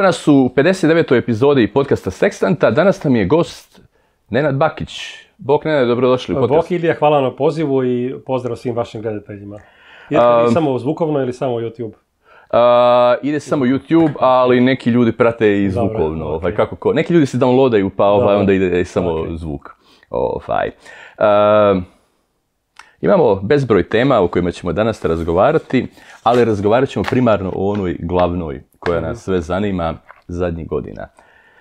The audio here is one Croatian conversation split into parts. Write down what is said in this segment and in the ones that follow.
Evo nas u 59. epizodi podcasta Sekstanta. Danas nam je gost Nenad Bakić. Bok Nenad, dobrodošli u podcast. Bok Ilija, hvala na pozivu i pozdrav svim vašim gledateljima. Ide samo zvukovno ili samo YouTube? Ide samo YouTube, ali neki ljudi prate i zvukovno. Okay. Kako neki ljudi se downloadaju, pa onda ide samo zvuk. Imamo bezbroj tema o kojima ćemo danas razgovarati, ali razgovarat ćemo primarno o onoj glavnoj koja nas sve zanima zadnjih godina.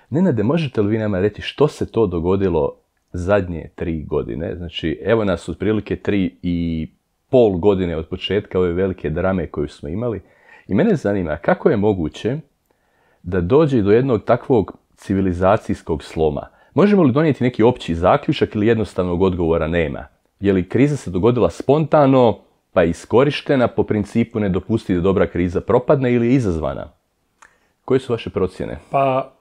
Nenade, možete li vi nama reći što se to dogodilo zadnje 3 godine? Znači, evo nas otprilike 3,5 godine od početka ove velike drame koju smo imali. I mene zanima kako je moguće da dođe do jednog takvog civilizacijskog sloma. Možemo li donijeti neki opći zaključak ili jednostavnog odgovora nema? Je li kriza se dogodila spontano, pa je iskorištena po principu ne dopusti da dobra kriza propadne ili je izazvana? Koje su vaše procjene? Pa,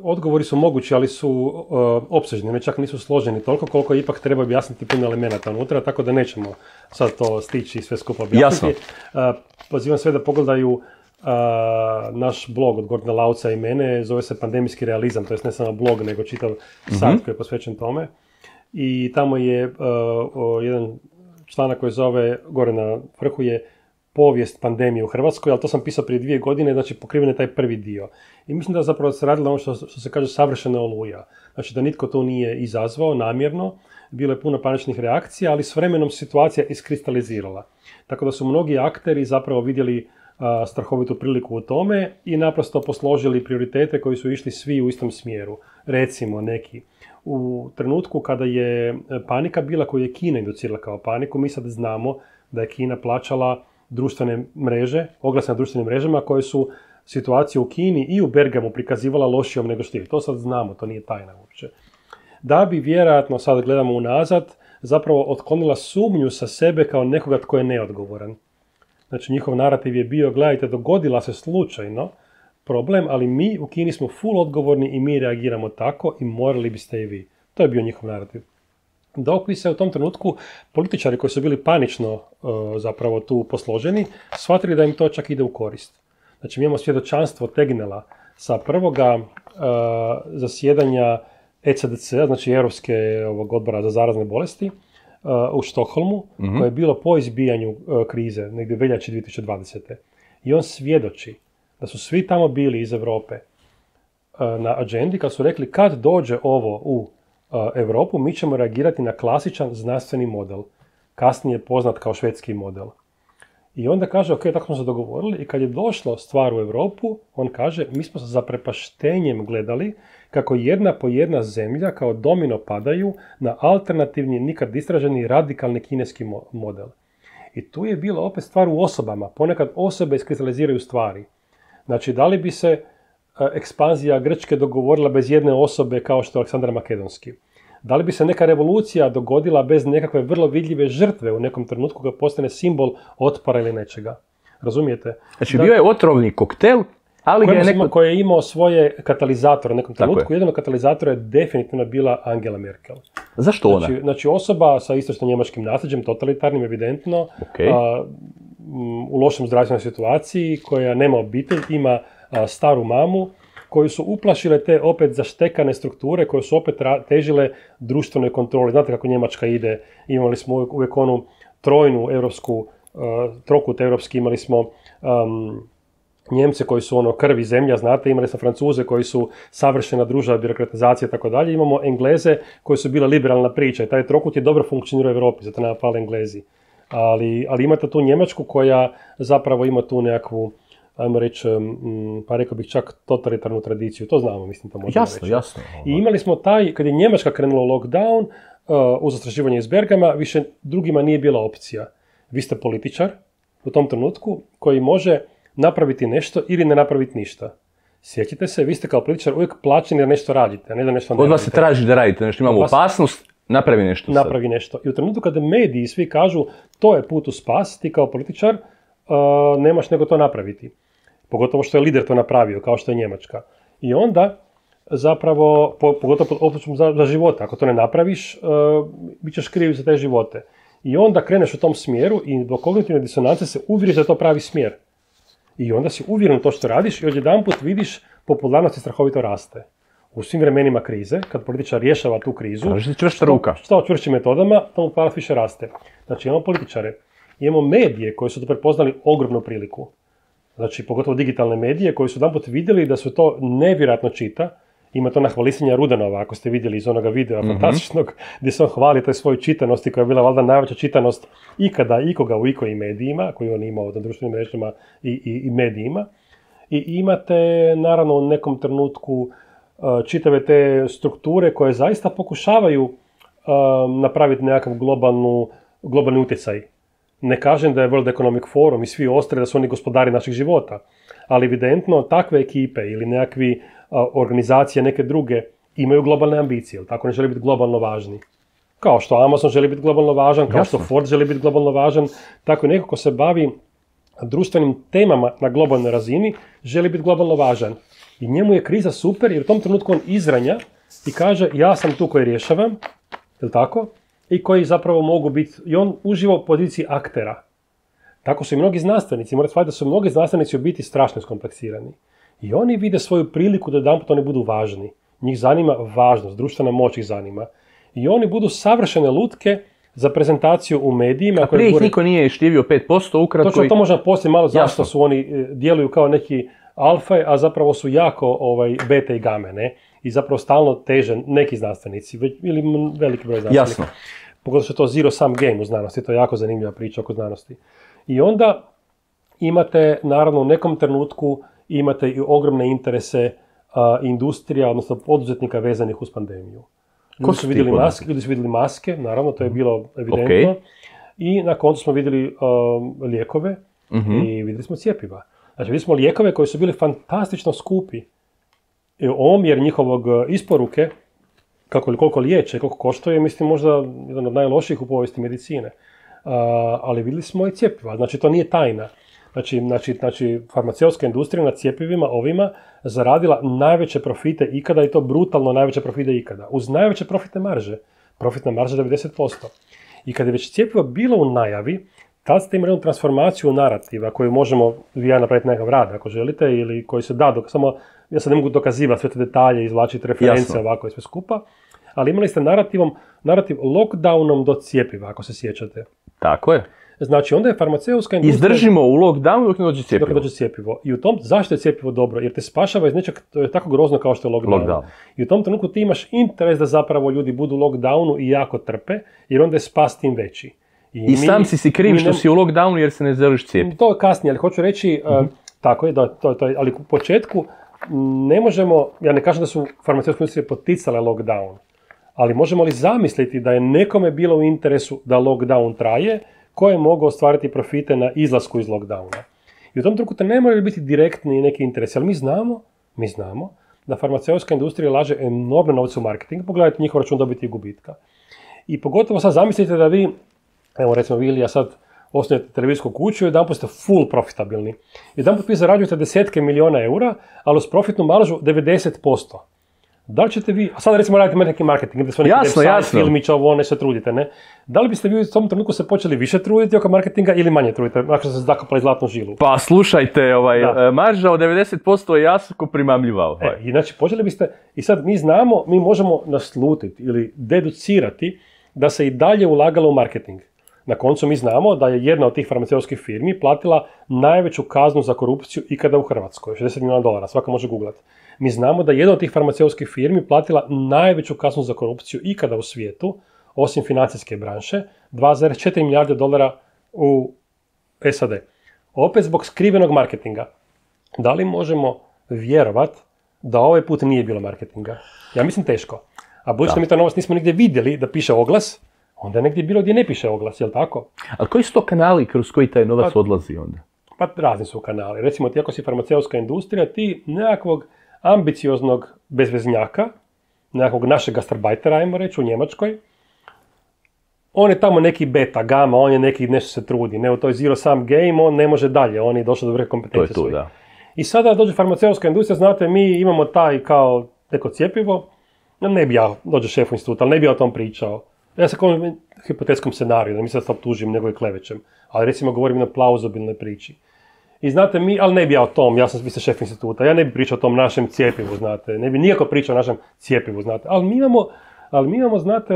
odgovori su mogući, ali su opsežni, ne čak nisu složeni toliko koliko ipak treba objasniti puno elemenata unutra, tako da nećemo sad to stići i sve skupa objasniti. Pozivam sve da pogledaju naš blog od Gordana Lauca i mene, zove se Pandemijski realizam, to je ne samo blog, nego čitav sajt koji je posvećen tome. I tamo je jedan članak koji zove, gore na vrhu je povijest pandemije u Hrvatskoj, ali to sam pisao prije 2 godine, znači pokriven je taj prvi dio. I mislim da zapravo se radilo ono što se kaže savršena oluja. Znači da nitko to nije izazvao namjerno, bilo je puno paničnih reakcija, ali s vremenom situacija iskristalizirala. Tako da su mnogi akteri zapravo vidjeli strahovitu priliku u tome i naprosto posložili prioritete koji su išli svi u istom smjeru. Recimo neki. U trenutku kada je panika bila, koju je Kina inducirala kao paniku, mi sad znamo da je Kina plaćala društvene mreže, oglase na društvenim mrežama koje su situaciju u Kini i u Bergamu prikazivala lošijom nego što je. To sad znamo, to nije tajna uopće. Da bi vjerojatno, sad gledamo unazad, zapravo otklonila sumnju sa sebe kao nekoga tko je neodgovoran. Znači njihov narativ je bio, gledajte, dogodila se slučajno problem, ali mi u Kini smo full odgovorni i mi reagiramo tako i morali biste i vi. To je bio njihov narativ. Dok bi se u tom trenutku političari koji su bili panično zapravo tu posloženi, shvatili da im to čak ide u korist. Znači mi imamo svjedočanstvo Tegnella sa prvoga zasjedanja ECDC, znači Europske odbora za zarazne bolesti, u Štokholmu, koje je bilo po izbijanju krize, negdje veljače 2020. I on svjedoči da su svi tamo bili iz Europe na agendi kad su rekli kad dođe ovo u Europu, mi ćemo reagirati na klasičan znanstveni model, kasnije poznat kao švedski model. I onda kaže, ok, tako smo se dogovorili i kad je došlo stvar u Europu, on kaže, mi smo se zaprepaštenjem gledali kako jedna po jedna zemlja kao domino padaju na alternativni, nikad istraženi radikalni kineski model. I tu je bila opet stvar u osobama, ponekad osobe iskristaliziraju stvari. Znači, da li bi se ekspanzija Grčke dogovorila bez jedne osobe kao što je Aleksandar Makedonski? Da li bi se neka revolucija dogodila bez nekakve vrlo vidljive žrtve u nekom trenutku kad postane simbol otpora ili nečega? Razumijete? Znači, bio je otrovni koktel, ali ga je koji je imao svoje katalizatore u nekom trenutku. Jedan od katalizatora je definitivno bila Angela Merkel. Zašto ona? Znači osoba sa istočno-njemačkim nasljeđem, totalitarnim, evidentno, u lošem zdravstvenoj situaciji, koja nema obitelj, ima staru mamu, koju su uplašile te opet zaštekane strukture, koje su opet težile društvenoj kontroli. Znate kako Njemačka ide, imali smo uvijek onu trojnu europsku, trokut europski, imali smo Njemce koji su krvi zemlja, znate, imali smo Francuze koji su savršena družba, birokratizacija i tako dalje, imamo Engleze koji su bila liberalna priča i taj trokut je dobro funkcionirao u Europi, zato nama fale Englezi. Ali imate tu Njemačku koja zapravo ima tu nekakvu, ajmo reći, pa rekao bih čak totalitarnu tradiciju, to znamo, mislim, to možemo reći. Jasno. I imali smo kad je Njemačka krenula u lockdown, uz zastrašivanje iz Bergama, više drugima nije bila opcija. Vi ste političar u tom trenutku koji može napraviti nešto ili ne napraviti ništa. Sjećate se, vi ste kao političar uvijek plaćeni da nešto radite, a ne da nešto ne radite. Od vas se traži da radite nešto, imamo opasnost, napravi nešto. Napravi nešto. I u trenutku kada mediji svi kažu to je put u spas, ti kao političar nemaš nego to napraviti. Pogotovo što je lider to napravio, kao što je Njemačka. I onda zapravo, pogotovo opet za života, ako to ne napraviš, bit ćeš kriv za te živote. I onda kreneš u tom smjeru i do kognitivne disonance se uvjeriš da je to pravi smjer. I onda si uvjeren u to što radiš i odjedanput vidiš popularnost strahovito raste. U svim vremenima krize, kad političar rješava tu krizu, što čvršćim metodama, tomu popularnost više raste. Znači imamo političare, imamo medije koji su to prepoznali ogromnu priliku. Znači pogotovo digitalne medije koji su jedanput vidjeli da su to nevjerojatno čita. Ima to na hvalisanje Rudanova, ako ste vidjeli iz onoga videa fantastičnog, gdje se on hvali toj svojoj čitanosti, koja je bila valjda najveća čitanost ikada, ikoga u ikojim medijima, koju on imao na društvenim mrežama i medijima. I imate, naravno, u nekom trenutku čitave te strukture koje zaista pokušavaju napraviti nekakav globalni utjecaj. Ne kažem da je World Economic Forum i svi ostali da su oni gospodari naših života, ali evidentno takve ekipe ili nekakvi organizacije neke druge imaju globalne ambicije, ili tako, ne žele biti globalno važni. Kao što Amazon želi biti globalno važan, kao što Ford želi biti globalno važan, tako i neko ko se bavi društvenim temama na globalnoj razini želi biti globalno važan. I njemu je kriza super jer u tom trenutku on izranja i kaže ja sam tu koji rješavam, ili tako, i koji zapravo mogu biti, i on uživa u poziciji aktera. Tako su i mnogi znanstvenici, morate shvatiti da su mnogi znanstvenici u biti strašno skompleksirani. I oni vide svoju priliku da jedanput oni budu važni. Njih zanima važnost, društvena moć ih zanima. I oni budu savršene lutke za prezentaciju u medijima. A prije ih niko nije štivio 5%, ukratko. Točno, to možemo poslije malo zašto su oni djeluju kao neki alfa, a zapravo su jako beta i game, ne? I zapravo stalno teže neki znanstvenici, ili veliki broj znanstvenika. Jasno. Pogotovo što je to zero sum game u znanosti, to je jako zanimljiva priča oko znanosti. I onda imate, naravno, u nekom trenutku imate i ogromne interese industrija, odnosno poduzetnika vezanih uz pandemiju. Ljudi su vidjeli maske, naravno, to je bilo evidentno. Okay. I na koncu smo vidjeli lijekove i vidjeli smo cjepiva. Znači, vidjeli smo lijekove koji su bili fantastično skupi. Omjer njihovog isporuke, koliko liječe, koliko koštuje, mislim možda jedan od najlošijih u povijesti medicine. Ali vidjeli smo i cjepiva, znači to nije tajna. Znači, farmaceutska industrija na cjepivima ovima zaradila najveće profite ikada i to brutalno najveće profite ikada. Uz najveće profitne marže. Profitna marža 90%. I kad je već cjepivo bilo u najavi, tad ste imali jednu transformaciju narativa koju možemo vi ja napraviti nekakav rad ako želite ili koji se da, samo ja sad ne mogu dokazivati sve te detalje, izvlačiti reference ovako i sve skupa, ali imali ste narativ lockdownom do cjepiva, ako se sjećate. Tako je. Znači, onda je farmaceutska industrija... Izdržimo u lockdownu dok ne dođe cjepivo. Dok ne dođe cjepivo. I u tom, zašto je cjepivo dobro? Jer te spašava iz nečeg, to je tako grozno kao što je lockdown. I u tom trenutku ti imaš interes da zapravo ljudi budu u lockdownu i jako trpe, jer onda je spas tim veći. I sam si kriv što si u lockdownu jer se ne želiš cijepiti. To je kasnije, ali hoću reći, tako je, ali u početku ne možemo, ja ne kažem da su farmaceutske industrije poticale lockdown, ali možemo li zamisliti da je nekome bilo u interesu da lockdown traje, ko je mogao ostvariti profite na izlasku iz lockdowna. I u tom trenutku ne moraju biti direktni neki interesi, ali mi znamo da farmaceutska industrija laže enormne novce u marketing, pogledajte njihov račun dobiti i gubitka. I pogotovo sad zamislite da vi, evo recimo vi ili ja sad osnujete televizijsku kuću i jedanput ste full profitabilni. Jedanput vi zarađujete desetke milijuna eura, ali uz profitnu maržu 90%. Da li ćete vi, a sad recimo radite neki marketing, da su neki website, filmića, ovo, ne se trudite, ne? Da li biste vi u tom trenutku se počeli više truditi oko marketinga ili manje trudite, ako ste se zakopali zlatnu žilu? Pa slušajte, marža od 90% je jako primamljiva. I znači počeli biste, i sad mi znamo, mi možemo naslutiti ili deducirati da se i dalje ulagalo u marketing. Na koncu mi znamo da je jedna od tih farmaceutskih firmi platila najveću kaznu za korupciju ikada u Hrvatskoj, $60 milijuna, svako može googlati. Mi znamo da jedna od tih farmaceutskih firmi platila najveću kaznu za korupciju ikada u svijetu, osim financijske branše, $2,4 milijarde u SAD. Opet zbog skrivenog marketinga. Da li možemo vjerovat da ovaj put nije bilo marketinga? Ja mislim teško. A budući da mi to novac nismo nigdje vidjeli da piše oglas, onda je negdje bilo gdje ne piše oglas, jel tako? Ali koji su to kanali kroz koji taj novac odlazi onda? Pa razni su kanali. Recimo ti ako si farmaceutska industrija, ti nekakvog ambicioznog bezveznjaka, nekakvog našeg gastarbajtera, ajmo reći, u Njemačkoj, on je tamo neki beta, gama, on je neki nešto se trudi, ne u toj zero sum game, on ne može dalje, on je došao do vrhe kompetencije svoje. Da. I sada dođe farmaceutska industrija, znate, mi imamo taj kao neko cjepivo, ne bi ja, dođe šef instituta, ali ne bi ja o tom pričao. Ja se govorim hipotetskom scenariju, da mi sad optužim nego i klevećem, ali recimo govorim na plauzabilnoj priči. I znate, ali ne bi ja o tom, vi ste šef instituta, ja ne bi pričao o tom našem cjepivu, znate, ne bi nikako pričao o našem cjepivu, znate, ali mi imamo, znate,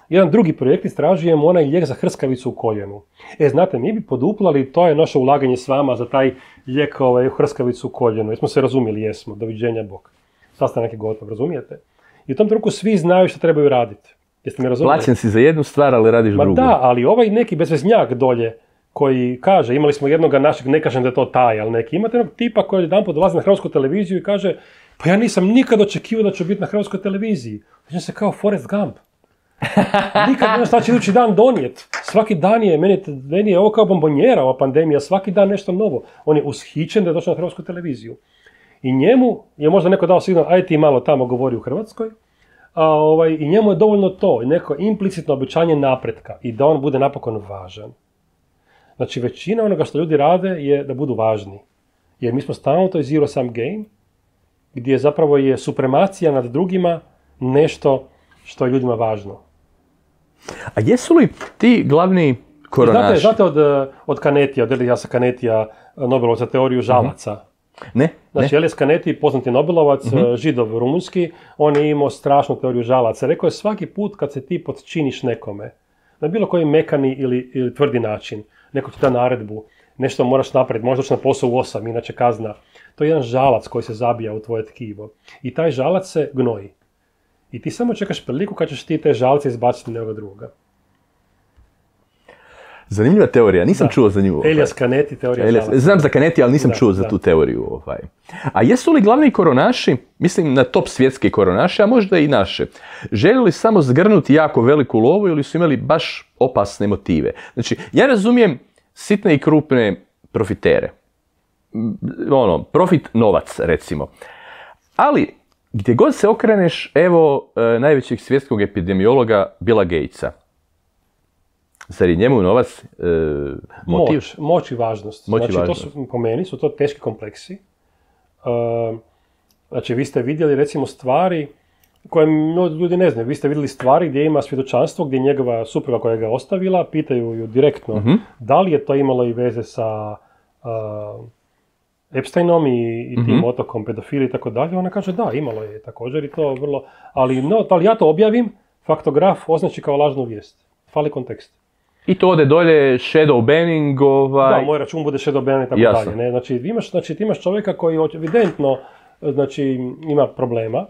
jedan drugi projekt, istražujemo onaj lijek za hrskavicu u koljenu. Znate, mi bi poduplali, to je naše ulaganje s vama za taj lijek u hrskavicu u koljenu. Jesmo se razumjeli, jesmo, doviđenja Bog. Sastanak je gotov, razumijete? I u tom trenutku svi znaju što trebaju raditi. Jeste mi razumjeli? Plaćen si za jednu stvar, ali radiš drugu. Da, ali ovaj neki bezveznjak dolje, koji kaže, imali smo jednoga našeg, ne kažem da je to taj, ali neki, imate jednog tipa koji jedanput dolazi na hrvatsku televiziju i kaže, pa ja nisam nikad očekivao da ću biti na hrvatskoj televiziji. Znači se kao Forrest Gump. Nikad ne znam šta će idući dan donijeti. Svaki dan je, meni je ovo kao bombonjera, ova pandemija, svaki dan nešto novo. On je ushićen da je došao na hrvatsku televiziju. I njemu je možda neko dao signal, aj ti malo tamo govori u Hrvatskoj, i njemu je dovoljno to, neko implicitno obećanje napretka i da on bude napokon važan. Znači, većina onoga što ljudi rade je da budu važni. Jer mi smo stalno u toj zero sum game, gdje zapravo je supremacija nad drugima nešto što je ljudima važno. A jesu li ti glavni koronaši? Znate od Canetija, od Eliasa Canetija, Nobelovca teoriju žalaca? Ne. Znači, Elias Canetti, poznati Nobelovac, Židov rumunski, on je imao strašnu teoriju žalaca. Rekao je, svaki put kad se ti podčiniš nekome, na bilo koji mekani ili tvrdi način, neko ti da naredbu, nešto moraš napraviti, možda doći na posao u 8, inače kazna. To je jedan žalac koji se zabija u tvoje tkivo. I taj žalac se gnoji. I ti samo čekaš priliku kad ćeš ti te žalce izbaciti nekoga drugoga. Zanimljiva teorija, nisam čuo za nju. Elias Canetti, teorija žalaca. Znam za Canetti, ali nisam čuo za tu teoriju. A jesu li glavni koronaši, mislim na top svjetske koronaše, a možda i naše, željeli samo zgrnuti jako veliku lovu ili su imali baš opasne motive? Znači, ja razumijem sitne i krupne profitere. Profit novac, recimo. Ali, gdje god se okreneš, evo najvećeg svjetskog epidemiologa Billa Gatesa. Zar je njemu novac motiv? Moć i važnost. Po meni su to teški kompleksi. Znači, vi ste vidjeli recimo stvari koje ljudi ne znaju. Vi ste vidjeli stvari gdje ima svjedočanstvo, gdje njegova supruga koja ga je ostavila, pitaju ju direktno da li je to imalo i veze sa Epsteinom i tim otokom pedofili i tako dalje. Ona kaže da, imalo je također i to vrlo... Ali ja to objavim, faktograf označi kao lažnu vijest. Fali kontekst. I to ode dolje, shadow banning, Da, moj račun bude shadow banning i tako dalje. Ne? Znači, ti imaš čovjeka koji evidentno ima problema,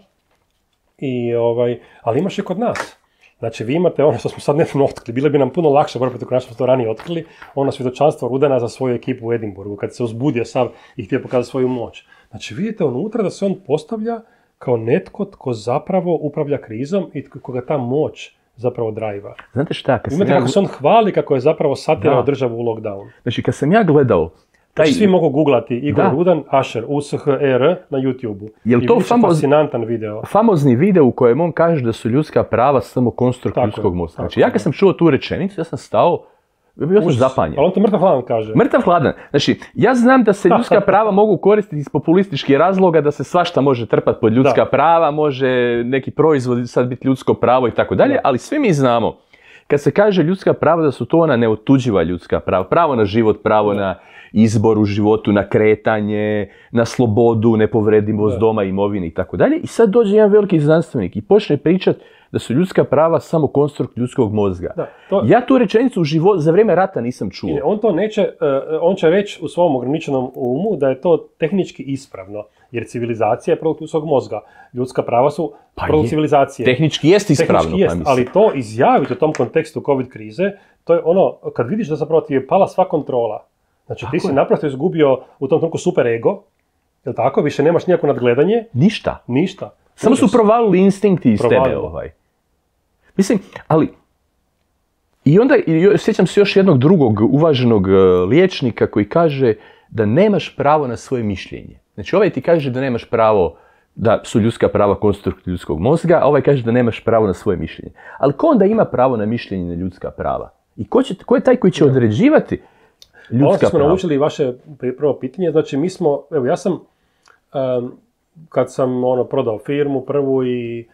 ali imaš i kod nas. Znači, vi imate ono što smo sad nedavno otkrili, bilo bi nam puno lakše boriti protiv konačno smo to ranije otkrili, ono svjedočanstvo Rudena za svoju ekipu u Edinburgu, kad se uzbudio sav i htio pokazati svoju moć. Znači, vidite unutra da se on postavlja kao netko tko zapravo upravlja krizom i koga ta moć zapravo drajva. Znate šta? Imate kako se on hvali kako je zapravo satirao državu u lockdown. Znači, kad sam ja gledao... Svi mogu googlati Igor Rudan, Asher, USHR na YouTube-u. Je li to fascinantan video? Famozni video u kojem on kaže da su ljudska prava samo konstrukt ljudskog mozga. Znači, ja kad sam čuo tu rečenicu, ja sam stao, bio sam zapanjen. Ali on to mrtav hladan kaže. Mrtav hladan. Znači, ja znam da se ljudska prava mogu koristiti iz populističkih razloga, da se svašta može trpati pod ljudska prava, može neki proizvod sad biti ljudsko pravo i tako dalje, ali svi mi znamo, kad se kaže ljudska prava, da su to ona neotuđiva ljudska prava. Pravo na život, pravo na izbor u životu, na kretanje, na slobodu, nepovredivost doma, imovine i tako dalje. I sad dođe jedan veliki znanstvenik i počne pričati da su ljudska prava samo konstrukt ljudskog mozga. Ja tu rečenicu za vrijeme rata nisam čuo. On će reći u svom ograničenom umu da je to tehnički ispravno, jer civilizacija je produkt ljudskog mozga. Ljudska prava su produkt civilizacije. Tehnički jest ispravno. Ali to izjaviti u tom kontekstu COVID krize, to je ono, kad vidiš da zapravo ti je pala sva kontrola. Znači, ti si naprosto izgubio u tom trenutku super ego, jel tako? Više nemaš nikako nadgledanje. Ništa. Samo su provalili instinkti iz tebe. Mislim, ali... I onda sjećam se još jednog drugog uvaženog liječnika koji kaže da nemaš pravo na svoje mišljenje. Znači, ovaj ti kaže da nemaš pravo da su ljudska prava konstrukt ljudskog mozga, a ovaj kaže da nemaš pravo na svoje mišljenje. Ali ko onda ima pravo na mišljenje na ljudska prava? I ko je taj koji će određivati ljudska prava? Ovo smo naučili vaše prvo pitanje, znači mi smo, evo ja sam, kad sam prodao firmu prvu i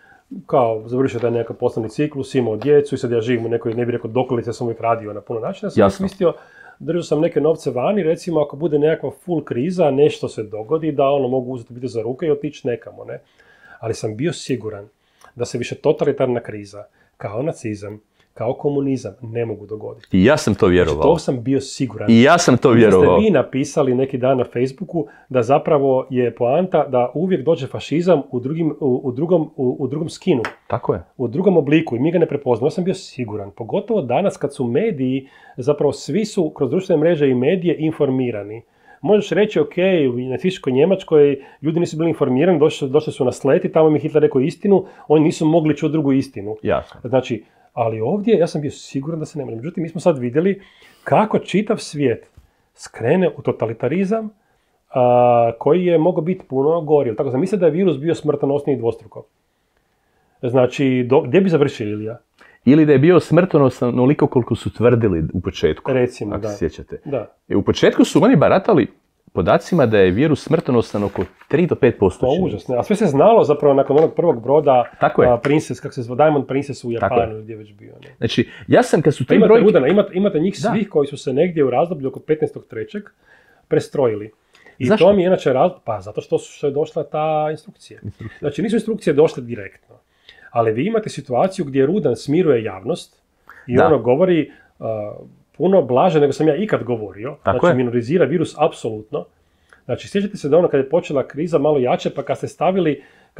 kao završio taj nekakav poslovni ciklus, imao djecu i sad ja živim u nekoj, ne bih rekao dokolici, ja sam uvijek radio na puno načina, sam mislio držao sam neke novce vani, recimo ako bude nekakva full kriza, nešto se dogodi, da mogu uzeti biti za ruke i otići nekamo, ne. Ali sam bio siguran da se više totalitarna kriza, kao nacizam, kao komunizam, ne mogu dogoditi. I ja sam to vjerovao. Znači, to sam bio siguran. I ja sam to vjerovao. Ste vi napisali neki dan na Facebooku da zapravo je poanta da uvijek dođe fašizam u drugom skinu. Tako je. U drugom obliku i mi ga ne prepoznamo. Ja sam bio siguran. Pogotovo danas kad su mediji, zapravo svi su kroz društvene mreže i medije informirani. Možeš reći, ok, u nacističkoj Njemačkoj ljudi nisu bili informirani, došli su na slet i tamo mi Hitler rekao istinu, oni nisu mogli čuti drugu istinu. Jasno. Znači, ali ovdje ja sam bio siguran da se ne može. Međutim, mi smo sad vidjeli kako čitav svijet skrene u totalitarizam koji je mogao biti puno gori. Tako sam mislio da je virus bio smrtonosniji dvostruko. Znači, gdje bi završili, Ilija? Ili da je bio smrtonosan onoliko koliko su tvrdili u početku. Recimo, ako se sjećate. Da. U početku su oni baratali podacima da je virus smrtonosan oko 3 do 5%. To užasno. A sve se znalo zapravo nakon onog prvog broda Princess, kako se zove, Diamond Princess u Japanu, gdje je već bio. Ne? Znači, ja sam kad su ti brojke... Imate njih svih koji su se negdje u razdoblju oko 15.3. prestrojili. I zašto? To mi je inače razlog, pa zato što je došla ta instrukcija. Znači, nisu instrukcije došle direktno. Ali vi imate situaciju gdje Rudan smiruje javnost i ono govori puno blaže nego sam ja ikad govorio. Tako znači, minorizira virus apsolutno. Znači, sjećate se da kad je počela kriza malo jače, pa kad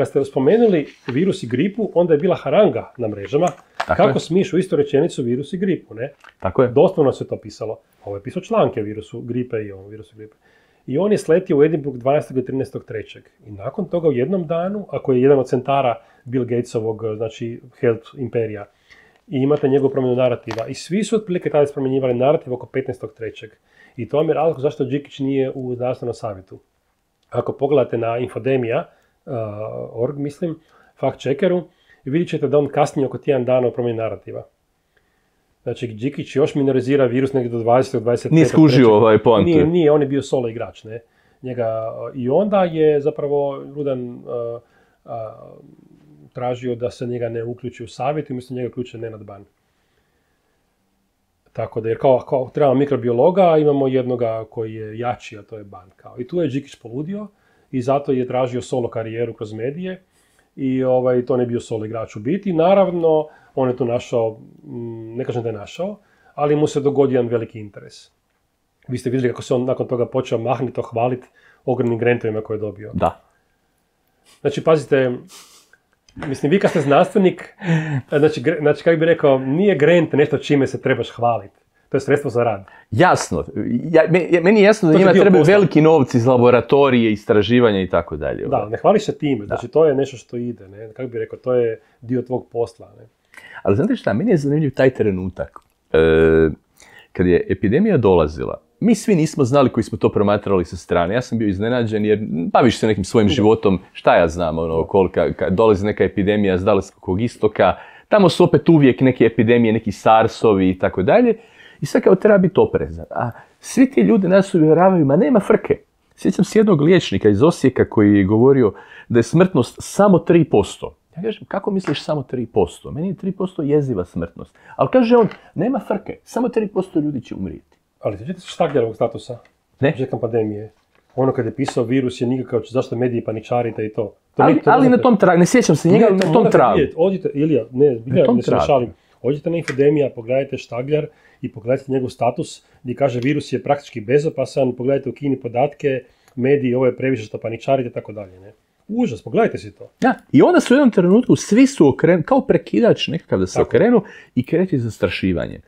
ste spomenuli virus i gripu, onda je bila haranga na mrežama. Kako smiješ u istu rečenicu virus i gripu, ne? Tako je. Doslovno se to pisalo. Ovo je pisao članke virusu gripe i virusu gripe. I on je sletio u Edinburgh 12. i 13.3. I nakon toga u jednom danu, ako je jedan od centara Bill Gatesovog, znači health imperija, i imate njegovu promjenu narativa. I svi su otprilike tada spromjenjivali narativ oko 15.3. I to vam je razlog zašto Đikić nije u zdravstvenom savjetu. Ako pogledate na infodemia.org, mislim, fact checkeru, vidjet ćete da on kasnije oko tjedan dana u promjeni narativa. Znači, Đikić još minorizira virus negdje do 20. 25. Nije skužio ovaj poantu. Nije, on je bio solo igrač, ne? I onda je zapravo Rudan tražio da se njega ne uključi u savjet i umjesto njega uključuje Nenad Ban. Tako da, jer kao trebamo mikrobiologa, imamo jednoga koji je jači, a to je Ban. I tu je Đikić poludio i zato je tražio solo karijeru kroz medije i to ne bio solo igrač u biti. Naravno, on je tu našao, ne kažem da je našao, ali mu se dogodio jedan veliki interes. Vi ste vidjeli kako se on nakon toga počeo mahnito hvaliti ogromnim grantovima koje je dobio. Da. Znači, pazite, mislim, vi kad ste znanstvenik, znači kako bi rekao, nije grant nešto čime se trebaš hvaliti. To je sredstvo za rad. Jasno. Meni je jasno da njima trebaju veliki novci iz laboratorije, istraživanja i tako dalje. Da, ne hvališ se time. Znači, to je nešto što ide. Ne? Kako bi rekao, to je dio tvog posla. Ne? Ali znate šta, meni je zanimljiv taj trenutak. Kad je epidemija dolazila, mi svi nismo znali koji smo to promatrali sa strane. Ja sam bio iznenađen jer baviš se nekim svojim životom, šta ja znam, kad dolazi neka epidemija s Dalekog istoka, tamo su opet uvijek neke epidemije, neki SARS-ovi i tako dalje. I sad kao treba biti oprezan. A svi ti ljudi nas uvjeravaju, ma nema frke. Sjećam se jednog liječnika iz Osijeka koji je govorio da je smrtnost samo 3%. Ja kažem, kako misliš samo 3%? Meni je 3% jeziva smrtnost. Ali kaže on, nema frke, samo 3% ljudi će umrijeti. Ali sjećate se Štagljerovog statusa? Ne? Početkom pandemije. Ono kad je pisao virus je nikakav, zašto mediji paničarite i to. Ali na tom tragu, ne sjećam se njega, ali na tom tragu. Odite, Ilija, ne se našalim. Odite na infodemija, pogledajte Štagljar i pogledajte njegov status gdje kaže virus je praktički bezopasan, pogledajte u Kini podatke, mediji, ovo je previše što paničarite i tako dalje. Ne? Užas, pogledajte si to. Da, i onda su u jednom trenutku svi su okrenuli, kao prekidač nekakav da se okrenu i kreće zastrašivanje.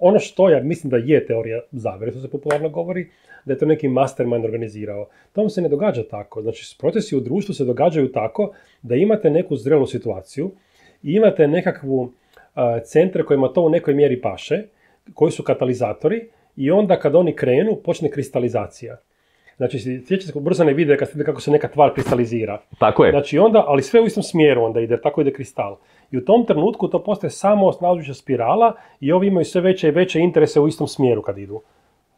Ono što ja mislim da je teorija zavere, što se popularno govori, da je to neki mastermind organizirao. To se ne događa tako. Znači, procesi u društvu se događaju tako da imate neku zrelu situaciju i imate nekakvu centre kojima to u nekoj mjeri paše, koji su katalizatori i onda kad oni krenu, počne kristalizacija. Znači, sjećate se ubrzane videe kad vidite kako se neka tvar kristalizira. Tako je. Znači, onda, ali sve u istom smjeru onda ide, tako ide kristal. I u tom trenutku to postaje samo osnažujuća spirala i ovi imaju sve veće i veće interese u istom smjeru kad idu.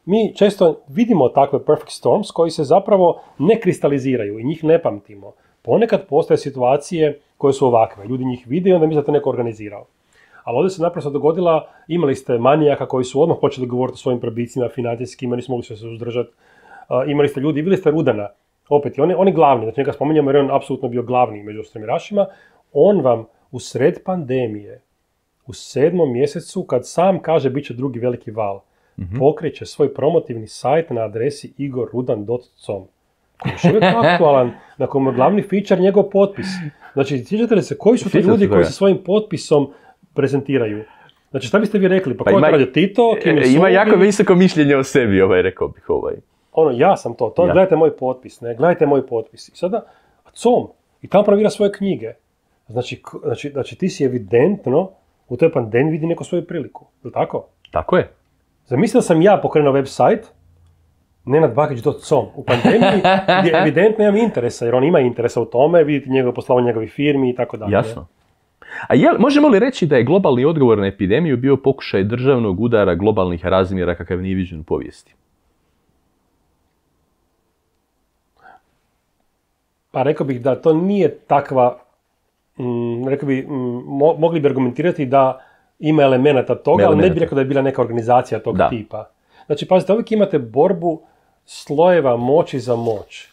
Mi često vidimo takve perfect storms koji se zapravo ne kristaliziraju i njih ne pamtimo. Ponekad postoje situacije koje su ovakve. Ljudi njih vide i onda misle da to neko organizirao. Ali ovdje se naprosto dogodila, imali ste manijaka koji su odmah počeli govoriti o svojim probicima financijskim, nisu mogli se uzdržati. Imali ste ljudi, bili ste Rudana, opet, oni glavni, znači njega spominjamo jer je on apsolutno bio glavni među ostremirašima, on vam u sred pandemije, u 7. mjesecu, kad sam kaže bit će drugi veliki val, pokreće svoj promotivni sajt na adresi igorrudan.com, koji je još uvijek aktualan, na kojem je glavni feature njegov potpis. Znači, sjećate li se, koji su to ljudi koji se svojim potpisom prezentiraju? Znači, šta biste vi rekli? Pa ko je to radio? Tito? Ima jako visoko mišljenje o sebi, rekao bih. Ja sam to, gledajte moj potpis, ne, gledajte moj potpis. I sada, com, i tamo provira svoje knjige. Znači, ti si evidentno u toj pandemiji vidi neku svoju priliku. Je li tako? Tako je. Zamisli da sam ja pokrenuo website, nenadbakić.com, u pandemiji, gdje evidentno imam interesa, jer on ima interesa u tome, vidite njegove poslovanje njegovih firmi i tako dalje. Jasno. A možemo li reći da je globalni odgovor na epidemiju bio pokušaj državnog udara globalnih razmjera kakav nije viđen u povijesti? Pa rekao bih da to nije takva, mogli bi argumentirati da ima elemenata toga, ali ne bih rekao da je bila neka organizacija tog tipa. Znači, pazite, uvijek imate borbu slojeva moći za moć.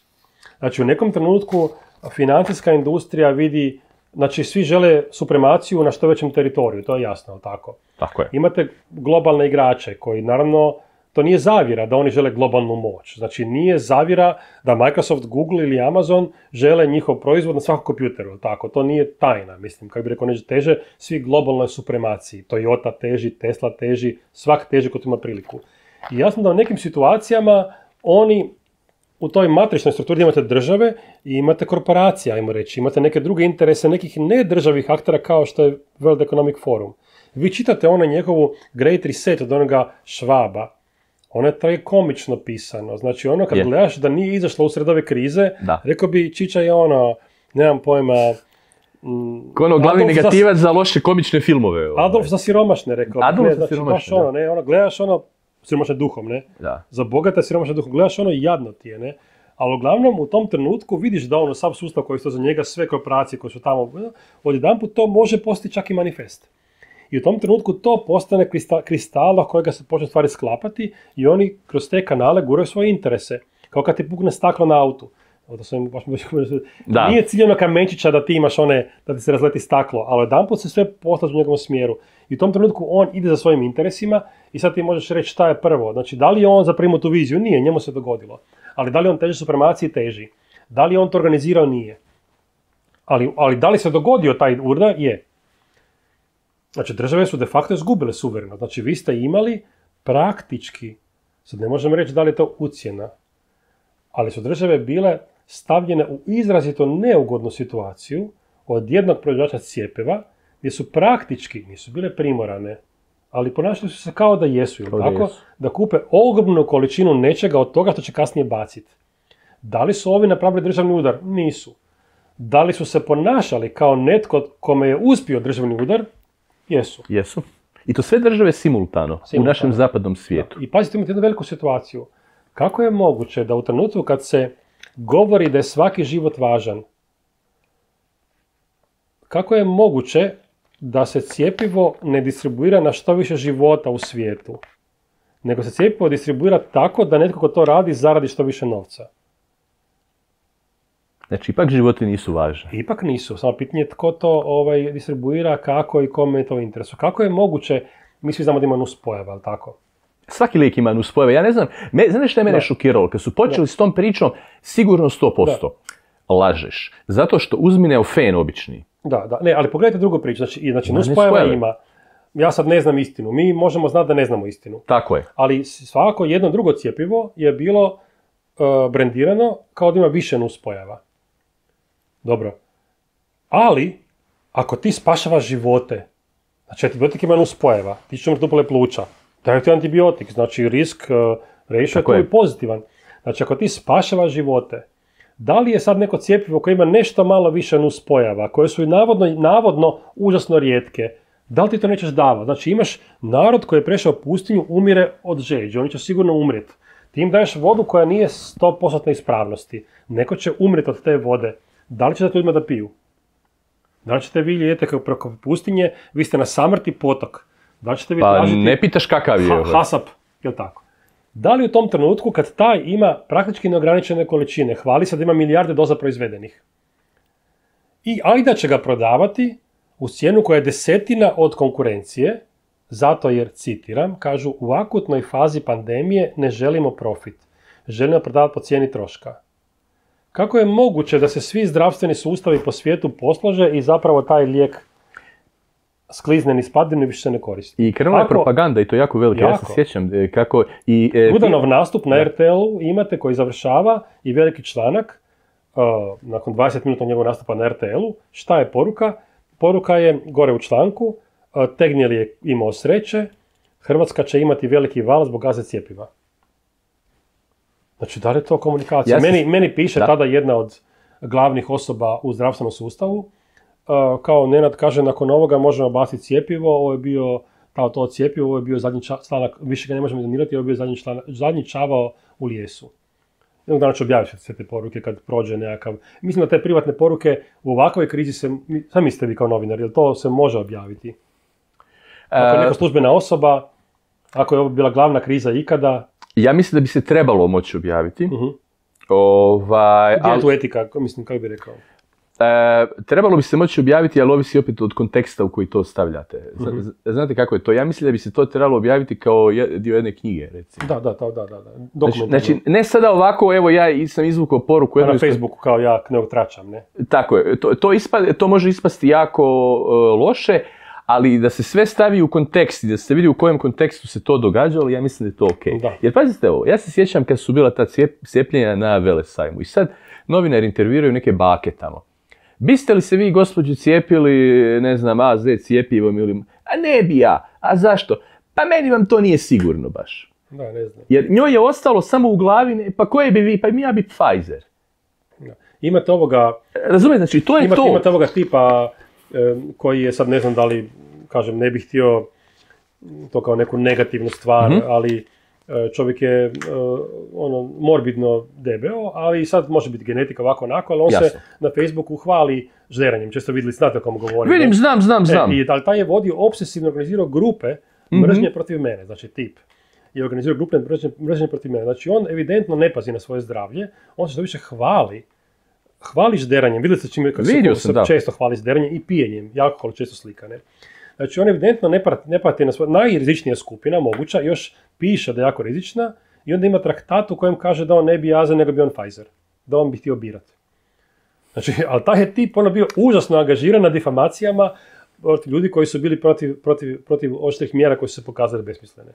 Znači, u nekom trenutku financijska industrija vidi, znači, svi žele supremaciju na što većem teritoriju, to je jasno, ali tako? Tako je. Imate globalne igrače koji, naravno, to nije zavjera da oni žele globalnu moć. Znači, nije zavjera da Microsoft, Google ili Amazon žele njihov proizvod na svakom kompjuteru, tako? To nije tajna, mislim, kako bi rekao, neće teže, svi globalnoj supremaciji. Toyota teži, Tesla teži, svak teži kod ima priliku. I jasno da u nekim situacijama oni u toj matričnoj strukturi imate države i imate korporacije, ajmo reći, imate neke druge interese, nekih nedržavih aktera kao što je World Economic Forum. Vi čitate njegovu Great Reset od onoga Schwaba, ono je tragikomično pisano, znači kad gledaš da nije izašlo usred ove krize, rekao bi Čiča je nemam pojma, glavni negativac za loše komične filmove. Adolf za siromašne, rekao. Adolf za siromašne, gledaš siromašne duhom, ne? Da. Za bogate siromašne duhom, gledaš jadno ti je, ne? Ali uglavnom u tom trenutku vidiš da sav sustav koji su za njega, sve korporacije koje su tamo, odjedanput to može postati čak i manifest. I u tom trenutku to postane kristala kojega se počne stvari sklapati i oni kroz te kanale guraju svoje interese. Kao kad ti pukne staklo na autu. Nije ciljeno kamenčića da ti imaš da ti se razleti staklo, ali jedanput se sve postaže u njegovom smjeru. I u tom trenutku on ide za svojim interesima i sad ti možeš reći šta je prvo. Znači, da li je on zaprimio tu viziju? Nije, njemu se dogodilo. Ali da li on teži supremaciji? Teži. Da li je on to organizirao? Nije. Ali da li se dogodio taj udar? Je. Znači, države su de facto izgubile suvereno. Znači, vi ste imali praktički, sad ne možemo reći da li je to ucjena, ali su države bile stavljene u izrazito neugodnu situaciju od jednog proizvođača cjepiva, gdje su praktički, nisu bile primorane, ali ponašali su se kao da jesu, da kupe ogromnu količinu nečega od toga što će kasnije baciti. Da li su ovi napravili državni udar? Nisu. Da li su se ponašali kao netko kome je uspio državni udar? Jesu. I to sve države simultano. U našem zapadnom svijetu. Da. I pazite, imate jednu veliku situaciju. Kako je moguće da u trenutku kad se govori da je svaki život važan, kako je moguće da se cjepivo ne distribuira na što više života u svijetu, nego se cjepivo distribuira tako da netko ko to radi zaradi što više novca? Znači, ipak životi nisu važni. Ipak nisu, samo pitanje je tko to distribuira, kako i kome je to u interesu. Kako je moguće, mi svi znamo da ima nuspojava, ali tako? Svaki lijek ima nuspojave. Ja ne znam, znaš što je mene šokiralo? Kad su počeli s tom pričom, sigurno 100% lažeš. Zato što uzmi Neofen obični. Ne, ali pogledajte drugu priču. Znači nuspojava ima. Ja sad ne znam istinu. Mi možemo znati da ne znamo istinu. Tako je. Ali svako jedno drugo cjepivo je bilo brendirano kao da ima više nuspojava. Dobro. Ali, ako ti spašavaš živote, znači antibiotik ima nuspojava, ti ćeš umrti upale pluća, daj ti antibiotik, znači risk ratio je tu i pozitivan. Znači, ako ti spašavaš živote, da li je sad neko cjepivo koje ima nešto malo više nuspojava, koje su navodno užasno rijetke, da li ti to nećeš davati? Znači, imaš narod koji je prešao pustinju, umire od žeđe, oni će sigurno umrijeti. Ti im daješ vodu koja nije 100% ispravnosti, neko će umrijeti od te vode. Da li će da ljudima da piju? Da li ćete vi idete preko pustinje, vi ste na samrti potok. Da li ćete vi pa tražiti ne pitaš kakav je. hasap, jel tako? Da li u tom trenutku kad taj ima praktički neograničene količine, hvali se da ima milijarde doza proizvedenih, ali da će ga prodavati u cijenu koja je 10 od konkurencije, zato jer, citiram, kažu, u akutnoj fazi pandemije ne želimo profit, želimo prodavati po cijeni troška. Kako je moguće da se svi zdravstveni sustavi po svijetu poslože i zapravo taj lijek sklizne niz padinu i više se ne koristi? I krenula je propaganda i to jako velika. Ja se sjećam kako... Gudanov nastup na RTL-u imate koji završava i veliki članak nakon 20 minuta njegovog nastupa na RTL-u. Šta je poruka? Poruka je gore u članku, Tegnjel je imao sreće, Hrvatska će imati veliki val zbog gaze cjepiva. Znači, da li je to komunikacija? Meni piše tada jedna od glavnih osoba u zdravstvenom sustavu, kao Nenad kaže, nakon ovoga možemo baciti cjepivo, ovo je bio to cjepivo, ovo je bio zadnji članak, više ga ne možemo donirati, ovo je bio zadnji čavao u lijesu. Jednog dana ću objaviti sve te poruke kad prođe nekakav... Mislim da te privatne poruke u ovakvoj krizi sam mislite vi kao novinar, jer to se može objaviti. Ako je neka službena osoba, ako je ovo bila glavna kriza ikada... Ja mislim da bi se trebalo moći objaviti. Gdje je tu etika, mislim, kako bi rekao? Trebalo bi se moći objaviti, ali ovisi opet od konteksta u koji to stavljate. Znate kako je to? Ja mislim da bi se to trebalo objaviti kao dio jedne knjige, recimo. Da. Znači, ne sada ovako, evo ja sam izvukao poruku... Na Facebooku kao ja ne tračam, ne? Tako je, to može ispasti jako loše, ali da se sve stavi u kontekst i da se vidi u kojem kontekstu se to događalo, ja mislim da je to ok. Da. Jer pazite ovo, ja se sjećam kad su bila ta cijepljenja na Velesajmu i sad novinari intervjuiraju neke bake tamo. Biste li se vi, gospođo, cijepili, ne znam, AZ cijepivom ili... A ne bi ja. A zašto? Pa meni vam to nije sigurno baš. Da, ne znam. Jer njoj je ostalo samo u glavi, pa koje bi vi, pa ja bi Pfizer. Da. Imate ovoga... Razumijete, znači to je to. Imate ovoga tipa koji je sad, ne znam da li, kažem, ne bih htio to kao neku negativnu stvar, ali čovjek je morbidno debeo, ali sad može biti genetika ovako onako, ali on se na Facebooku hvali žderanjem. Često vidjeli, znate o kom govorim. Vidim, znam. Ali taj je vodio obsesivno organizirao grupe mržnje protiv mene, znači tip. I organizirao grupe mržnje protiv mene. Znači on evidentno ne pazi na svoje zdravlje, on se što više hvali žderanjem. Vidjeli ste čim se često hvali žderanjem i pijenjem, i alkohol često slika, ne? Znači on evidentno ne pati na svoje, najrizičnija skupina moguća, još piše da je jako rizična i onda ima traktat u kojem kaže da on ne bi AZ nego bi on Pfizer, da on bi htio birati. Znači, ali taj je tip bio užasno angažiran na difamacijama protiv ljudi koji su bili protiv oštrih mjera koji su se pokazali besmislene.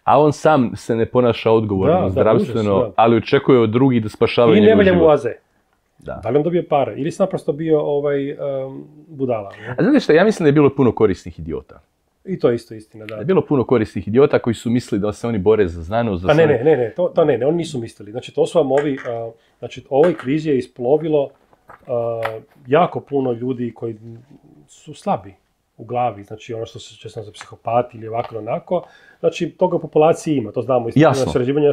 A on sam se ne ponaša odgovorno, zdravstveno, ali očekuje od drugih da spašavaju njegov život. I ne valja mu AZ. Da li on dobio pare? Ili se naprosto bio budala? Ne? A znate što, ja mislim da je bilo puno korisnih idiota. I to je isto istina, da. Je bilo puno korisnih idiota koji su mislili da se oni bore za znanost. Ne, oni nisu mislili. Znači, to su vam ovoj krizi je isplovilo jako puno ljudi koji su slabi u glavi, znači ono što se često za psihopati ili ovako onako, znači toga u populaciji ima, to znamo, istraživanja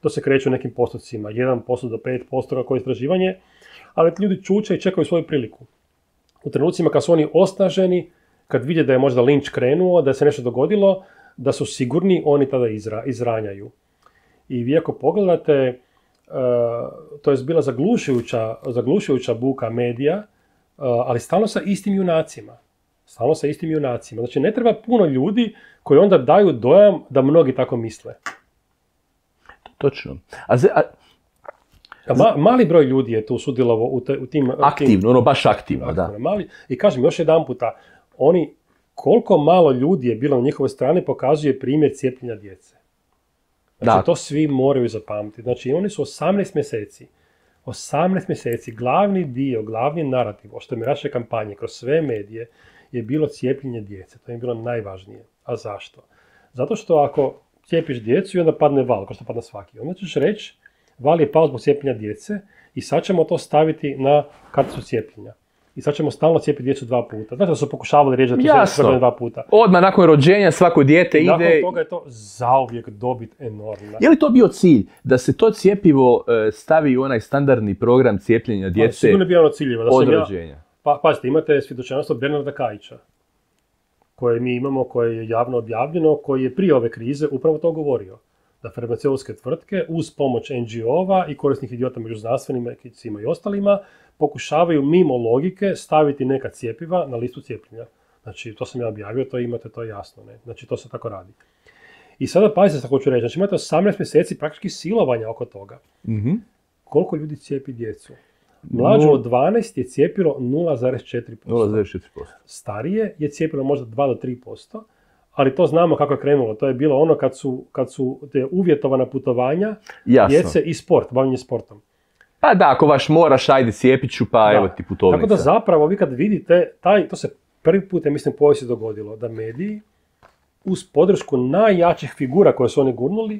to se kreću u nekim postocima, 1% do 5% kako je istraživanje, ali ljudi čuče i čekaju svoju priliku. U trenucima kad su oni osnaženi, kad vide da je možda linč krenuo, da se nešto dogodilo, da su sigurni, oni tada izranjaju. I vi ako pogledate, to je bila zaglušujuća buka medija, ali stalno sa istim junacima. Znači, ne treba puno ljudi koji onda daju dojam da mnogi tako misle. Točno. Mali broj ljudi je tu sudjelovao u tim... Aktivno, baš aktivno, da. I kažem još jedan puta, koliko malo ljudi je bilo na njihovoj strani pokazuje primjer cijepljenja djece. Znači, to svi moraju zapamtiti. Znači, oni su 18 mjeseci, glavni narativ, što je naše kampanje kroz sve medije, je bilo cijepljenje djece. To je bilo najvažnije. A zašto? Zato što ako cijepiš djecu i onda padne val, kao što padne svaki, onda ćeš reći, val je pao zbog cijepljenja djece i sad ćemo to staviti na karticu cijepljenja. I sad ćemo stalno cijepiti djecu 2 puta. Znači da su pokušavali reći da to se 2 puta. Odmah nakon rođenja svako dijete ide... Nakon toga je to zauvijek dobit enormna. Je li to bio cilj? Da se to cjepivo stavi u onaj standardni program cijepljenja djece sigurno je bio ono ciljeva, od rođenja? pazite, imate svjedočanstvo Bernarda Kajića, koje mi imamo, koje je javno objavljeno, koji je prije ove krize upravo to govorio. Da farmaceutske tvrtke uz pomoć NGO-ova i korisnih idiota među znanstvenicima i ostalima pokušavaju mimo logike staviti neka cjepiva na listu cijepljenja. Znači, to sam ja objavio, to imate, to je jasno. Ne? Znači, to se tako radi. I sada pazite što hoću reći. Znači, imate 18 mjeseci praktički silovanja oko toga. Mm-hmm. Koliko ljudi cijepi djecu? Mlađe od 12 je cijepilo 0,4%. 0,4%. Starije je cijepilo možda 2 do 3%, ali to znamo kako je krenulo. To je bilo ono kad su te uvjetovana putovanja djece i sport, bavljenje sportom. Pa da, ako baš moraš, ajde cijepit ću, pa evo ti putovnica. Tako da zapravo vi kad vidite, to se prvi put, mislim, povijesti dogodilo, da mediji uz podršku najjačih figura koje su oni gurnuli,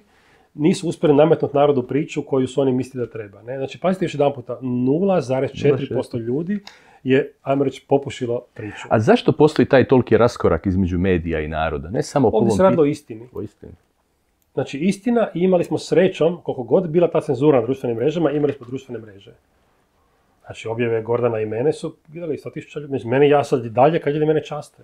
nisu uspjeli nametnuti narodu priču koju su oni mislili da treba. Ne? Znači, pazite još jedan puta, 0,4% ljudi je, ajmo reći, popušilo priču. A zašto postoji taj toliki raskorak između medija i naroda? Ne samo ovdje se radi o istini. O istini. Znači, istina, i imali smo srećom, koliko god bila ta cenzura na društvenim mrežama, imali smo društvene mreže. Znači, objave Gordana i mene su gledali 100.000 ljudi. Meni ja sad dalje kad ljudi mene časte.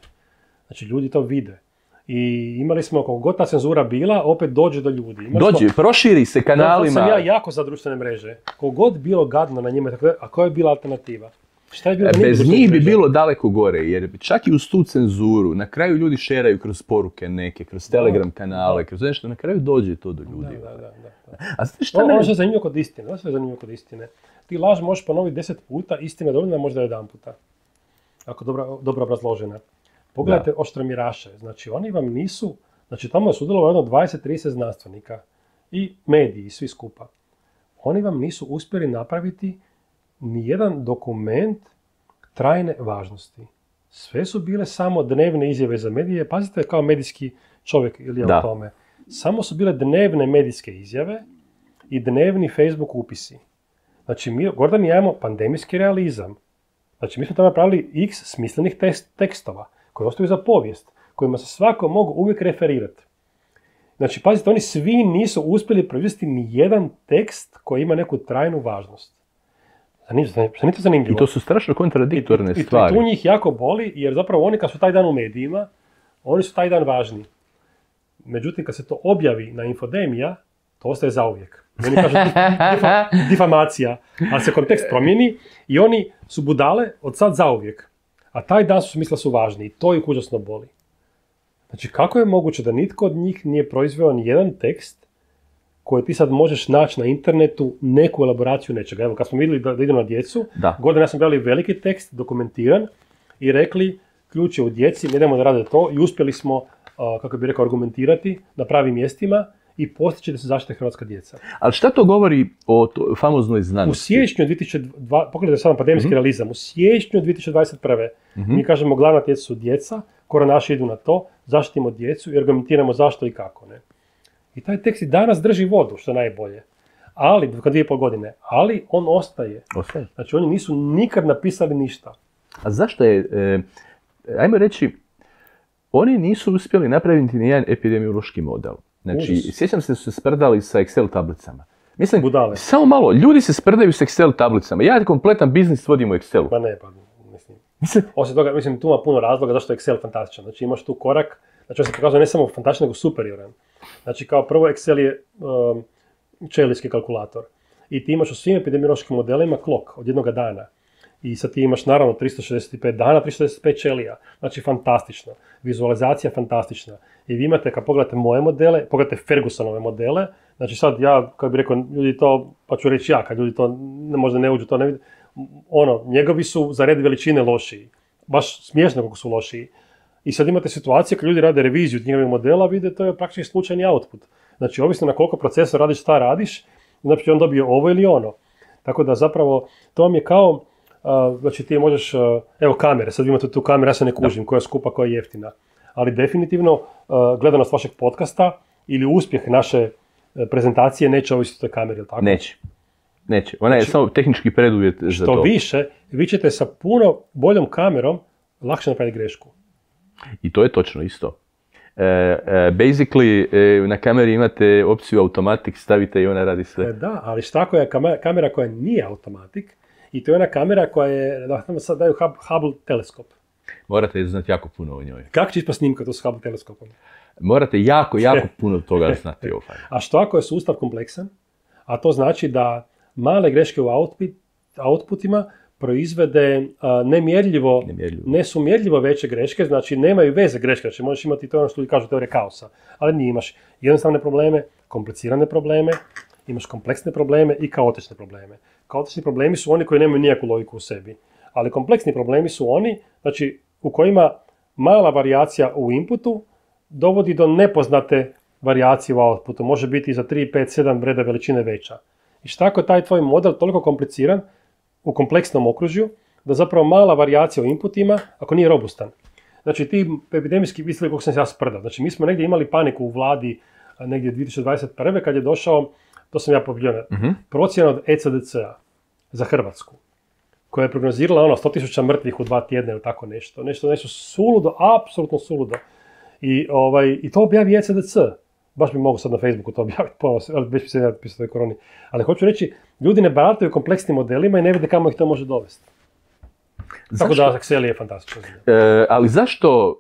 Znači, ljudi to vide. I imali smo, koliko god ta cenzura bila, opet dođe do ljudi. Proširi se kanalima. Sam ja jako za društvene mreže. Koliko god bilo gadno na njima, a koja je bila alternativa? Šta je bilo bez njih bi bilo daleko gore, jer čak i uz tu cenzuru, na kraju ljudi šeraju kroz poruke neke, kroz Telegram kanale, kroz nešto, na kraju dođe to do ljudi. Da. A znate šta ono što je zanimljivo kod istine. Ti laž možeš ponoviti 10 puta, istina je dovoljna možda 1 puta. Ako dobro obrazložena. Pogledajte oštromiraše, znači oni vam nisu, znači tamo je sudjelovalo 20-30 znanstvenika i mediji, svi skupa. Oni vam nisu uspjeli napraviti nijedan dokument trajne važnosti. Sve su bile samo dnevne izjave za medije, pazite kao medijski čovjek ili o tome. Samo su bile dnevne medijske izjave i dnevni Facebook upisi. Znači mi, Gordan i ja imamo pandemijski realizam. Znači mi smo tamo napravili x smislenih tekstova koji ostaju za povijest, kojima se svako mogu uvijek referirati. Znači, pazite, oni svi nisu uspjeli proizvesti ni jedan tekst koji ima neku trajnu važnost. Zanimljivo. I to su strašno kontradiktorne stvari. I tu njih jako boli, jer zapravo oni kad su taj dan u medijima, oni su taj dan važni. Međutim, kad se to objavi na Infodemija, to ostaje zauvijek. Oni kažu difamacija, ali se kontekst promijeni i oni su budale od sad zauvijek. A taj dan su mislili su važni i to ih užasno boli. Znači, kako je moguće da nitko od njih nije proizveo ni jedan tekst koji ti sad možeš naći na internetu neku elaboraciju nečega. Evo, kad smo vidjeli da idemo na djecu, Gordon ja sam brali veliki tekst, dokumentiran, i rekli, ključ je u djeci, ne idemo da rade to, i uspjeli smo, kako bi rekao, argumentirati na pravim mjestima i postići da se zaštite hrvatska djeca. Ali šta to govori o famoznoj znanosti? U siječnju 2020, pogledajte sad na pandemijski realizam, u siječnju 2021. Mi kažemo glavna djeca su djeca, koronaši idu na to, zaštitimo djecu i argumentiramo zašto i kako. Ne? I taj tekst i danas drži vodu, što je najbolje. Ali, 2,5 godine, ali on ostaje. Znači oni nisu nikad napisali ništa. A zašto je, ajmo reći, oni nisu uspjeli napraviti nijedan epidemiološki model. Znači, sjećam se da su se sprdali sa Excel tablicama. Mislim, budale. Samo malo, ljudi se sprdaju s Excel tablicama. Ja kompletan biznis vodim u Excelu. Pa ne, mislim. Osim toga, mislim, tu ima puno razloga zašto je Excel fantastičan. Znači, imaš tu korak, znači on se pokazuje ne samo fantastičan, nego superioran. Znači, kao prvo, Excel je čelijski kalkulator. I ti imaš u svim epidemiološkim modelima klok od jednoga dana. I sad ti imaš naravno 365 dana, 365 ćelija. Znači, fantastično. Vizualizacija fantastična. I vi imate, kad pogledate moje modele, pogledate Fergusonove modele, znači sad ja, kad bih rekao, ljudi to, pa ću reći ja, kad ljudi to možda ne uđu, to ne vidi, njegovi su za red veličine lošiji. Baš smiješno kako su lošiji. I sad imate situacije kad ljudi rade reviziju njegovih modela, vide, to je praktički slučajni output. Znači, ovisno na koliko procesa radiš, šta radiš, znači on dobije ovo ili ono. Tako da zapravo, to vam je kao, znači ti možeš, evo kamere, sad vi imate tu kameru, ja se ne kužim, koja je skupa, koja je jeftina. Ali definitivno gledanost vašeg podcasta ili uspjeh naše prezentacije neće ovisiti o toj kameri, ili tako? Neće. Ona je samo tehnički preduvjet za to. Što više, vi ćete sa puno boljom kamerom lakše napraviti grešku. I to je točno isto. Basically, na kameri imate opciju automatik, stavite i ona radi sve. Da, ali šta ako je kamera koja nije automatik I to je ona kamera koja je, da nam sad daju Hubble teleskop. Morate znati jako puno o njoj. Kako će ispast snimka to s Hubble teleskopom? Morate jako puno toga znati. A što ako je sustav kompleksan? A to znači da male greške u outputima proizvede nesumjerljivo veće greške, znači nemaju veze greške, znači možeš imati to ono što ljudi kažu teorije kaosa, ali nije, imaš jednostavne probleme, komplicirane probleme, imaš kompleksne probleme i kaotične probleme. Kaotični problemi su oni koji nemaju nijakvu logiku u sebi, ali kompleksni problemi su oni, znači u kojima mala varijacija u inputu dovodi do nepoznate varijacije u outputu, može biti za 3, 5, 7 reda veličine veća. I šta ako je taj tvoj model toliko kompliciran u kompleksnom okružju, da zapravo mala varijacija u inputima, ako nije robustan. Znači ti epidemijski, vidite kako sam se ja sprdao. Znači mi smo negdje imali paniku u vladi negdje 2021. kad je došao, to sam ja pobljeno, procjena od ECDC-a za Hrvatsku, koja je prognozirala 100.000 mrtvih u 2 tjedna ili tako nešto. Nešto suludo, apsolutno suludo. I to objavi ECDC. Baš bi mogu sad na Facebooku to objaviti, ali već bi se napisao toj koroni. Ali hoću reći, ljudi ne barataju kompleksnim modelima i ne vide kamo ih to može dovesti. Tako da Excel je fantastično. Ali zašto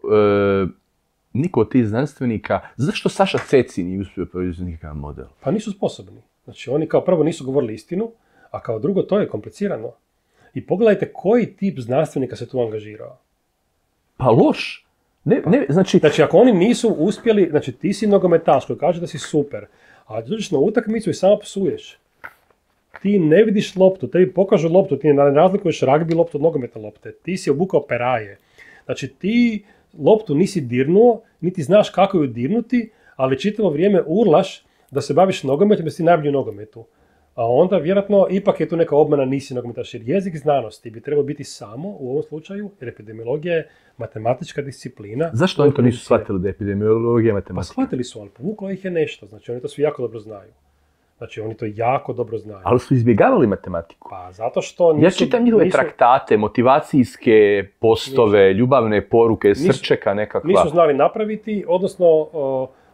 niko od tih znanstvenika, zašto Saša Ceci nije uspio proizvesti nikakav model? Pa nisu sposobni. Znači oni kao prvo nisu govorili istinu, a kao drugo to je komplicirano. I pogledajte koji tip znanstvenika se tu angažirao. Pa loš. Znači, ako oni nisu uspjeli, znači ti si nogometaš koji kaže da si super, a dođeš na utakmicu i samo psuješ. Ti ne vidiš loptu, tebi pokažu loptu, ti ne razlikuješ ragbi loptu od nogometne lopte, ti si obukao peraje. Znači ti loptu nisi dirnuo, niti znaš kako ju dirnuti, ali čitavo vrijeme urlaš da se baviš nogometom, da si najbolji u nogometu. A onda vjerojatno ipak je tu neka obmana, nisi nogometaš, jer jezik znanosti bi trebao biti samo u ovom slučaju, jer epidemiologija je matematička disciplina. Zašto oni to nisu shvatili da je epidemiologija matematika? Pa shvatili su, ali povuklo ih je nešto, znači oni to svi jako dobro znaju. Znači oni to jako dobro znaju. Ali su izbjegavali matematiku. Pa zato što nisu... Ja čitam njihove traktate, motivacijske postove, ljubavne poruke, srčeka nekakva. Nisu znali napraviti, odnosno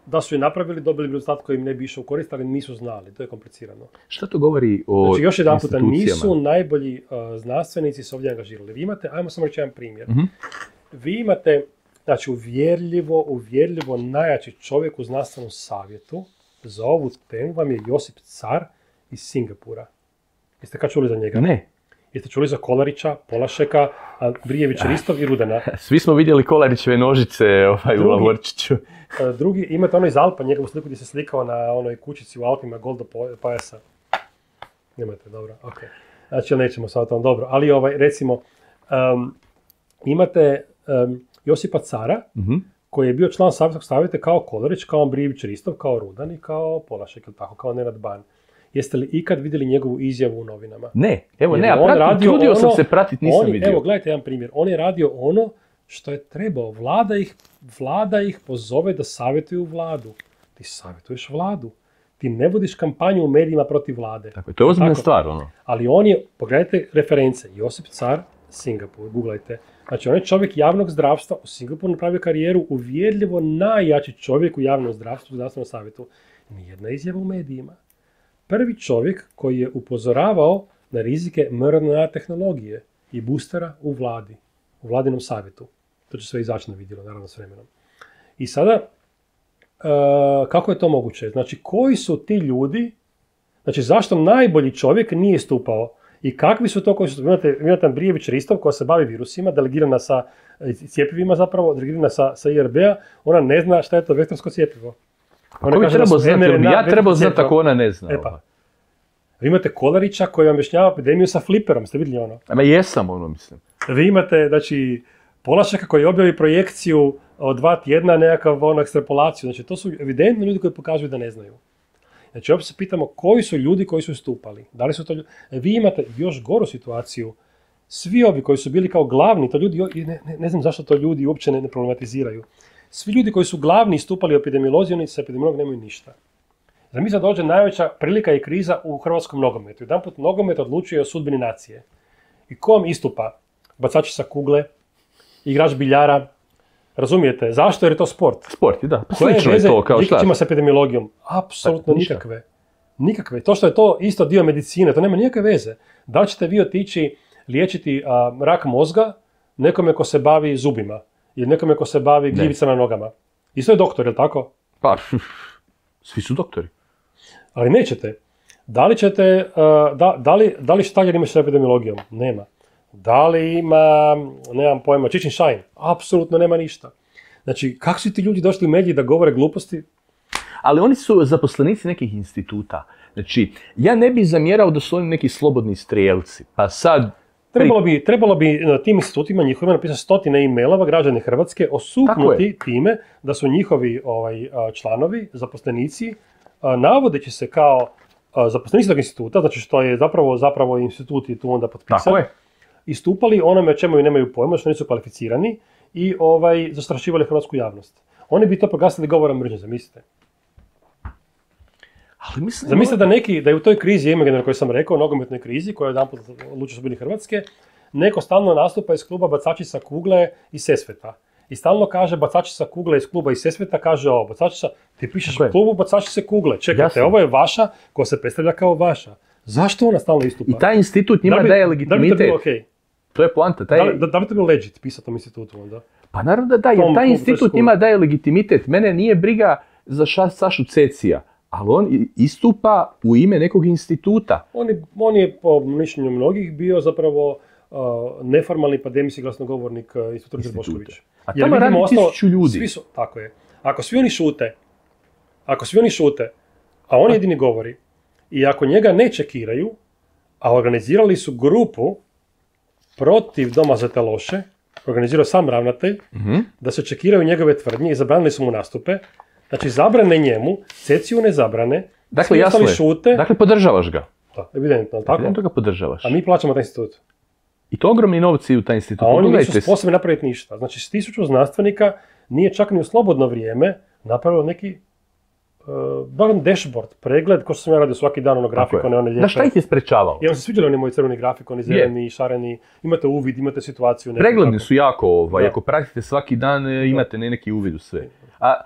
da su je napravili, dobili bi rezultat koji im ne bi išao u korist, ali nisu znali, to je komplicirano. Što to govori o znači, još jedan puta, nisu najbolji znanstvenici se ovdje angažirali. Vi imate, ajmo samo reći jedan primjer. Vi imate, znači uvjerljivo najjači čovjek u znanstvenom savjetu za ovu temu vam je Josip Car iz Singapura. Jeste kad čuli za njega? Ne. Jeste čuli za Kolarića, Polašeka, Andrijevića, Ristov i Rudena? Svi smo vidjeli Kolarićeve nožice u Lavorčiću. Drugi, imate ono iz Alpa, njegovu sliku gdje se slikao na onoj kućici u Alpima, gol do pojasa. Nemate, dobro, ok. Znači, nećemo sad o tom, dobro. Ali recimo, imate Josipa Cara, koji je bio član savjetskog savjeta kao Kolarić, kao Andrijević, Ristov, kao Rudan i kao Polašek, ili tako, kao Nenad Ban. Jeste li ikad vidjeli njegovu izjavu u novinama? Ne, evo ne, a trudio sam se pratiti, nisam vidio. Evo, gledajte jedan primjer. On je radio ono što je trebao. Vlada ih pozove da savjetuju vladu. Ti savjetuješ vladu. Ti ne vodiš kampanju u medijima protiv vlade. Tako, to je ozbiljna stvar, ono. Ali on je, pogledajte reference, Josip Car, Singapur, googlajte. Znači, on je čovjek javnog zdravstva, u Singapuru napravio karijeru, uvjerljivo najjači čovjek u javnom zdravstvu, u zdravstvenom savjetu. Nijedna izjava u medijima. Prvi čovjek koji je upozoravao na rizike mRNA tehnologije i boostera u vladi, u vladinom savjetu. To će sve izaći na vidjelo, naravno s vremenom. I sada, kako je to moguće? Znači, koji su ti ljudi, znači zašto najbolji čovjek nije stupao i kakvi su to koji su, imate Andrijević Ristov koja se bavi virusima, delegirana sa cjepivima zapravo, delegirana sa IRB-a, ona ne zna šta je to vektorsko cjepivo. Ko bi trebao znati? Ja trebao znati ako ona ne zna. Vi imate Kolarića koji vam objašnjava epidemiju sa fliperom, ste vidjeli ono? Ma jesam ono, mislim. Vi imate, znači, Polašeka koji objavi projekciju od 2 tjedna, nekakav ekstrapolaciju. Znači, to su evidentni ljudi koji pokazuju da ne znaju. Znači, opet se pitamo koji su ljudi koji su stupali. Da li su to ljudi? Vi imate još goru situaciju. Svi ovi koji su bili kao glavni, to ljudi, ne znam zašto to ljudi uopće ne problematiziraju. Svi ljudi koji su glavni stupali u epidemiolozi, oni sa epidemiolog nemaju ništa. Zamisli da dođe najveća prilika i kriza u hrvatskom nogometu. Jedanput nogomet odlučuje o sudbini nacije. I ko vam istupa? Bacači sa kugle, igrač biljara. Razumijete? Zašto? Jer je to sport. Sport, da. Slično je to kao šta? Koje veze sa epidemiologijom? Apsolutno nikakve. Nikakve. To što je to isto dio medicine, to nema nikakve veze. Da li ćete vi otići liječiti rak mozga nekome ko se bavi zubima ili nekome ko se bavi gljivicama na nogama? Isto je doktor, je li tako? Pa, svi su doktori. Ali nećete. Da li ćete, da li štaljer ima s epidemiologijom? Nema. Da li ima, nemam pojma, Čičin Šajn? Apsolutno nema ništa. Znači, kako su ti ljudi došli u mediji da govore gluposti? Ali oni su zaposlenici nekih instituta. Znači, ja ne bih zamjerao da su oni neki slobodni strijelci. Pa sad... Trebalo bi na tim institutima njihovima napisati 100 e-mailova građani Hrvatske osupnuti time da su njihovi članovi, zaposlenici, navodeći se kao zaposlenici tog instituta, znači što je zapravo institut je tu onda potpisan, istupali onome o čemu nemaju pojma, što nisu kvalificirani i zastrašivali hrvatsku javnost. Oni bi to proglasili govorom mržnje, zamislite. Zamislite da je u toj krizi Imaginer koju sam rekao, nogometnoj krizi, koja je jedanput odlučio su bili Hrvatske, neko stalno nastupa iz kluba bacači sa kugle iz Sesveta. I stalno kaže bacači sa kugle iz kluba iz Sesveta, kaže ovo, bacači sa, ti pišeš u klubu bacači se kugle. Čekajte, ovo je vaša koja se predstavlja kao vaša. Zašto ona stalno istupa? I taj institut njima daje legitimitet. Da bi to bilo okej? To je poanta. Da bi to bilo legit pisati tom institutu onda? Pa naravno da, jer taj institut njima daje legitimitet. Mene nije briga za Sašu Cecija. Ali on istupa u ime nekog instituta. On je po mišljenju mnogih bio zapravo neformalni pandemijski glasnogovornik Instituta Ruđer Bošković. A tamo radi 1000 ljudi. Tako je. Ako svi oni šute, a on jedini govori, i ako njega ne čekiraju, a organizirali su grupu protiv Doma za te loše, organizirao sam ravnatelj, da se čekiraju njegove tvrdnje i zabranili su mu nastupe. Znači, zabrane njemu, Ceciju ne zabrane, dakle, jasno je. Šute. Dakle, podržavaš ga. Da, evidentno, tako? Evidentno ga podržavaš. A mi plaćamo taj institut. I to ogromni novci u taj institut. A oni nisu sposobni napraviti ništa. Znači, s 1000 znanstvenika nije čak ni u slobodno vrijeme napravilo neki dashboard, pregled, ko što sam ja radio svaki dan, ono grafikone, one lijepe. Da, šta ih je sprečavalo? I vam se sviđali oni moji crveni grafikoni, zeleni, šareni, imate uvid, imate situaciju. Pregledni su jako, ako pratite svaki dan, imate neki uvid u sve. A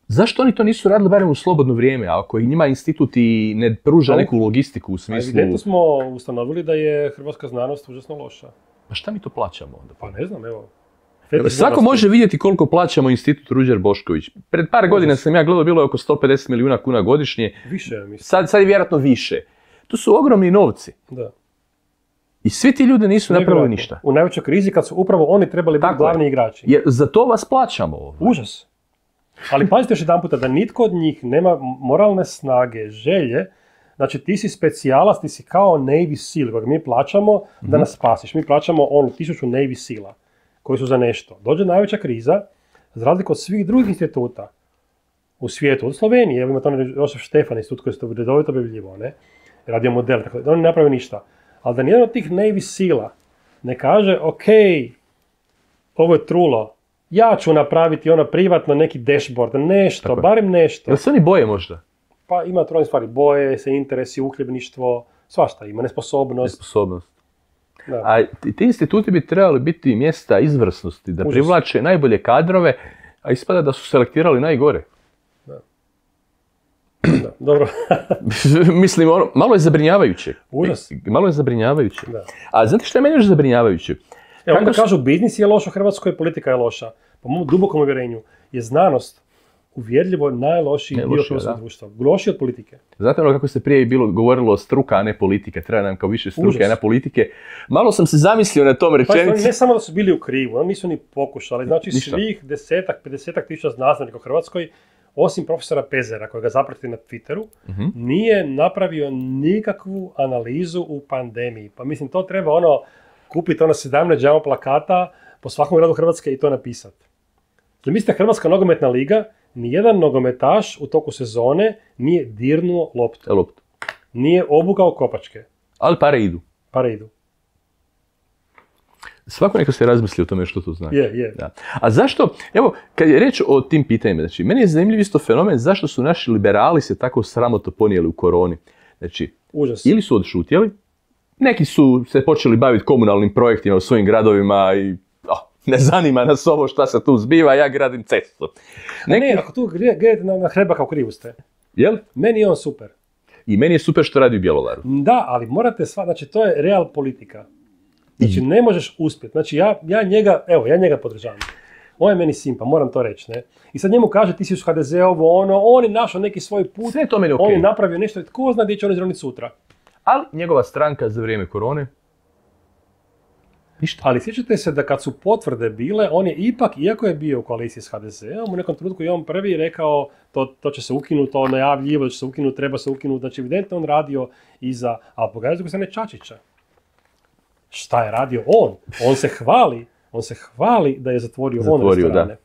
zašto oni to nisu radili barem u slobodno vrijeme, ako njima institut i ne pruža neku logistiku u smislu... Evidentno smo ustanovili da je hrvatska znanost užasno loša. Pa šta mi to plaćamo onda? Pa ne znam, evo. Svako može vidjeti koliko plaćamo institut Ruđer Bošković. Pred par godina sam ja gledao, bilo je oko 150 milijuna kuna godišnje. Više, mislim. Sad je vjerojatno više. To su ogromni novci. Da. I svi ti ljudi nisu napravili ništa. U najvećoj krizi kad su upravo oni trebali biti glavni igrači. Jer za to vas plaćamo. Užas. Ali pazite još jedan puta da nitko od njih nema moralne snage, želje. Znači ti si specijalac, ti si kao Navy Seal, kojeg mi plaćamo da nas spasiš. Mi plaćamo 1000 Navy Seala koji su za nešto. Dođe najveća kriza, za razliku od svih drugih instituta u svijetu, od Slovenije, evo imate onaj Josef Štefan institut koji se redovito objavljivao, radio model, tako da oni ne naprave ništa. Ali da nijedan od tih Navy Seala ne kaže, ok, ovo je trulo, ja ću napraviti privatno neki dashboard, nešto, tako, barem nešto. Jel se oni boje možda? Pa ima trojne stvari, boje se, interesi, uhljebništvo, svašta ima, nesposobnost. Da. A ti instituti bi trebali biti mjesta izvrsnosti, da privlače najbolje kadrove, a ispada da su selektirali najgore. Da, dobro. Mislim, malo je zabrinjavajuće. Užas. Malo je zabrinjavajuće. Da. A znate što je meni još zabrinjavajuće? Evo, onda kažu biznis je loš u Hrvatskoj, politika je loša. Po mom dubokom uvjerenju je znanost uvjerljivo najlošiji dio hrvatskog društva. Lošiji od politike. Znate kako se prije govorilo govorilo a ne politika, treba nam kao više struke, a ne politike. Malo sam se zamislio na tom rečenici. Pa, ne samo da su bili u krivu, oni nisu ni pokušali. Znači svih 10-50 tisuća znanstvenika u Hrvatskoj, osim profesora Pezera, kojega zapratite na Twitteru, nije napravio nikakvu analizu u pandemiji. Pa mislim, to treba kupiti 17 džamo plakata po svakom gradu Hrvatske i to napisati. Zamislite, Hrvatska nogometna liga, nijedan nogometaš u toku sezone nije dirnuo loptu. Nije obukao kopačke. Ali pare idu. Svako neka se razmisli o tome što to znači. Je. Da. A zašto, evo, kad je reč o tim pitanjima, znači, meni je zanimljiv isto fenomen zašto su naši liberali se tako sramotno ponijeli u koroni. Znači, užas. Ili su odšutjeli, neki su se počeli baviti komunalnim projektima u svojim gradovima i ne zanima nas ovo šta se tu zbiva, ja gradim cestu. Ne, ako tu gledate na Hrebaka u krivu ste. Jel? Meni je on super. I meni je super što radi u Bjelovaru. Da, ali morate znači to je real politika. Znači ne možeš uspjeti. Znači ja njega podržavam. On je meni simpa, moram to reći, ne. I sad njemu kaže ti si uz HDZ-ovo, on je našao neki svoj put, sve je to meni on je napravio nešto i tko zna gdje će on izroniti sutra. Ali njegova stranka za vrijeme korone, ništa. Ali sjećate se da kad su potvrde bile, on je ipak, iako je bio u koaliciji s HDZ-om, u nekom trenutku je on prvi rekao to će se ukinuti, to najavljivo da će se ukinuti, treba se ukinuti, znači evidentno on radio iza, ali pogledajte s druge strane Čačića. Šta je radio on? On se hvali da je zatvorio restorane. Da.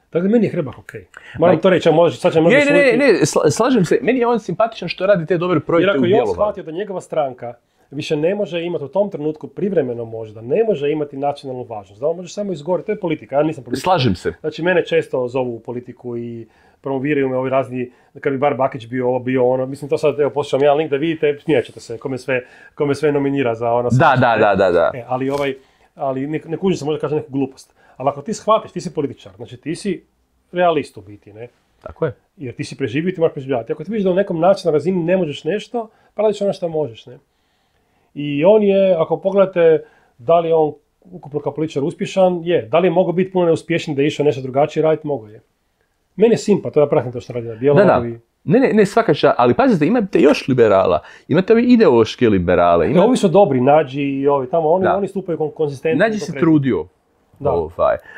Tako da meni je Hrebak okej. Moram to reći, sad će možda Ne, slažem se. Meni je on simpatičan što radi te dobre projekte u Bjelovaru. Jer ako je on shvatio da njegova stranka više ne može imati u tom trenutku privremeno možda, ne može imati nacionalnu važnost, da on može samo izgoriti, to je politika, ja nisam politika. Slažem se. Znači mene često zovu u politiku i promoviraju me ovi razni, kad bi bar Bakić bio ovo, bio ono, mislim to sad, evo poslušam jedan link da vidite, smijat ćete se, kome sve nominira za ono. Da. Ali ne kužim se, možda kažem neku glupost. Ali ako ti shvatiš, ti si političar, znači ti si realist u biti, ne? Tako je. Jer ti si preživio i ti moraš preživljavati. Ako ti vidiš da u nekom načinu na razini ne možeš nešto, pa radiš ono što možeš, ne? I on je, ako pogledate, da li je on ukupno kao političar uspješan, je. Da li je mogao biti puno neuspješan da je išao nešto drugačije raditi, mogo je. Meni je simpa, to ja pratim to što radi na Bjelovaru. Da. Ne, svaka čast, ali pazite, imate još liberala, imate ovi ideološke liberale. Ovi su dobri, Nađi i ovi tamo, oni stupaju konzistentno. Nađi se trudio. Da.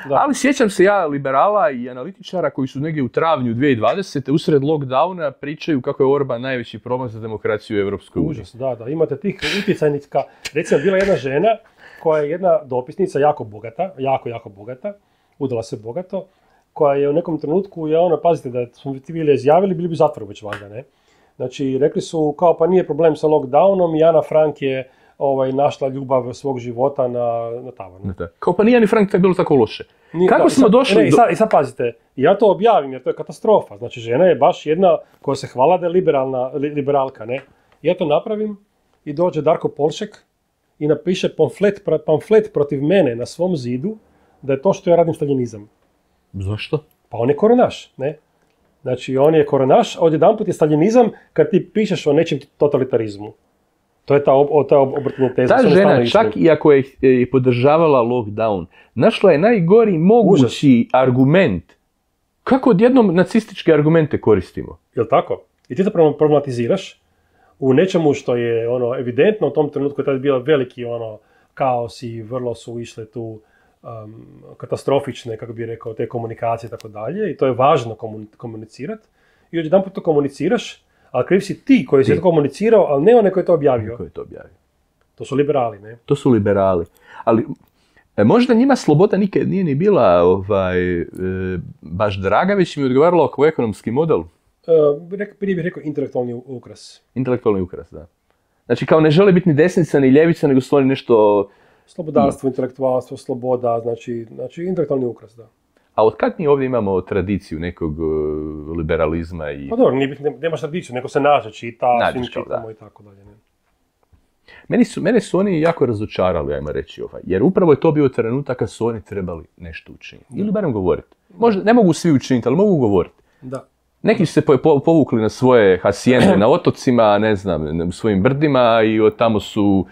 Ali sjećam se ja liberala i analitičara koji su negdje u travnju 2020. usred lockdowna pričaju kako je Orban najveći problem za demokraciju u Europskoj uniji. Užas, da, imate tih utjecajnika. Recimo, bila jedna žena koja je jedna dopisnica, jako bogata, udala se bogato, koja je u nekom trenutku, pazite da smo ti bili izjavili, bili bi zatvoru već valjda, ne? Znači, rekli su kao pa nije problem sa lockdownom i Ana Frank je našla ljubav svog života na tavanju. Kao pa nije ni Frank bilo tako loše. Kako smo došli I sad pazite, ja to objavim jer to je katastrofa. Znači žena je baš jedna koja se hvala da je liberalka, ne? Ja to napravim i dođe Darko Polšek i napiše pamflet protiv mene na svom zidu da je to što ja radim staljinizam. Zašto? Pa on je koronaš, ne? Znači on je koronaš, a odjedanput je staljinizam kad ti pišeš o nečem totalitarizmu. To je ta obrtna teza. Ta žena, čak i ako je podržavala lockdown, našla je najgori mogući argument. Kako odjednom nacističke argumente koristimo? Jel' tako? I ti to problematiziraš u nečemu što je evidentno u tom trenutku je tada bio veliki kaos i vrlo su išle tu katastrofične, kako bi rekao, te komunikacije i tako dalje. I to je važno komunicirati. I odjedanput to komuniciraš, ali kriv si ti koji si to komunicirao, ali ne onaj koji je to objavio. To su liberali, ne? To su liberali. Ali možda njima sloboda nikad nije ni bila baš draga, već im je odgovaralo kao ekonomski model. Prije bih rekao intelektualni ukras. Intelektualni ukras, da. Znači kao ne žele biti ni desnica ni ljevica, nego stvari nešto... Slobodarstvo, intelektualstvo, sloboda, znači intelektualni ukras, da. A od kad mi ovdje imamo tradiciju nekog liberalizma i... Pa dobro, nemaš tradiciju, neko se nađe, čita, svim čitamo i tako dalje. Ne? Mene su oni jako razočarali, ajmo reći, jer upravo je to bio trenutak kad su oni trebali nešto učiniti. Ili barem govoriti. Možda ne mogu svi učiniti, ali mogu govoriti. Da. Neki su se povukli na svoje hasijende na otocima, ne znam, u svojim brdima i od tamo su...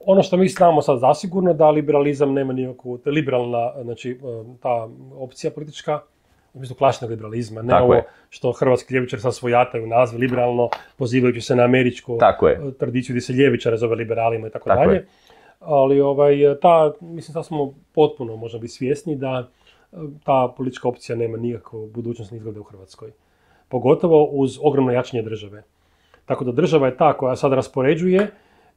Ono što mi znamo sad zasigurno da liberalizam nema nikakvu, liberalna, znači ta opcija politička, u smislu klasičnog liberalizma, ne ovo što hrvatski ljevičari sad svojataju naziv liberalno, pozivajući se na američku tradiciju gdje se ljevičare zove liberalima i tako dalje. Ali mislim da smo potpuno možda biti svjesni da ta politička opcija nema nikakvu budućnost ni izgleda u Hrvatskoj. Pogotovo uz ogromno jačanje države. Tako da država je ta koja sad raspoređuje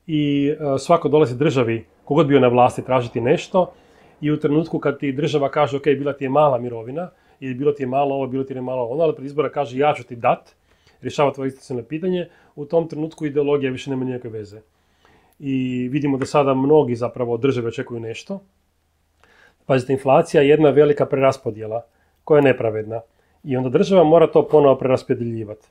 i svako dolazi državi, kogod bio na vlasti, tražiti nešto i u trenutku kad ti država kaže ok, bila ti je mala mirovina ili bilo ti je malo ovo, bilo ti je malo ono, ali pred izbora kaže ja ću ti dat, rješava tvoje institucionalno pitanje, u tom trenutku ideologija više nema nikakve veze. I vidimo da sada mnogi zapravo države očekuju nešto. Pazite, inflacija je jedna velika preraspodjela koja je nepravedna i onda država mora to ponovo preraspodjeljivati.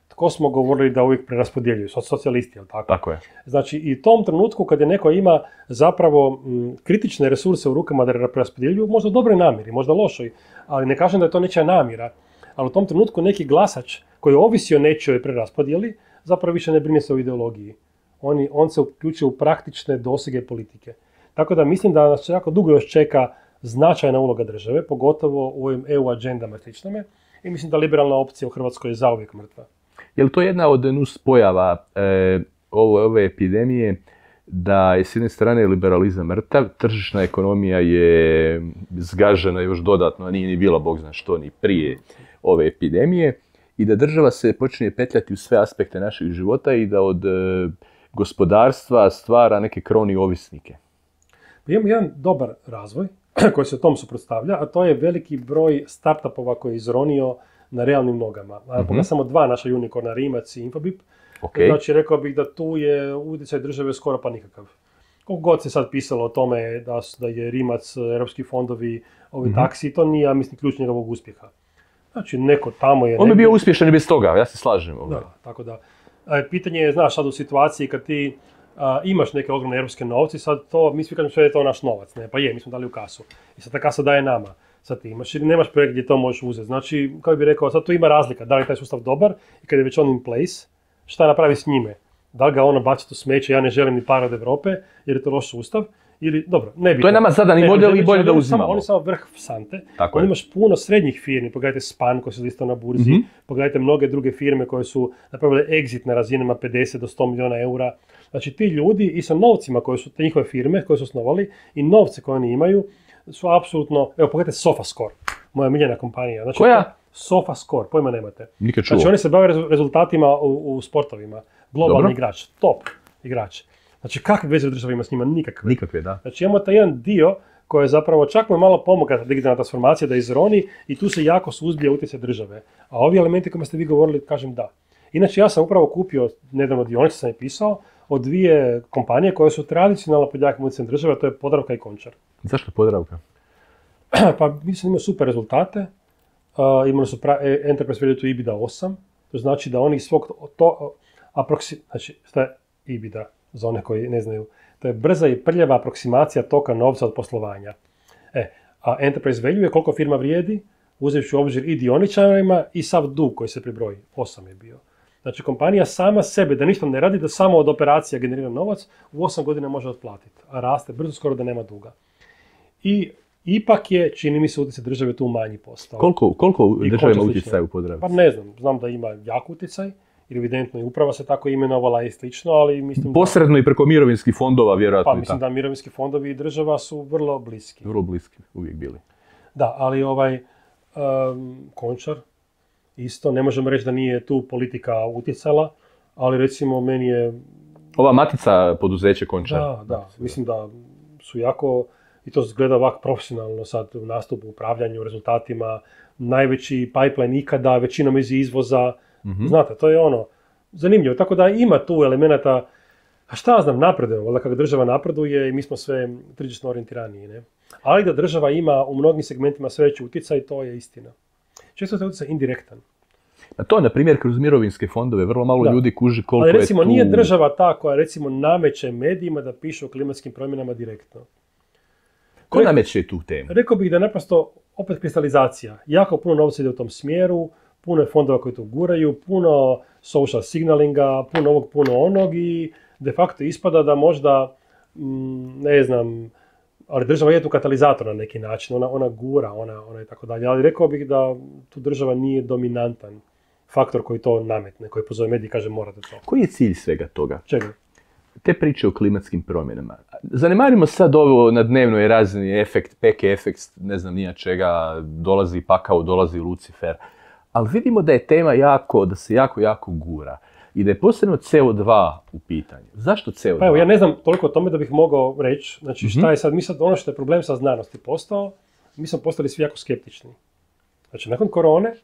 Tko smo govorili da uvijek preraspodjeljuju? Socijalisti, jel tako? Tako je. Znači, i u tom trenutku kad je neko ima zapravo kritične resurse u rukama da preraspodjeljuju, možda u dobroj namjeri, možda lošoj, ali ne kažem da je to nečija namjera, ali u tom trenutku neki glasač koji ovisi o nečijoj preraspodjeli, zapravo više ne brine se o ideologiji. On se uključuje u praktične dosege politike. Tako da mislim da nas jako dugo još čeka značajna uloga države, pogotovo u ovim EU agendama sličnome, i mislim da liberalna opcija u Hrvatskoj je zauvijek mrtva. Je li to jedna od nuspojava ove epidemije, da je s jedne strane liberalizam mrtav, tržišna ekonomija je zgažena još dodatno, a nije ni bila bog zna što ni prije ove epidemije, i da država se počne petljati u sve aspekte naših života i da od gospodarstva stvara neke kroni ovisnike? Imamo jedan dobar razvoj koji se tom suprotstavlja, a to je veliki broj startupova koji je izronio na realnim nogama. Pogledaj samo dva naša unikorna, Rimac i Infobip. Okay. Znači, rekao bih da tu je utjecaj države skoro pa nikakav. Koliko god se sad pisalo o tome da je Rimac, europski fondovi, ovi taksi, to nije, ja mislim, ključ njegovog uspjeha. Znači, neko tamo je... On bi bio uspješan i bez toga, ja se slažem. Da, tako da. Pitanje je, znaš, sad u situaciji kad ti imaš neke ogromne europske novce, sad to, mi svi kažemo sve je to naš novac, ne? Pa je, mi smo dali u kasu. I sad ta kasa daje nama. Sad ti imaš ili nemaš projekt gdje to možeš uzeti. Znači, kao bi rekao, sad tu ima razlika. Da li je taj sustav dobar i kad je već on in place, šta napravi s njime? Da li ga ono baciti u smeće, ja ne želim ni par od Europe, jer je to loš sustav, ili, dobro, ne bi. To je nama zadani model i bolje da uzimamo. On je samo vrh sante. On imaš puno srednjih firmi, pogledajte Span koji se listao na burzi, pogledajte mnoge druge firme koje su napravile exit na razinama 50 do 100 milijuna eura. Znači ti ljudi i sa novcima koje su te njihove firme koje su osnovali i novce koje oni imaju su apsolutno, evo pogledajte SofaScore, moja miljena kompanija. Znači, koja? SofaScore, pojma nemate. Nikad čuo. Znači oni se bave rezultatima u sportovima. Globalni igrač, top igrač. Znači kakve veze država ima s njima? Nikakve. Nikakve, da. Znači imamo taj jedan dio koji je zapravo čak mu je malo pomogla digitalna transformacija da izroni i tu se jako suzbija utjecaj države. A ovi elementi kojima ste vi govorili, kažem da. Inače ja sam upravo kupio, nedavno dionice sam je pisao, od dvije kompanije koje su tradicionalno pod jakim utjecajem države, a to je Podravka i Končar. Zašto Podravka? Pa mislim imaju super rezultate. Imali su Enterprise Value to EBITDA 8, to znači da oni svog znači šta je EBITDA za one koji ne znaju, to je brza i prljava aproksimacija toka novca od poslovanja. A Enterprise Value je koliko firma vrijedi, uzevši u obzir i dioničarima i sav dug koji se pribroji, 8 je bio. Znači kompanija sama sebe, da ništa ne radi, da samo od operacija generira novac, u 8 godina može otplatiti, a raste brzo skoro da nema duga. I ipak je, čini mi se, utjecaj države tu manji postao. Koliko država ima utjecaj u Podravci? Pa ne znam da ima jak utjecaj, jer evidentno i uprava se tako imenovala i slično, ali mislim... Posredno i preko mirovinskih fondova, vjerojatno. Pa mislim da mirovinski fondovi i država su vrlo bliski. Vrlo bliski, uvijek bili. Da, ali Končar, isto, ne možemo reći da nije tu politika utjecala, ali recimo meni je... Ova matica poduzeće Končar. Da, mislim da su jako... I to gleda ovako profesionalno sad u nastupu, upravljanju, rezultatima, najveći pipeline ikada, većinom iz izvoza. Znate, to je ono zanimljivo. Tako da ima tu elemenata, a šta ja znam, napredujemo, valjda kako država napreduje i mi smo sve tržišno orijentiraniji, ne? Ali da država ima u mnogim segmentima sve veći utjecaj, to je istina. Često je utjecaj indirektan. A to, na primjer, kroz mirovinske fondove, vrlo malo ljudi kuži koliko je tu... Ali recimo, nije država ta koja recimo nameće medijima da pišu o klimatskim promjenama direktno. Ko nameće tu temu? Rekao bih da naprosto, opet kristalizacija. Jako puno novca ide u tom smjeru, puno je fondova koji to guraju, puno social signalinga, puno ovog, puno onog i de facto ispada da možda, ne znam, ali država je tu katalizator na neki način, ona gura, ona i tako dalje. Ali rekao bih da tu država nije dominantan faktor koji to nametne, koji pozove mediji i kaže morate to. Koji je cilj svega toga? Čega? Te priče o klimatskim promjenama. Zanemarimo sad ovo na dnevnoj razini efekt, peke efekt, ne znam nija čega, dolazi pakao, dolazi Lucifer. Ali vidimo da je tema da se jako gura. I da je posebno CO2 u pitanju. Zašto CO2? Pa evo, ja ne znam toliko o tome da bih mogao reći. Znači, šta je sad, ono što je problem sa znanosti postao, mi smo postali svi jako skeptični. Znači, nakon korone...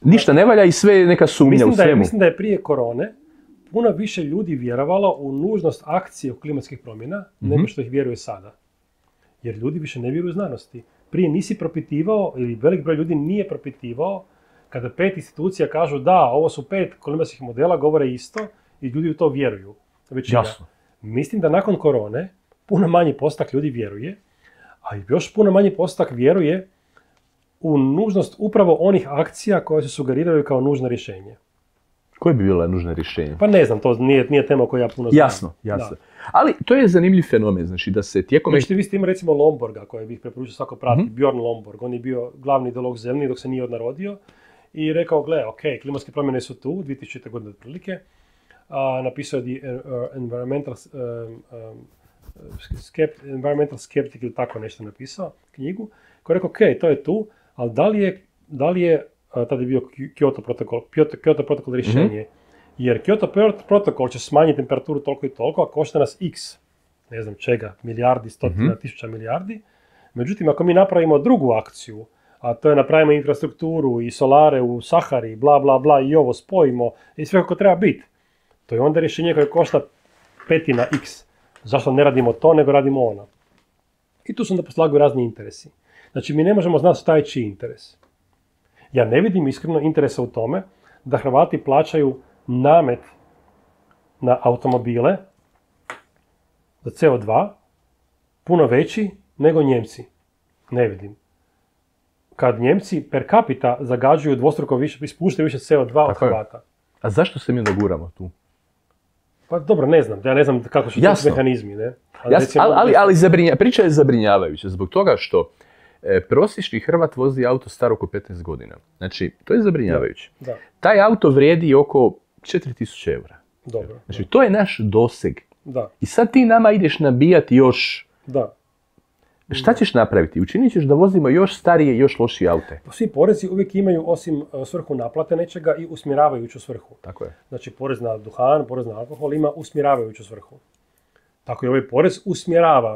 Ništa ne valja i sve je neka sumnja u svemu. Mislim da je prije korone puno više ljudi vjerovalo u nužnost akcije u klimatskih promjena nego što ih vjeruje sada. Jer ljudi više ne vjeruju znanosti. Prije nisi propitivao, ili velik broj ljudi nije propitivao, kada 5 institucija kažu da, ovo su 5 klimatskih modela, govore isto i ljudi u to vjeruju. Većina. Jasno. Mislim da nakon korone puno manji postotak ljudi vjeruje, a još puno manji postotak vjeruje u nužnost upravo onih akcija koje se sugeriraju kao nužno rješenje. Koje bi bila nužna rješenja? Pa ne znam, to nije tema koju ja puno znam. Jasno. Da. Ali to je zanimljiv fenomen, znači da se tijekom... Znači vi ste imali recimo Lomborga, koje bih preporučio svako prati, Bjorn Lomborg, on je bio glavni ideolog zeleni dok se nije odnarodio i rekao, gle, ok, klimatske promjene su tu, 2000. godine otprilike, napisao je The Environmental Skeptic ili tako nešto napisao, knjigu, koji je rekao, ok, to je tu, ali da li je tada je bio Kyoto protokol rješenje, jer Kyoto protokol će smanjiti temperaturu toliko i toliko, a košta nas x, ne znam čega, milijardi, stotina, tisuća milijardi. Međutim, ako mi napravimo drugu akciju, a to je napravimo infrastrukturu i solare u Sahari, bla, bla, bla, i ovo spojimo, i sve kako treba biti, to je onda rješenje koje košta petina x. Zašto ne radimo to, nego radimo ono? I tu su onda poslagaju razni interesi. Znači, mi ne možemo znati šta je čiji interes. Ja ne vidim iskreno interesa u tome da Hrvati plaćaju namet na automobile za CO2 puno veći nego Njemci. Ne vidim. Kad Njemci per capita zagađuju dvostruko više, ispuštaju više CO2 od Hrvata. A zašto se mi onda guramo tu? Pa dobro, ne znam. Ja ne znam kako su ti mehanizmi. Ne? Priča je zabrinjavajuća zbog toga što prosječni Hrvat vozi auto star oko 15 godina. Znači, to je zabrinjavajuće. Da. Taj auto vrijedi oko 4000 eura. Dobro. Znači, to je naš doseg. Da. I sad ti nama ideš nabijati još... Da. Šta ćeš napraviti? Učinit ćeš da vozimo još starije i još lošije aute. Svi porezi uvijek imaju, osim svrhu naplate nečega, i usmjeravajuću svrhu. Tako je. Znači, porez na duhan, porez na alkohol ima usmjeravajuću svrhu. Tako i ovaj porez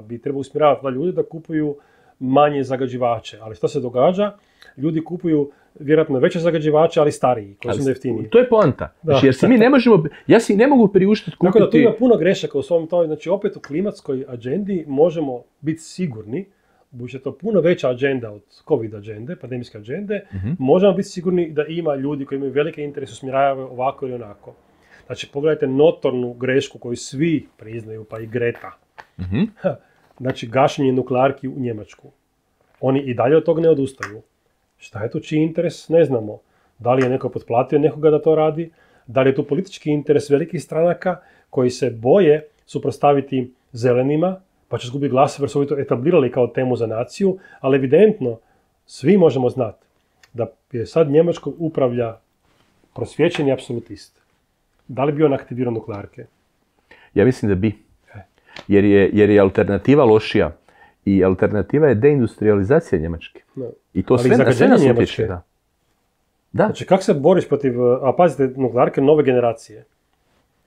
bi trebao usmjeravati da ljudi da kupuju manje zagađivače. Ali što se događa? Ljudi kupuju vjerojatno veće zagađivače, ali stariji, koji su jeftiniji. To je poanta. Znači, jer si mi ne možemo, ja si ne mogu priuštiti kupiti... Tako da tu ima puno grešaka u svom tome. Znači, opet u klimatskoj agendi možemo biti sigurni, budući je to puno veća agenda od COVID agende, pandemijske agende, možemo biti sigurni da ima ljudi koji imaju velike interese, usmjeravaju ovako ili onako. Znači, pogledajte notornu grešku koju svi priznaju, pa i Greta. Znači, gašenje nuklearki u Njemačku. Oni i dalje od toga ne odustaju. Šta je tu čiji interes? Ne znamo. Da li je neko potplatio nekoga da to radi? Da li je tu politički interes velikih stranaka koji se boje suprotstaviti zelenima, pa će izgubiti glasove jer su ovi to etablirali kao temu za naciju, ali evidentno svi možemo znati da je sad Njemačkom upravlja prosvjećeni apsolutist. Da li bi on aktivirao nuklearke? Ja mislim da bi. Jer je alternativa lošija. I alternativa je deindustrializacija Njemačke. No. I to sve nas utječe. Da. Znači, kako se boriš protiv, a pazite, nuklearke nove generacije?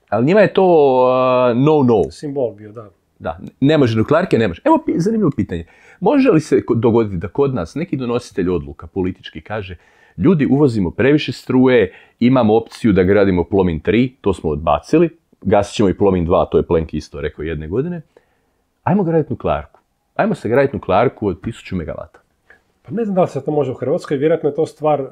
Ali njima je to no. Simbol bio, da. Da, ne može, nuklearke ne može. Evo zanimljivo pitanje. Može li se dogoditi da kod nas neki donositelj odluka politički kaže ljudi, uvozimo previše struje, imamo opciju da gradimo Plomin 3, to smo odbacili, gasit ćemo i Plomin 2, to je Plenki isto rekao jedne godine, ajmo graditi nuklearku. Ajmo se graditi nuklearku od 1000 megavata. Pa ne znam da li se to može u Hrvatskoj, vjerojatno je to stvar,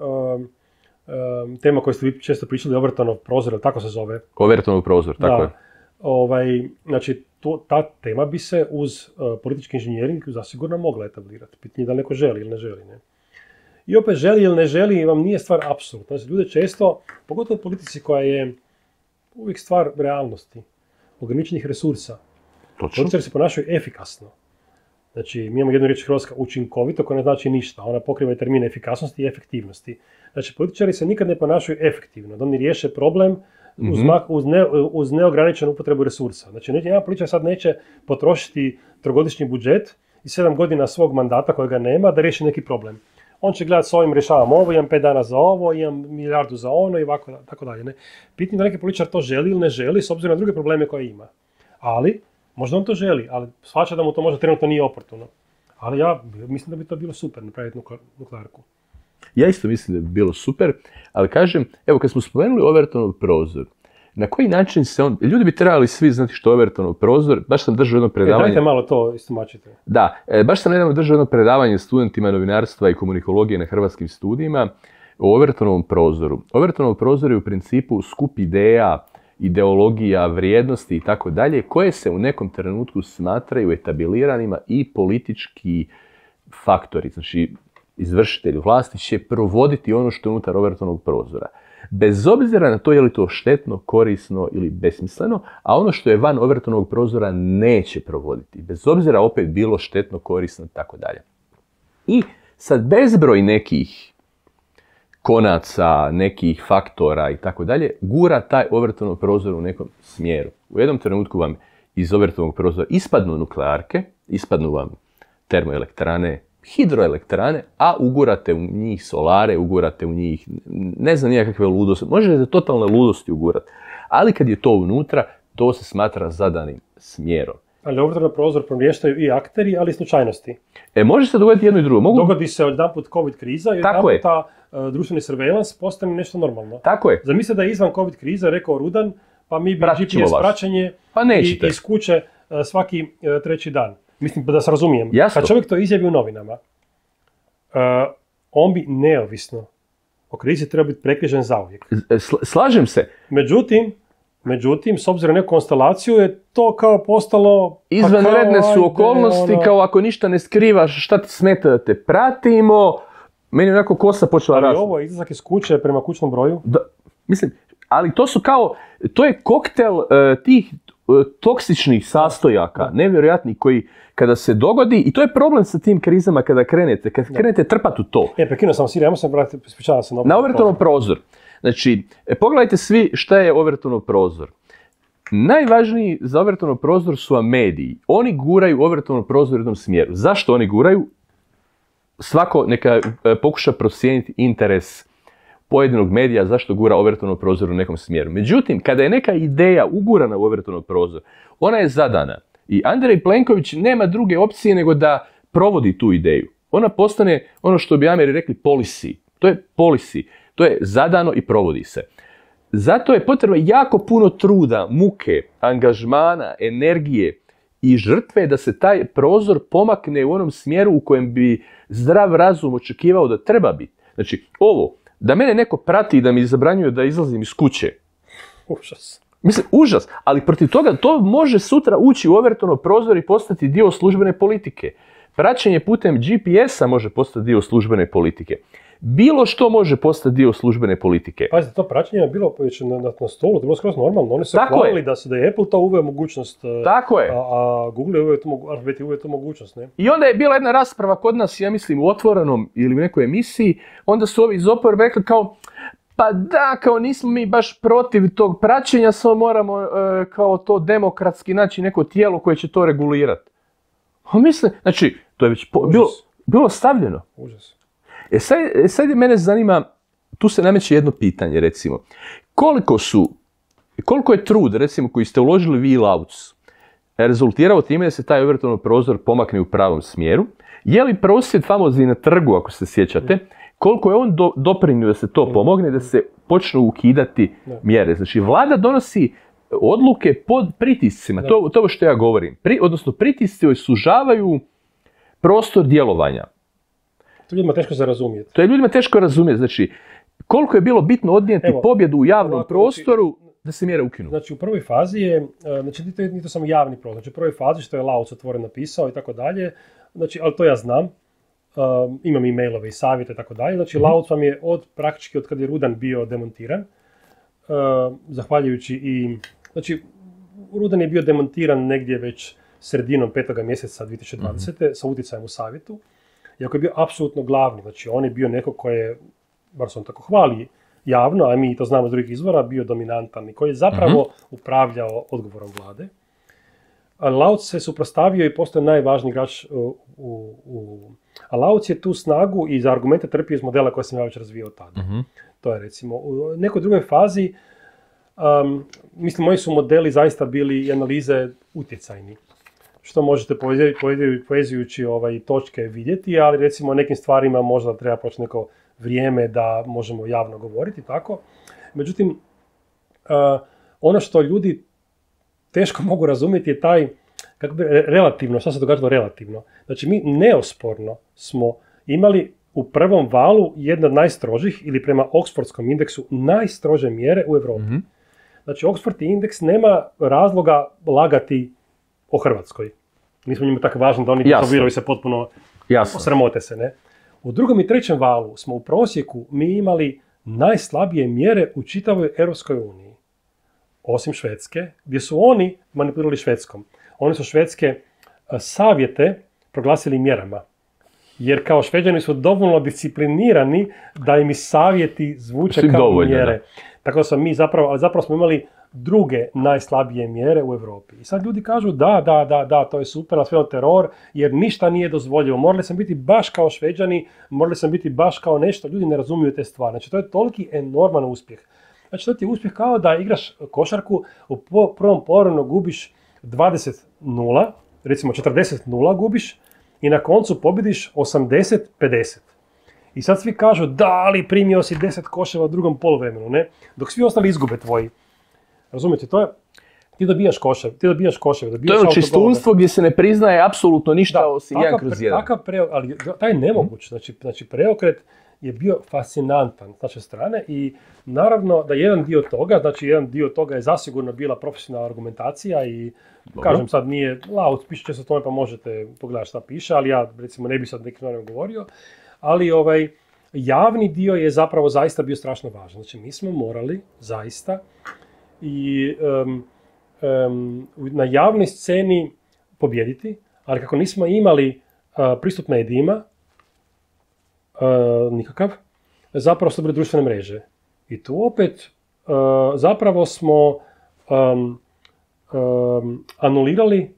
tema koju ste vi često pričali, Overtonov prozor, ili tako se zove? Overtonov prozor, tako je. Znači, ta tema bi se uz politički inženjering zasigurno mogla etablirati. Pitanje da li neko želi ili ne želi. Ne? I opet želi ili ne želi vam nije stvar apsolutna. Znači, ljude često, pogotovo u politici koja je uvijek stvar realnosti, ograničenih resursa. Političari se ponašaju efikasno. Znači, mi imamo jednu riječ hrvatska učinkovito koja ne znači ništa. Ona pokriva i termine efikasnosti i efektivnosti. Znači, političari se nikad ne ponašaju efektivno. Da oni riješe problem uz neograničenu upotrebu resursa. Znači, jedan političar sad neće potrošiti trogodišnji budžet i 7 godina svog mandata kojega nema da riješi neki problem. On će gledati s ovim rješavam ovo, imam 5 dana za ovo, imam milijardu za ono i ovako, tako dalje. Ne? Pitanje da neki političar to želi ili ne želi s obzirom na druge probleme koje ima. Ali, možda on to želi, ali shvaća da mu to možda trenutno nije oportuno. Ali ja mislim da bi to bilo super napraviti nuklearku. Ja isto mislim da bi bilo super, ali kažem, evo kad smo spomenuli Overtonov prozor, na koji način se on... Ljudi bi trebali svi znati što je Overtonov prozor, baš sam držao jedno predavanje... Dajte malo to istomačite. Da, baš sam nedavno držao jedno predavanje studentima novinarstva i komunikologije na hrvatskim studijima o Overtonovom prozoru. Overtonov prozor je u principu skup ideja, ideologija, vrijednosti i tako dalje, koje se u nekom trenutku smatraju etabliranima i politički faktori. Znači, izvršitelj vlasti će provoditi ono što je unutar Overtonovog prozora. bez obzira na to je li to štetno, korisno ili besmisleno, a ono što je van Overtonovog prozora neće provoditi, bez obzira opet bilo štetno, korisno i tako dalje. I sad bezbroj nekih konaca, nekih faktora i tako dalje, gura taj Overtonov prozor u nekom smjeru. U jednom trenutku vam iz Overtonovog prozora ispadnu nuklearke, ispadnu vam termoelektrane, hidroelektrane, a ugurate u njih solare, ugurate u njih, ne znam nijakakve ludosti, možete totalne ludosti ugurati, ali kad je to unutra, to se smatra zadanim smjerom. Ali Overtonov prozor promještaju i akteri, ali i slučajnosti. Može se dogoditi jedno i drugo. Dogodi se odjedanput COVID kriza i odjedanput ta društveni surveillance postane nešto normalno. Tako je. Zamislite da je izvan COVID kriza rekao Rudan, pa mi bi GPS praćenje iz kuće svaki treći dan. Mislim, da se razumijem. Jasno. Kad čovjek to izjavi u novinama, on bi neovisno o krizi treba biti prekrižen zauvijek. Slažem se. Međutim, s obzirom na neku konstelaciju je to kao postalo... Izvanredne su okolnosti, kao ako ništa ne skrivaš, šta ti smeta da te pratimo, meni onako kosa počela rasti. Ali ovo je izlazak iz kuće prema kućnom broju? Da, mislim, ali to je koktel tih toksičnih sastojaka, nevjerojatnih, koji kada se dogodi, i to je problem sa tim krizama kada krenete trpati u to. Prekinuo sam Sirija, se vratiti, ispričavam se na Overtonov prozor. Znači, pogledajte svi šta je Overtonov prozor. Najvažniji za Overtonov prozor su vam mediji. Oni guraju Overtonov prozor u jednom smjeru. Zašto oni guraju? Svako neka pokuša procijeniti interes pojedinog medija zašto gura Overtonov prozor u nekom smjeru. Međutim, kada je neka ideja ugurana u Overtonov prozor, ona je zadana. I Andrej Plenković nema druge opcije nego da provodi tu ideju. Ona postane ono što bi Ameri rekli policy. To je policy. To je zadano i provodi se. Zato je potrebno jako puno truda, muke, angažmana, energije i žrtve da se taj prozor pomakne u onom smjeru u kojem bi zdrav razum očekivao da treba biti. Znači, ovo, da mene neko prati i da mi zabranjuje da izlazim iz kuće. Užas. Mislim, užas, ali protiv toga to može sutra ući u Overtonov prozor i postati dio službene politike. Praćenje putem GPS-a može postati dio službene politike. Bilo što može postati dio službene politike. Pazite, to praćenje je bilo već na stolu, to je bilo skroz normalno. Oni se hvalili da je Apple to uveo mogućnost, tako je. A Google je uveo tu mogućnost. Ne? I onda je bila jedna rasprava kod nas, ja mislim, u Otvorenom ili u nekoj emisiji, onda su ovi iz oporbe rekli kao, pa da, kao nismo mi baš protiv tog praćenja, samo moramo kao to demokratski naći neko tijelo koje će to regulirati. A mislim, znači, to je već bilo stavljeno. Užas. Sad mene zanima, tu se nameće jedno pitanje, recimo. Koliko je trud, recimo, koji ste uložili vi i Lauc, rezultirao time da se taj Overtonov prozor pomakne u pravom smjeru? Je li prosvjed famozni na trgu, ako se sjećate, koliko je on doprinio da se to pomogne, da se počnu ukidati mjere? Znači, vlada donosi odluke pod pritiscima, to što ja govorim. Odnosno, pritisci sužavaju prostor djelovanja. To je ljudima teško za razumjeti. To je ljudima teško razumjeti. Znači, koliko je bilo bitno odnijeti pobjedu u javnom prostoru da se mjere ukinu. Znači, u prvoj fazi je, znači, nije to samo javni prostor. Znači, u prvoj fazi što je Lauc otvoren napisao i tako dalje, znači, ali to ja znam, imam i mailove i savjete i tako dalje. Znači, Lauc vam je praktički od kad je Rudan bio demontiran, zahvaljujući i, znači, Rudan je bio demontiran negdje već sredinom 5. mjeseca 2020. sa utjecajem u savjetu. Iako je bio apsolutno glavni, znači on je bio neko koji je, bar se on tako hvali javno, a mi to znamo iz drugih izvora, bio dominantan i koji je zapravo upravljao odgovorom vlade. A Lauc se suprotstavio i postao najvažniji igrač A Lauc je tu snagu i za argumente trpio iz modela koje sam ja već razvijao tada. To je recimo u nekoj drugoj fazi, mislim, moji su modeli zaista bili i analize utjecajni. Što možete povezujući točke vidjeti, ali recimo o nekim stvarima možda treba proći neko vrijeme da možemo javno govoriti, tako. Međutim, ono što ljudi teško mogu razumjeti je taj, kako bi relativno, što se događalo relativno. Znači, mi neosporno smo imali u prvom valu jedne od najstrožih, ili prema Oxfordskom indeksu, najstrože mjere u Europi. Znači, Oxford indeks nema razloga lagati o Hrvatskoj. Nismo njima tako važni da oni diplomiraju se potpuno sramote se, ne? U drugom i trećem valu smo u prosjeku mi imali najslabije mjere u čitavoj Europskoj uniji. Osim Švedske, gdje su oni manipulirali Švedskom. Oni su švedske savjete proglasili mjerama. Jer kao Šveđani su dovoljno disciplinirani da im i savjeti zvuče kao dovoljno, mjere. Da. Tako da smo mi zapravo smo imali druge najslabije mjere u Europi. I sad ljudi kažu da, to je super, sve on teror, jer ništa nije dozvoljivo. Morali sam biti baš kao Šveđani, morali sam biti baš kao nešto. Ljudi ne razumiju te stvari. Znači, to je toliki enorman uspjeh. Znači, to ti je uspjeh kao da igraš košarku, u prvom poluvremenu gubiš 20-0, recimo 40-0 gubiš, i na koncu pobjediš 80-50. I sad svi kažu, da, ali primio si 10 koševa u drugom poluvremenu, ne? Dok svi ostali izgube tvoji. Razumijete, to je, ti dobijaš koševe. To je čistunstvo gdje se ne priznaje apsolutno ništa osim 1/1. Ali taj je nemoguć, znači preokret je bio fascinantan s naše strane i naravno da jedan dio toga je zasigurno bila profesionalna argumentacija i kažem sad nije loud, piše će se o tome pa možete pogledati šta piše, ali ja recimo ne bi sad nekim stvarima govorio, ali javni dio je zapravo zaista bio strašno važan. Znači mi smo morali zaista i na javnoj sceni pobijediti, ali kako nismo imali pristup medijima, nikakav, zapravo su bile društvene mreže. I tu opet zapravo smo anulirali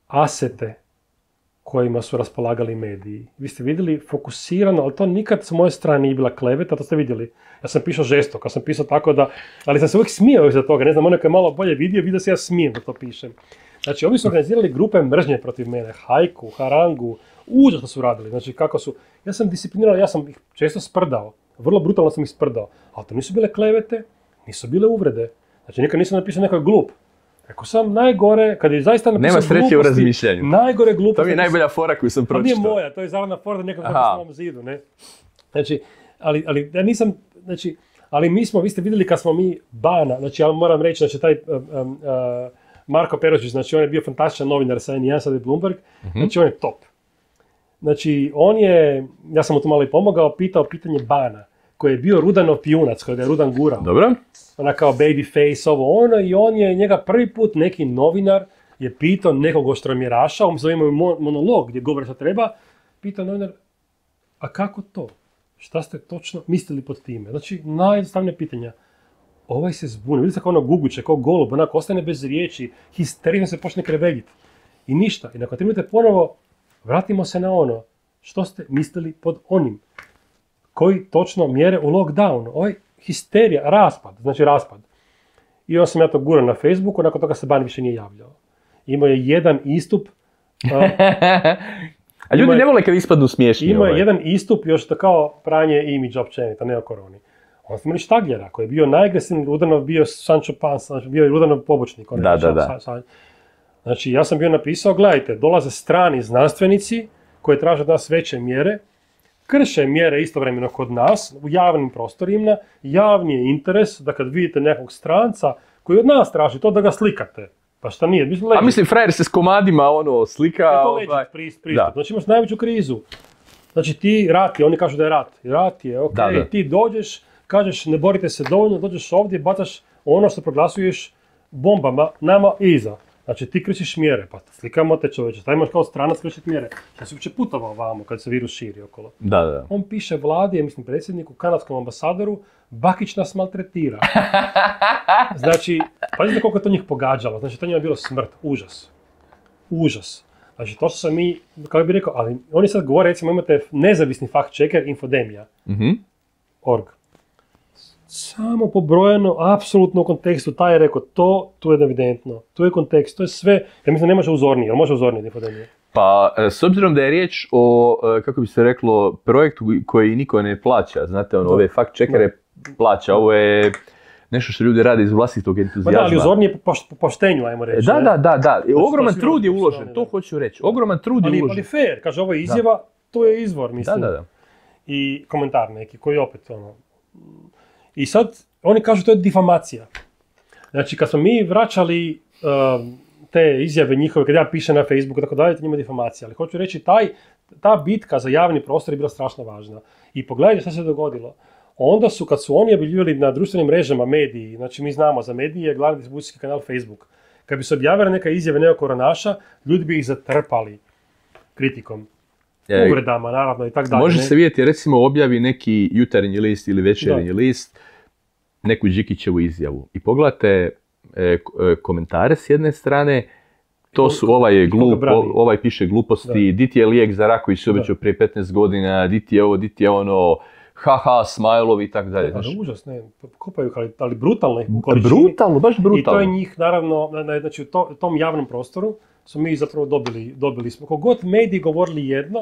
asete kojima su raspolagali mediji. Vi ste vidjeli fokusirano, ali to nikad s moje strane nije bila kleveta, to ste vidjeli. Ja sam pisao žestoko, ja sam pisao tako da, ali sam se uvijek smijao iza toga, ne znam, onaj koji je malo bolje vidio se ja smijem da to pišem. Znači, ovi su organizirali grupe mržnje protiv mene, hajku, harangu, užasno su radili, znači kako su, ja sam disciplinirao, ja sam ih često sprdao, vrlo brutalno sam ih sprdao, ali to nisu bile klevete, nisu bile uvrede, znači nikad nisam napisao neko glup. Rekao sam najgore, kad je zaista napisao gluposti, nema sreće u razmišljanju. Najgore gluposti. To mi je najbolja fora koju sam pročitao. To nije moja, to je zaradna fora da nekako na svom zidu, ne. Znači, ali ja nisam, znači, ali mi smo, vi ste vidjeli kad smo mi Bana, znači ja moram reći, znači taj Marko Perošić, znači on je bio fantastičan novinar sa N1, sad je Bloomberg, znači on je top. Znači, ja sam mu to malo i pomogao, pitao pitanje Bana, koji je bio Rudanov pijunac, kojega je Rudan gurao. Dobro. Ona kao baby face, i on je njega prvi put, neki novinar, je pitao nekog oštromjeraša, umjesto da imaju monolog gdje govore što treba, pitao novinar, a kako to? Šta ste točno mislili pod time? Znači, najjednostavnije pitanja. Ovaj se zbuni, vidite kao guguće, kao golub, onako ostane bez riječi, histerično se počne kreveljiti. I ništa. I nakon 3 minute ponovo vratimo se na ono. Što ste mislili pod onim? Koji točno mjere u lockdown? Histerija, raspad. I onda sam ja to gurao na Facebooku, nakon toga se Ban više nije javljao. Imao je jedan istup. A ljudi ne vole kad ispadnu smiješni. Imao je jedan istup, još to kao pranje imidža općenita, ne o koroni. Onda smo imali Štagljera, koji je bio najagresivniji, Rudanov bio Sancho Panza, znači bio je Rudanov pobočnik. Da. Znači, ja sam bio napisao, gledajte, dolaze strani znanstvenici koji traže od nas veće mjere, krše mjere istovremeno kod nas, u javnim prostorima, javni je interes da kad vidite nekog stranca koji od nas traži to da ga slikate. Pa šta nije? Mislim, frajer se s komadima slika. Je to legit pristup. Znači imaš najveću krizu. Znači ti rat je, oni kažu da je rat. Rat je, ok, da. Ti dođeš, kažeš ne borite se dovoljno, dođeš ovdje, bacaš ono što proglasuješ bombama nama iza. Znači ti kršiš mjere, pa slikamo te čovječe, taj imaš kao stranac kršiti mjere. Ja sam uopće putovao vamo kad se virus širi okolo. Da. On piše vladi, mislim predsjedniku, kanadskom ambasadoru, Bakić nas maltretira. Znači, pazite koliko je to njih pogađalo, znači to njima je bilo smrt, užas. Znači to što sam mi, kako bih rekao, ali oni sad govore, recimo imate nezavisni fact checker Infodemija.org. Samo pobrojeno, apsolutno u kontekstu, taj je rekao to, tu je evidentno, tu je kontekst, to je sve, ja mislim ne može uzornije, ali može uzornije Infodemija. Pa, s obzirom da je riječ o, kako bi se reklo, projektu koji niko ne plaća, znate, ove fact checkere plaća, ovo je nešto što ljudi rade iz vlastitog entuzijazma. Da, ali uzornije po poštenju, ajmo reći. Da. Ogroman trud je uložen, to hoću reći. Ogroman trud je uložen. Ali fair, kaže, ovo je izjava, to je izvor, mislim. Da. I komentar neki, koji opet, I sad, oni kažu to je difamacija. Znači, kad smo mi vraćali te izjave njihove, kad ja pišem na Facebooku, tako dalje, to njima je difamacija. Ali hoću reći, ta bitka za javni prostor je bila strašno važna. I pogledajte što se dogodilo. onda su, kad su oni objavljivali na društvenim mrežama mediji, znači mi znamo za medije, glavni distribucijski kanal Facebook, kad bi se objavila neka izjave nekog koronaša, ljudi bi ih zatrpali kritikom, uvredama, naravno, i tako dalje. Može se vidjeti, recimo, objavi neki jutarnji list ili večernji list, neku Đikićevu izjavu. I pogledate komentare s jedne strane, to su ovaj piše gluposti, di ti je lijek za rak koji se obećao prije 15 godina, di ti je ovo, di ti je ono, haha, smajlovi i tako dalje. Ali užas, ne, kopaju, ali brutalno ih u količini. Brutalno, baš brutalno. I to je njih, naravno, znači u tom javnom prostoru smo mi zapravo dobili smo. Kogod mediji govorili jedno,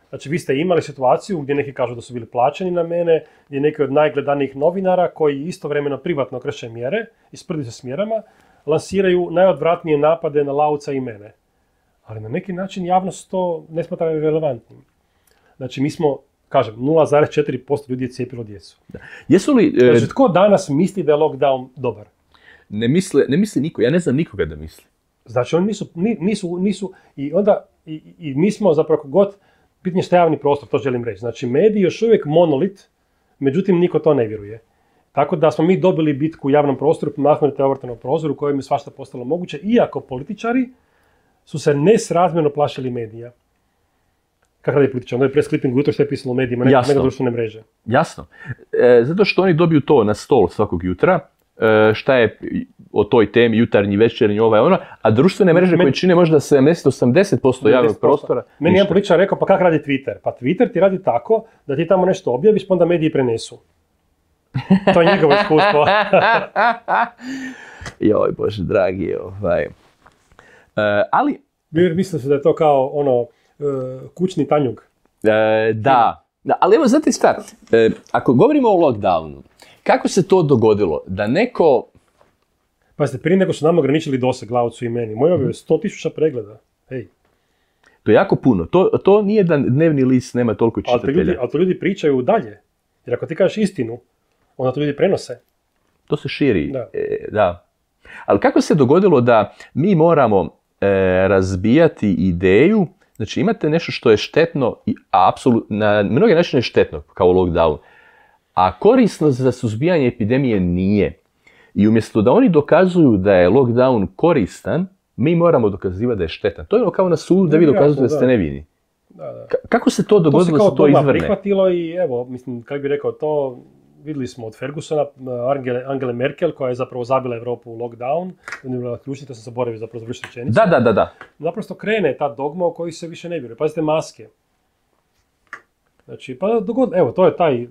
znači vi ste imali situaciju gdje neki kažu da su bili plaćeni na mene, gdje neki od najgledanijih novinara koji istovremeno privatno krše mjere i sprdi se s mjerama, lansiraju najodvratnije napade na Lauca i mene. Ali na neki način javnost to ne smatra relevantnim. Znači mi smo, kažem, 0,4% ljudi je cijepilo djecu. Da. Jesu li... Znači tko danas misli da je lockdown dobar? Ne misli niko, ja ne znam nikoga da misli. Znači oni nisu i onda, i mi smo zapravo god, pitanje što je javni prostor, to želim reći. Znači mediji još uvijek monolit, međutim niko to ne vjeruje. Tako da smo mi dobili bitku u javnom prostoru, mahnuti ovrtanom prozoru u kojem je svašta postalo moguće, iako političari su se nesrazmjerno plašili medija. Kako radi političar? Onda je press clipping ujutro što je pisalo u medijima, nego društvene mreže. Jasno. Zato što oni dobiju to na stol svakog jutra, šta je o toj temi, jutarnji, večernji, a društvene mreže koje čine možda 70-80% javnog prostora. Meni jedan političar rekao, pa kako radi Twitter? Pa Twitter ti radi tako da ti tamo nešto objaviš, pa onda mediji prenesu. To je njegovo iskustvo. Joj, Bože dragi, ali... Mislim se da je to kao kućni tanjug. Da, ali evo znate šta, ako govorimo o lockdownu, kako se to dogodilo da neko... Pazite, prije nego su nam ograničili doseg Laucu i meni, moj objave 100.000 pregleda. Hej. To je jako puno. To nije da dnevni list nema toliko čitatelja. Ali to ljudi pričaju dalje. Jer ako ti kažeš istinu, onda to ljudi prenose. To se širi. Da. Ali kako se dogodilo da mi moramo razbijati ideju, znači imate nešto što je štetno, a apsolutno, na mnoge načine je štetno, kao lockdown, a korisno za suzbijanje epidemije nije. I umjesto da oni dokazuju da je lockdown koristan, mi moramo dokazivati da je štetan. To je kao na sudu da vi dokazujete da ste nevini. Da. Kako se to dogodilo da se to izvrne? Prihvatilo i evo, mislim, kako bi rekao, to vidjeli smo od Fergusona, Angele Merkel, koja je zapravo zabila Europu u lockdown, ključni, to sam zaboravio zapravo završiti rečenicu. Da. Naprosto krene ta dogma u kojoj se više ne vjeruje. Pazite, maske. Znači, evo, to je taj,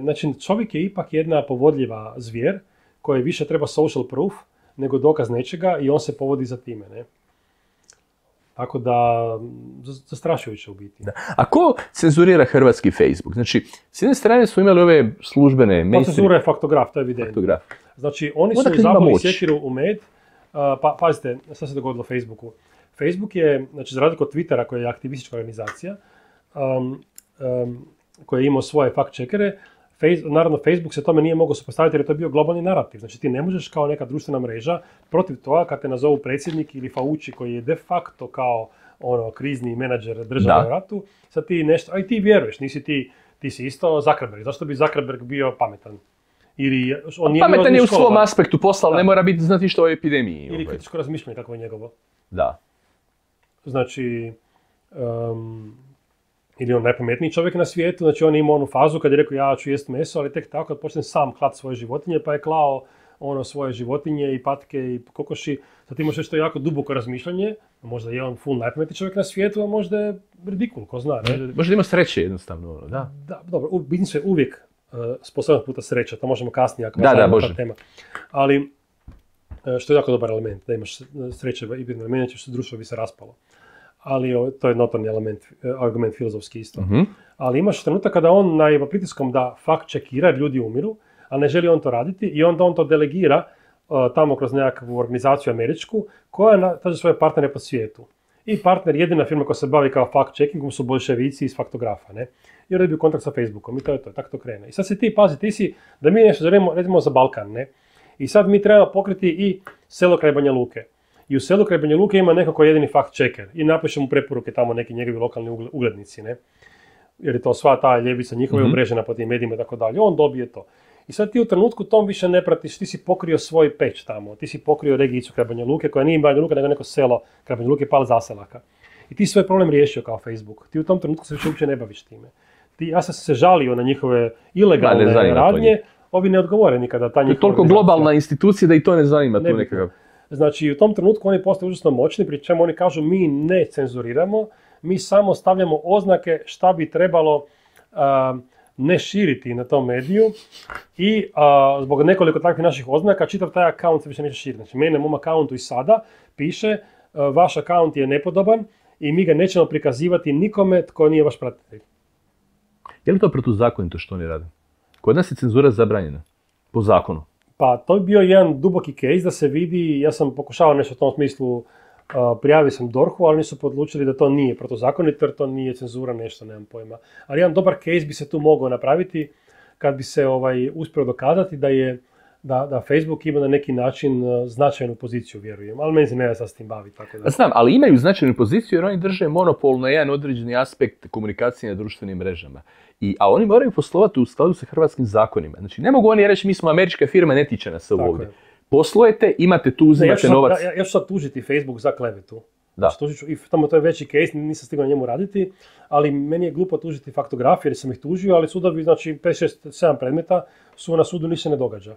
znači čovjek je ipak jedna povodljiva zvijer, koja više treba social proof nego dokaz nečega i on se povodi za time, ne? Tako da, zastrašujuće u biti. Da. A ko cenzurira hrvatski Facebook? Znači, s jedne strane smo imali ove službene... Pa cenzura je faktograf, to je evidentno. Faktograf. Znači, oni su zabili sjekiru u med. Pazite, šta se dogodilo Facebooku? Facebook je, znači, za razliku od Twittera, koja je aktivistička organizacija, koja je imao svoje fact-checkere, naravno, Facebook se tome nije mogao supostaviti jer je to bio globalni narativ. Znači ti ne možeš kao neka društvena mreža protiv toga kad te nazovu predsjednik ili Fauci koji je de facto kao krizni menadžer države u ratu, sad ti nešto, a i ti vjeruješ, ti si isto Zuckerberg. Zašto bi Zuckerberg bio pametan? Pametan je u svom aspektu posla, ali ne mora biti znati što o epidemiji. Ili kritičko razmišljanje, kako je njegovo. Da. Znači... ili on najpametniji čovjek na svijetu, znači on ima onu fazu kad je rekao ja ću jest meso, ali tek tako kad počne sam klati svoje životinje, pa je klao svoje životinje i patke i kokoši, sad imaš nešto jako duboko razmišljanje, možda je on full najpametniji čovjek na svijetu, a možda je ridikul, ko zna. Ne? Možda ima sreće jednostavno, da. Da, dobro, bitno se uvijek sposoban puta sreća, to možemo kasnije ako može. Tema. Ali, što je jako dobar element, da imaš sreće i element, što društvo bi se raspalo. Ali to je notorni argument filozofski isto. Uh-huh. Ali imaš trenutak kada on na pritiskom da fact-checkira, ljudi umiru, a ne želi on to raditi i onda on to delegira tamo kroz nekakvu organizaciju američku koja traži svoje partnere po svijetu. I partner, jedina firma koja se bavi kao fact-checkingom su boljševici iz faktografa, ne? I onda je bio kontakt sa Facebookom i to je to, tako to krene. I sad se ti si, da mi nešto želimo, recimo za Balkan, ne? I sad mi trebamo pokriti i selo kraj Banja Luke. I u selu kraj Banja Luke ima neko koji je jedini fact-checker i napiše mu preporuke tamo neki njegovi lokalni uglednici, ne? jer je to sva ta ljevica njihova umrežena po tim medijima i tako dalje, on dobije to. I sad ti u trenutku tom više ne pratiš, ti si pokrio svoj peć tamo, ti si pokrio regijicu Kraj Banja Luke, koja nije Banja Luka, nego neko selo Kraj Banja Luke, Pal Zaselaka. I ti svoj problem riješio kao Facebook. Ti u tom trenutku se više uopće ne baviš time. Ja sam se žalio na njihove ilegalne radnje, ovi ne odgovore nikada. Ta je toliko globalna institucija da i to ne zanima tu nekakav. Znači, u tom trenutku oni postaju užasno moćni, pri čemu oni kažu mi ne cenzuriramo, mi samo stavljamo oznake šta bi trebalo ne širiti na tom mediju i zbog nekoliko takvih naših oznaka čitav taj akaunt se više neće širiti. Znači, mene, mom akauntu i sada piše vaš akaunt je nepodoban i mi ga nećemo prikazivati nikome tko nije vaš pratitelj. Je li to protuzakonito što oni rade? Kod nas je cenzura zabranjena, po zakonu. Pa to bi bio jedan duboki case da se vidi, ja sam pokušavao nešto u tom smislu, prijavio sam DORH-u, ali nisu odlučili da to nije protuzakonito jer to nije cenzura, nešto, nemam pojma. Ali jedan dobar case bi se tu mogao napraviti kad bi se uspio dokazati da Facebook ima na neki način značajnu poziciju, vjerujem. Ali meni se ne da sad s tim bavi. Tako da. Znam, ali imaju značajnu poziciju jer oni drže monopol na jedan određeni aspekt komunikacije na društvenim mrežama. A oni moraju poslovati u skladu sa hrvatskim zakonima. Znači, ne mogu oni reći mi smo američka firma, ne tiče nas ovo ovdje. Poslujete, imate tu, uzimate novac. Ja ću sad tužiti Facebook za klevetu. Da. I tamo to je veći case, nisam stigao na njemu raditi, ali meni je glupo tužiti faktografije jer sam ih tužio, ali sudovi, znači 5, 6, 7 predmeta su na sudu, ništa ne događa.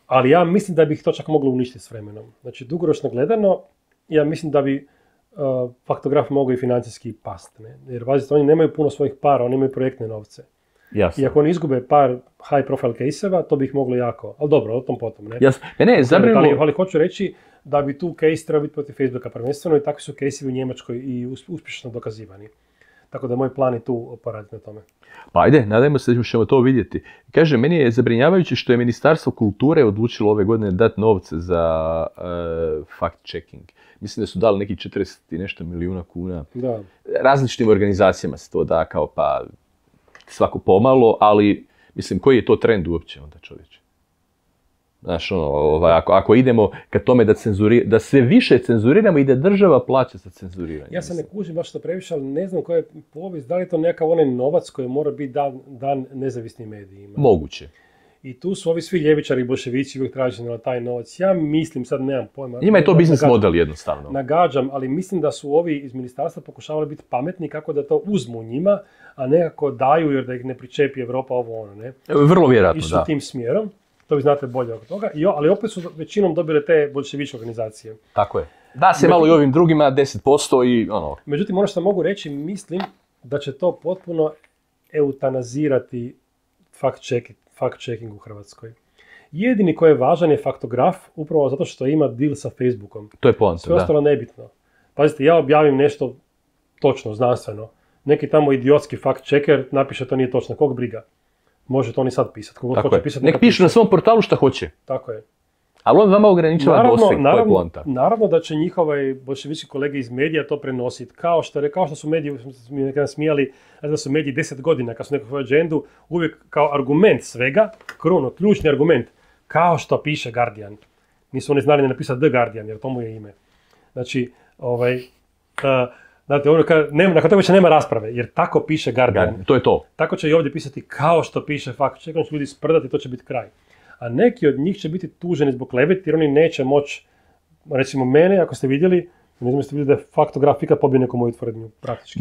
Ali ja mislim da bi ih to čak moglo uništiti s vremenom. Znači, dugoročno gledano, ja mislim da bi faktograf mogao i financijski past. Ne? Jer, vazite, oni nemaju puno svojih para, oni imaju projektne novce. Jasno. I ako oni izgube par high profile case-eva, to bi ih moglo jako. Ali dobro, o tom potom. Ne? Jasno. Ali hoću reći da bi tu case treba biti protiv Facebooka prvenstveno i takvi su case-evi u Njemačkoj i uspješno dokazivani. Tako da moj plan je tu poraditi na tome. Pa ajde, nadajmo se da ćemo to vidjeti. Kaže, meni je zabrinjavajuće što je Ministarstvo kulture odlučilo ove godine dati novce za fact-checking. Mislim da su dali neki 40 i nešto milijuna kuna. Da. Različitim organizacijama se to da kao pa svako pomalo, ali mislim koji je to trend uopće onda, čovječe? Znaš, ako idemo ka tome da sve više cenzuriramo i da država plaća za cenzuriranje. Ja se ne kužim baš to previše, ali ne znam koja je povijest, da li je to nekakav onaj novac koji mora biti dan nezavisnim medijima. Moguće. I tu su ovi svi ljevičari i bolševici uvijek traženi na taj novac. Ja mislim, sad nemam pojma. Njima je to biznis model jednostavno. Nagađam, ali mislim da su ovi iz ministarstva pokušavali biti pametni kako da to uzmu njima, a nekako daju jer da ih ne pričepi Evropa ovo ono, ne? Vrlo vjerojatno, da. Išli tim smjerom, to vi znate bolje oko toga, ali opet su većinom dobile te bolševičke organizacije. Tako je. Da se malo i ovim drugima 10% i ono. Međutim, ono što mogu reći, mislim da će to potpuno eutanazirati fact-checking u Hrvatskoj. Jedini koji je važan je faktograf, upravo zato što ima deal sa Facebookom. To je poanta, sve ostalo nebitno. Pazite, ja objavim nešto točno, znanstveno. Neki tamo idiotski fact-checker napiše to nije točno, kog briga. Može to oni sad pisati. Nek pišu na svom portalu šta hoće. Tako je. Ali on vama ograničava doseg, to je poanta. Naravno da će njihovi bolševički kolege iz medija to prenositi. Kao što su mediji, nekada smijali, da su mediji 10 godina, kad su neku svoju agendu, uvijek kao argument svega, ključni argument, kao što piše Guardian. Nisu oni znali ne napisati The Guardian, jer to mu je ime. Znači, znate, nakon toga više nema rasprave, jer tako piše Guardian. To je to. Tako će i ovdje pisati kao što piše fact check, će ljudi sprdati, to će biti kraj. A neki od njih će biti tuženi zbog kleveti jer oni neće moći, recimo mene, ako ste vidjeli, ne znam jeste vidjeli da je faktograf ikad pobio neku moju tvrdnju, praktički.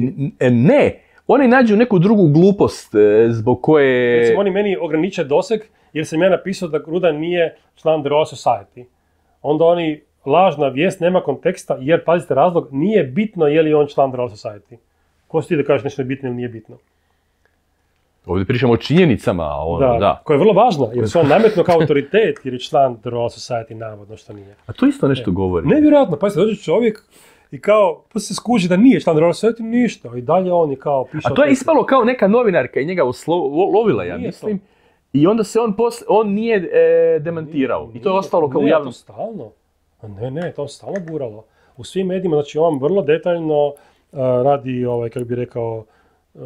Ne, oni nađu neku drugu glupost zbog koje... Recimo oni meni ograniče doseg jer sam ja napisao da Rudan nije član The Royal Society. Onda oni, lažna vijest, nema konteksta jer, pazite razlog, nije bitno je li on član The Royal Society. Ko si ti da kažeš nešto je bitno ili nije bitno? Ovdje pričamo o činjenicama. Da, koja je vrlo važna, jer se on nametno kao autoritet, jer je član The Royal Society, navodno što nije. A to isto nešto govori. Nevjerojatno, pa se dođe čovjek i kao, pa se skuži da nije član The Royal Society, ništa. I dalje on je kao piše... A to je ispalo kao neka novinarka i njega lovila, ja mislim. I onda se on nije demantirao. I to je ostalo kao javno. To stalno. Ne, to stalno guralo. U svim medijima, znači on vrlo detaljno radi, kako bi rekao,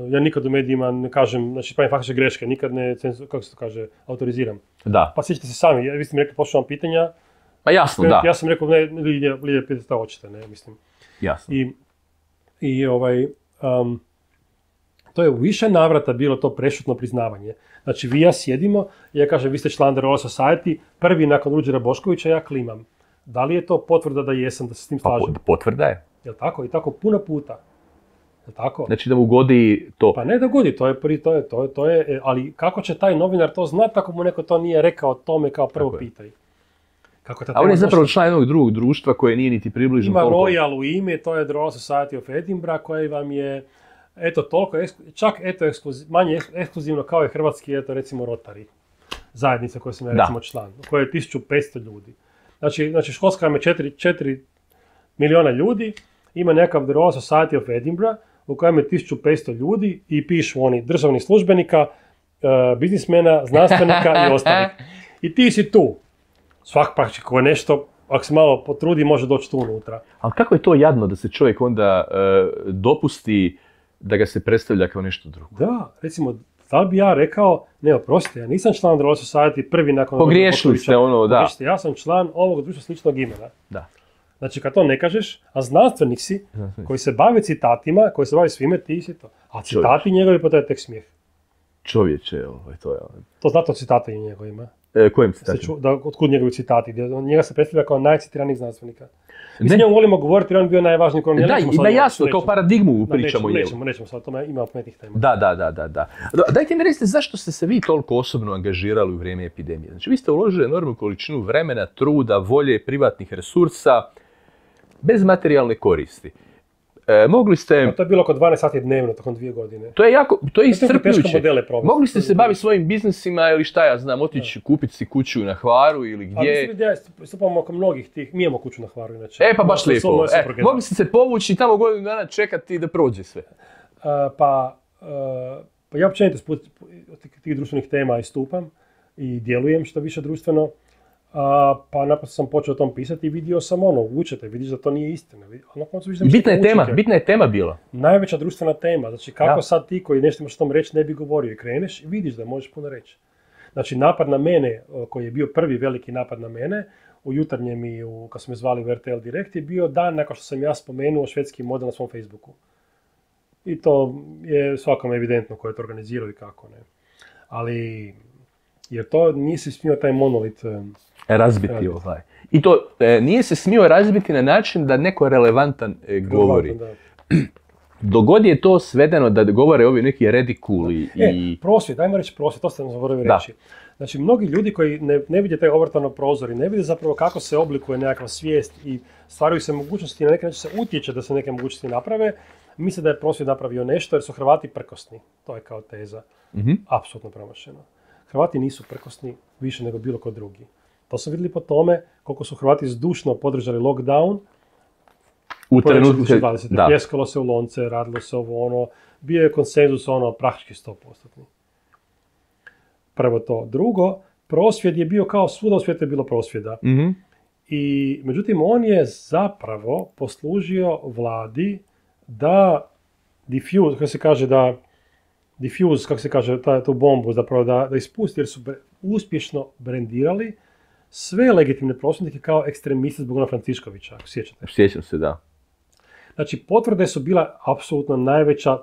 ja nikad u medijima ne kažem, znači pravim faktične greške, nikad ne, kako se to kaže, autoriziram. Da. Pa sjećate se sami, vi ste mi rekli, pošao vam pitanja. Pa jasno, da. Ja sam rekao, ne, Lidija, pitate šta hoćete, ne, mislim. Jasno. To je u više navrata bilo to prešutno priznavanje. Znači, vi i ja sjedimo, ja kažem, vi ste član The Royal Society, prvi nakon Ruđera Boškovića, ja klimam. Da li je to potvrda da jesam, da se s tim slažem? Potvrda je. Jel' tako? I tako puno puta. Jel' tako? Znači da mu godi to. Pa ne da godi, to je, ali kako će taj novinar to znati ako mu neko to nije rekao tome kao prvo pitaj? A on je zapravo član jednog drugog društva koje nije niti približno ima toliko. Royal u ime, to je The Royal Society of Edinburgh, koji vam je, eto, toliko, čak eto, manje ekskluzivno kao je hrvatski, eto, recimo Rotary, zajednica koja sam ja recimo član, koja je 1500 ljudi. Znači školska ima 4 milijuna ljudi, ima nekakav The Royal Society of Edinburgh, u kojem je 1500 ljudi i pišu oni državnih službenika, biznismena, znanstvenika i ostalih. I ti si tu. Svak praktički ko je nešto, ako se malo potrudi, može doći tu unutra. Ali kako je to jadno da se čovjek onda dopusti da ga se predstavlja kao nešto drugo? Da, recimo, da li bi ja rekao, ne, oprostite, ja nisam član The Royal Society prvi nakon... Pogriješili ste ono, da. Pogriješite, ja sam član ovog društva sličnog imena. Da. Znači, kad to ne kažeš, a znanstvenik si, koji se bavi citatima, koji se bavi svime, ti si to. A citati njegovi, pa to je tek smijeh. Čovječe, to je... To znate o citata i njegovima? Kojim citatima? Otkud njegovi citati? Njega se predstavlja kao najcitiranijih znanstvenika. Mi s njom volimo govoriti, jer on bio najvažniji kolonijal. Da, jasno, kao paradigmu pričamo. Nećemo sad o tome, ima opetnih tema. Da. Dajte mi recite zašto ste se vi toliko osobno angažirali u vrijeme epidemije. Znači, vi ste uložili enormnu količinu vremena, truda, volje, privatnih resursa, bez materijalne koristi. Mogli ste... To je bilo oko 12 sati dnevno, tokom 2 godine. To je iscrpljujuće. Mogli ste se baviti svojim biznisima ili šta ja znam, otići kupiti si kuću na Hvaru ili gdje... Ali mislim da ja stupamo oko mnogih tih, mi imamo kuću na Hvaru inače. Pa baš lijepo. Mogli ste se povući i tamo godinu dana čekati da prođe sve. Pa ja općenito tih društvenih tema istupam i djelujem što više društveno. Pa naprosto sam počeo o tom pisati i vidio sam učete, vidiš da to nije istina. Bitna je tema bila. Najveća društvena tema, znači kako sad ti koji nešto imaš o tom reći ne bi govorio i kreneš i vidiš da možeš puno reći. Znači napad na mene, koji je bio prvi veliki napad na mene, u Jutarnjem i kad smo me zvali u RTL Direkt, je bio dan nakon što sam ja spomenuo švedski model na svom Facebooku. I to je svakom evidentno ko je to organizirao i kako ne. Ali, jer to nisi smio taj monolit razbiti. I to nije se smio razbiti na način da neko relevantan govori. Dogod je to svedeno da govore ovi neki redikuli i... Prosvjed, dajmo reći prosvjed, to ste nam zaboravili reći. Znači, mnogi ljudi koji ne vide taj ovrtano prozor i ne vide zapravo kako se oblikuje nekakva svijest i stvaraju se mogućnosti i na neki način se utječe da se neke mogućnosti naprave, misle da je prosvjed napravio nešto jer su Hrvati prkosni. To je kao teza. Apsolutno promašeno. Hrvati nisu prkosni više nego bilo ko drugi. To su vidjeli po tome koliko su Hrvati zdušno podržali lockdown. U trenutku pljeskalo se u lonce, radilo se ovo bio je konsenzus praktički 100%. Prvo to. Drugo, prosvjed je bio kao svuda u svijetu je bilo prosvjeda. I međutim, on je zapravo poslužio vladi da diffuse, kako se kaže, tu bombu, zapravo da ispusti, jer su uspješno brendirali sve legitimne prosvjednike kao ekstremiste zbog Franciškovića, ako sjećate. Sjećam se, da. Znači, potvrde su bila apsolutno najveća,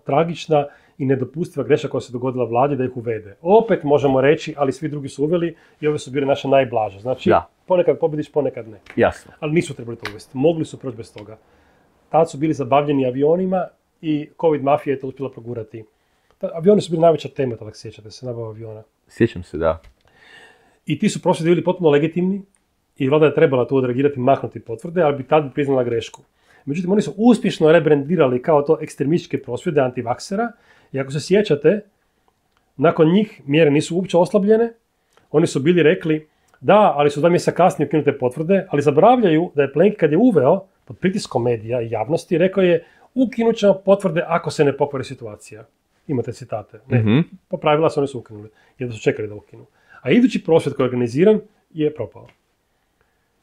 tragična i nedopustiva greška koja se dogodila vladi da ih uvede. Opet možemo reći, ali svi drugi su uveli i ove su bile naše najblaže. Znači, ponekad pobjediš, ponekad ne. Jasno. Ali nisu trebali to uvesti. Mogli su proći bez toga. Tad su bili zabavljeni avionima i COVID mafija je to uspjela progurati. Avioni su bili najveća tema, tako sjećate se, nabava aviona. Sjećam se, da. I ti su prosvjedi bili potpuno legitimni i vlada je trebala tu odreagirati, maknuti potvrde, ali bi tad priznala grešku. Međutim, oni su uspješno rebrendirali kao to ekstremističke prosvjede antivaksera i ako se sjećate, nakon njih mjere nisu uopće oslabljene, oni su bili rekli da, ali su 2 mjeseca kasnije ukinute potvrde, ali zaboravljaju da je Plenković kad je uveo, pod pritiskom medija i javnosti, rekao je ukinut ćemo potvrde ako se ne pokvari situacija. Imate citate. Ne, po pravila se oni su ukinuli, jer da su čekali da ukinu. A idući prosvjed koji je organiziran je propao.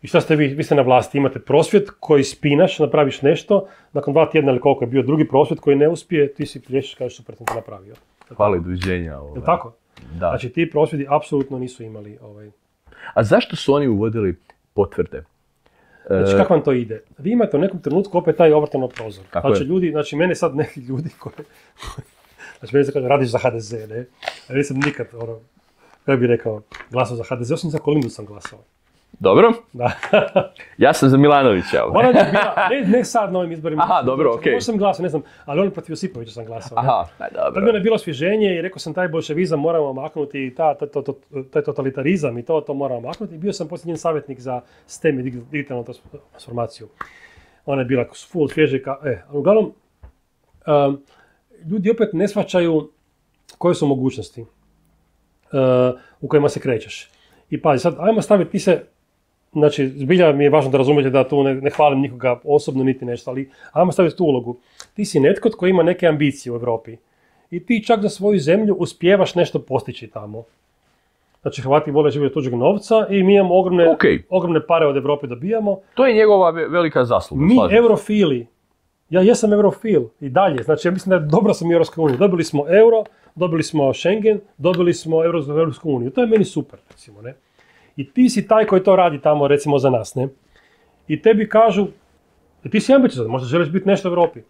I šta ste vi? Vi ste na vlasti, imate prosvjed koji spinaš, napraviš nešto, nakon 2 tjedna ili koliko je bio drugi prosvjed koji ne uspije, ti si plješiš kažeš super sam to napravio. Hvala i doviđenja. Je tako? Da. Znači ti prosvjedi apsolutno nisu imali A zašto su oni uvodili potvrde? Znači kako vam to ide? Vi imate u nekom trenutku opet taj ovrtano prozor. Znači ljudi, znači mene sad neki ljudi Znači, meni se kaže, radiš za HDZ, ne? Ja nisam nikad, kako bih rekao, glasao za HDZ, osim za Kolindu sam glasao. Dobro. Da. Ja sam za Milanovića. Ne sad na ovim izborima. Aha, dobro, okej. Možda sam glasao, ne znam, ali on protiv Josipovića sam glasao. Aha, dobro. Tad je bilo osvježenje i rekao sam taj bolševizam moramo maknuti i taj totalitarizam i to moramo maknuti. I bio sam posljednji savjetnik za STEM i digitalnu transformaciju. Ona je bila full svježika. Uglavnom, ljudi opet ne shvaćaju koje su mogućnosti u kojima se krećeš. I pazi, sad, ajmo staviti, ti se, znači, zbilja mi je važno da razumijete da tu ne hvalim nikoga osobno niti nešto, ali ajmo staviti tu ulogu. Ti si netko tko ima neke ambicije u Europi i ti čak za svoju zemlju uspijevaš nešto postići tamo. Znači, Hrvati vole živjeti tuđeg novca i mi imamo ogromne pare od Europe dobijamo. To je njegova velika zasluga. Mi, eurofili, ja jesam eurofil i dalje, znači ja mislim da je dobro sam u Europskoj uniji. Dobili smo euro, dobili smo Schengen, dobili smo Europsku uniju. To je meni super, recimo, ne? I ti si taj koji to radi tamo, recimo, za nas, ne? I tebi kažu, ti si ambiciozan, možda želiš biti nešto u Europi.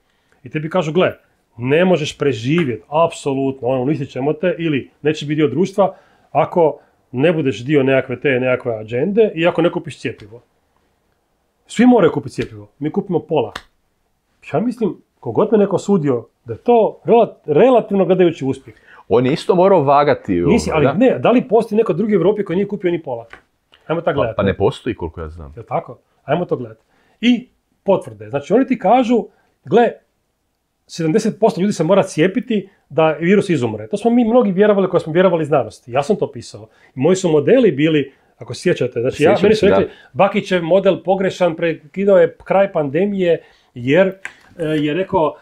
I tebi kažu, gle, ne možeš preživjeti, apsolutno, uništit ćemo te, ili neće biti dio društva, ako ne budeš dio nekakve agende i ako ne kupiš cjepivo. Svi moraju kupiti cjepivo, mi kupimo pola. Ja mislim, kogod me neko sudio, da je to relativno gledajući uspjeh. On je isto morao vagati. Nisi, ali ne, da li postoji neko drugi u Europi koji nije kupio ni pola? Ajmo tako gledati. Pa ne postoji koliko ja znam. Je tako? Ajmo to gledati. I potvrde. Znači oni ti kažu, gle, 70% ljudi se mora cijepiti da virus izumre. To smo mi mnogi vjerovali koji smo vjerovali znanosti. Ja sam to pisao. Moji su modeli bili, ako se sjećate, znači meni su rekli, Bakićev model pogrešan, prekidao je kraj pandemije jer je rekao,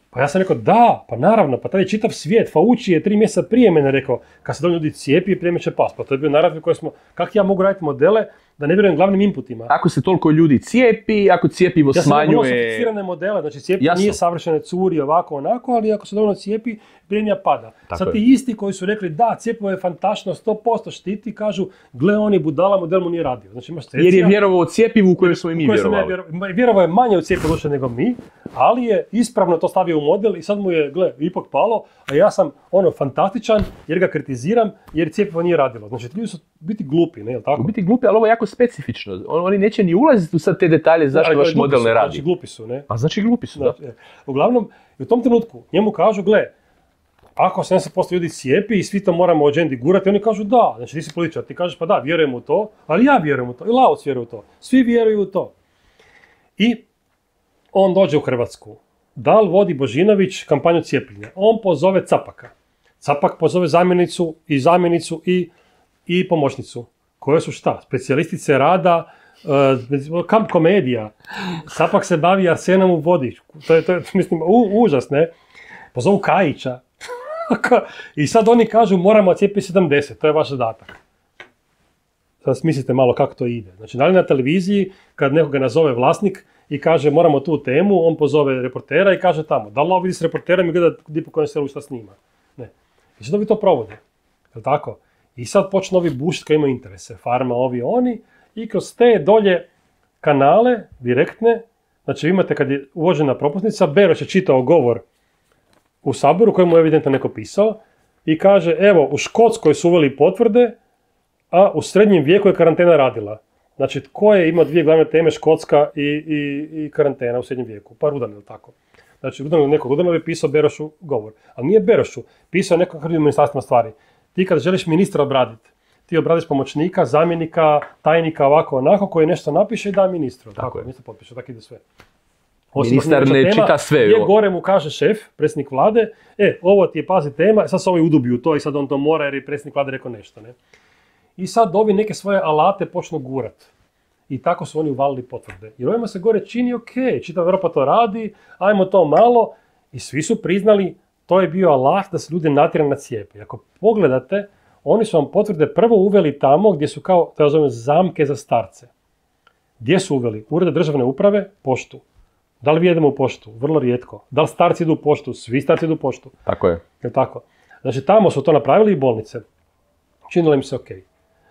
pa ja sam rekao, da, pa naravno, pa taj je čitav svijet, Fauci je 3 mjeseca prije mene rekao, kad se dovoljno ljudi cijepi, epidemija će past. Pa to je bio narativ koji smo, kako ja mogu raditi modele da ne vjerujem glavnim inputima. Ako se toliko ljudi cijepi, ako cijepivo smanjuje... Ja sam vrlo sofisticirane modele, znači cijepivo nije savršene curi ovako onako, ali ako se dovoljno cijepi, epidemija pada. Tako sad ti isti koji su rekli, da, cijepivo je fantastično, 100% štiti, kažu, gle, oni budala, model mu nije radio. Znači, jer je vjerovao u cijepivu u kojem smo i mi vjerovali. Vjerovao je manje u cijepivo nego mi, ali je ispravno to stavio u model i sad mu je, gle, ipak palo, a ja sam fantastičan jer ga kritiziram jer cijepivo nije radilo. Znači, ljudi su biti glupi, ne, jel tako? Biti glupi, ali ovo je jako specifično. Oni neće ni ulaziti u sad te detalje zašto vaš model ne radi. Znači, glupi su, ne? A znači glupi su, da. Uglavnom, u tom trenutku njemu kažu, gle, ako 70% ljudi cijepi i svi to moramo u agendi gurati, oni kažu da, znači ti si političar, ti kažeš pa da, vjerujem u to, ali ja vjerujem u to, i Lauc vjeruje u to, svi vjeruju u to. I on dođe u Hrvatsku. Da li vodi Božinović kampanju cijepljenja? On pozove Capaka. Capak pozove zamjenicu i pomoćnicu. Koje su šta? Specijalistice rada, kamp komedija. Capak se bavi arsenom u vodi. To je mislim, užas, ne? Pozovu Kajića. I sad oni kažu moramo cijepiti 70, to je vaš zadatak. Sad smislite malo kako to ide. Znači, da li na televiziji, kad nekoga nazove vlasnik i kaže moramo tu temu, on pozove reportera i kaže tamo. Da li ovo vidi s reporterom i gleda di po kojem selu šta snima? Ne. I sad ovi to provode. Je li tako? I sad počnu ovi bušiti koji imaju interese. Farma, ovi, oni. I kroz te dolje kanale, direktne, znači imate kad je uvođena propusnica, Beroš je čitao govor u Saboru kojemu je evidentno neko pisao i kaže, evo, u Škotskoj su uveli potvrde, a u srednjem vijeku je karantena radila. Znači, tko je imao 2 glavne teme, Škotska i karantena u srednjem vijeku? Pa Rudan, je li tako? Znači, Rudan je pisao Berošu govor. Ali nije Berošu, pisao je neko hrvim ministarstvima stvari. Ti kad želiš ministra obraditi, ti obradiš pomoćnika, zamjenika, tajnika, ovako, onako, koji nešto napiše i da ministru. Tako je. Ministar potpiše, tako ide sve. Ministar ne čita sve. Gdje gore mu kaže šef, predsjednik vlade, ovo ti je, pazi, tema, sad se ovi udubi u to i sad on to mora jer je predsjednik vlade rekao nešto, ne? I sad ovi neke svoje alate počnu gurat. I tako su oni uvalili potvrde. Jer ovima se gore čini, čitava Europa to radi, ajmo to malo. I svi su priznali, to je bio alat da se ljudi natjera na cijepe. I ako pogledate, oni su vam potvrde prvo uveli tamo gdje su kao, da zovem, zamke za starce. Gdje su uveli? Urede državne uprave, poštu. Da li vi jedemo u poštu? Vrlo rijetko. Da li starci idu u poštu? Svi starci idu u poštu. Tako je. Je tako? Znači, tamo su to napravili i bolnice. Činilo im se okej.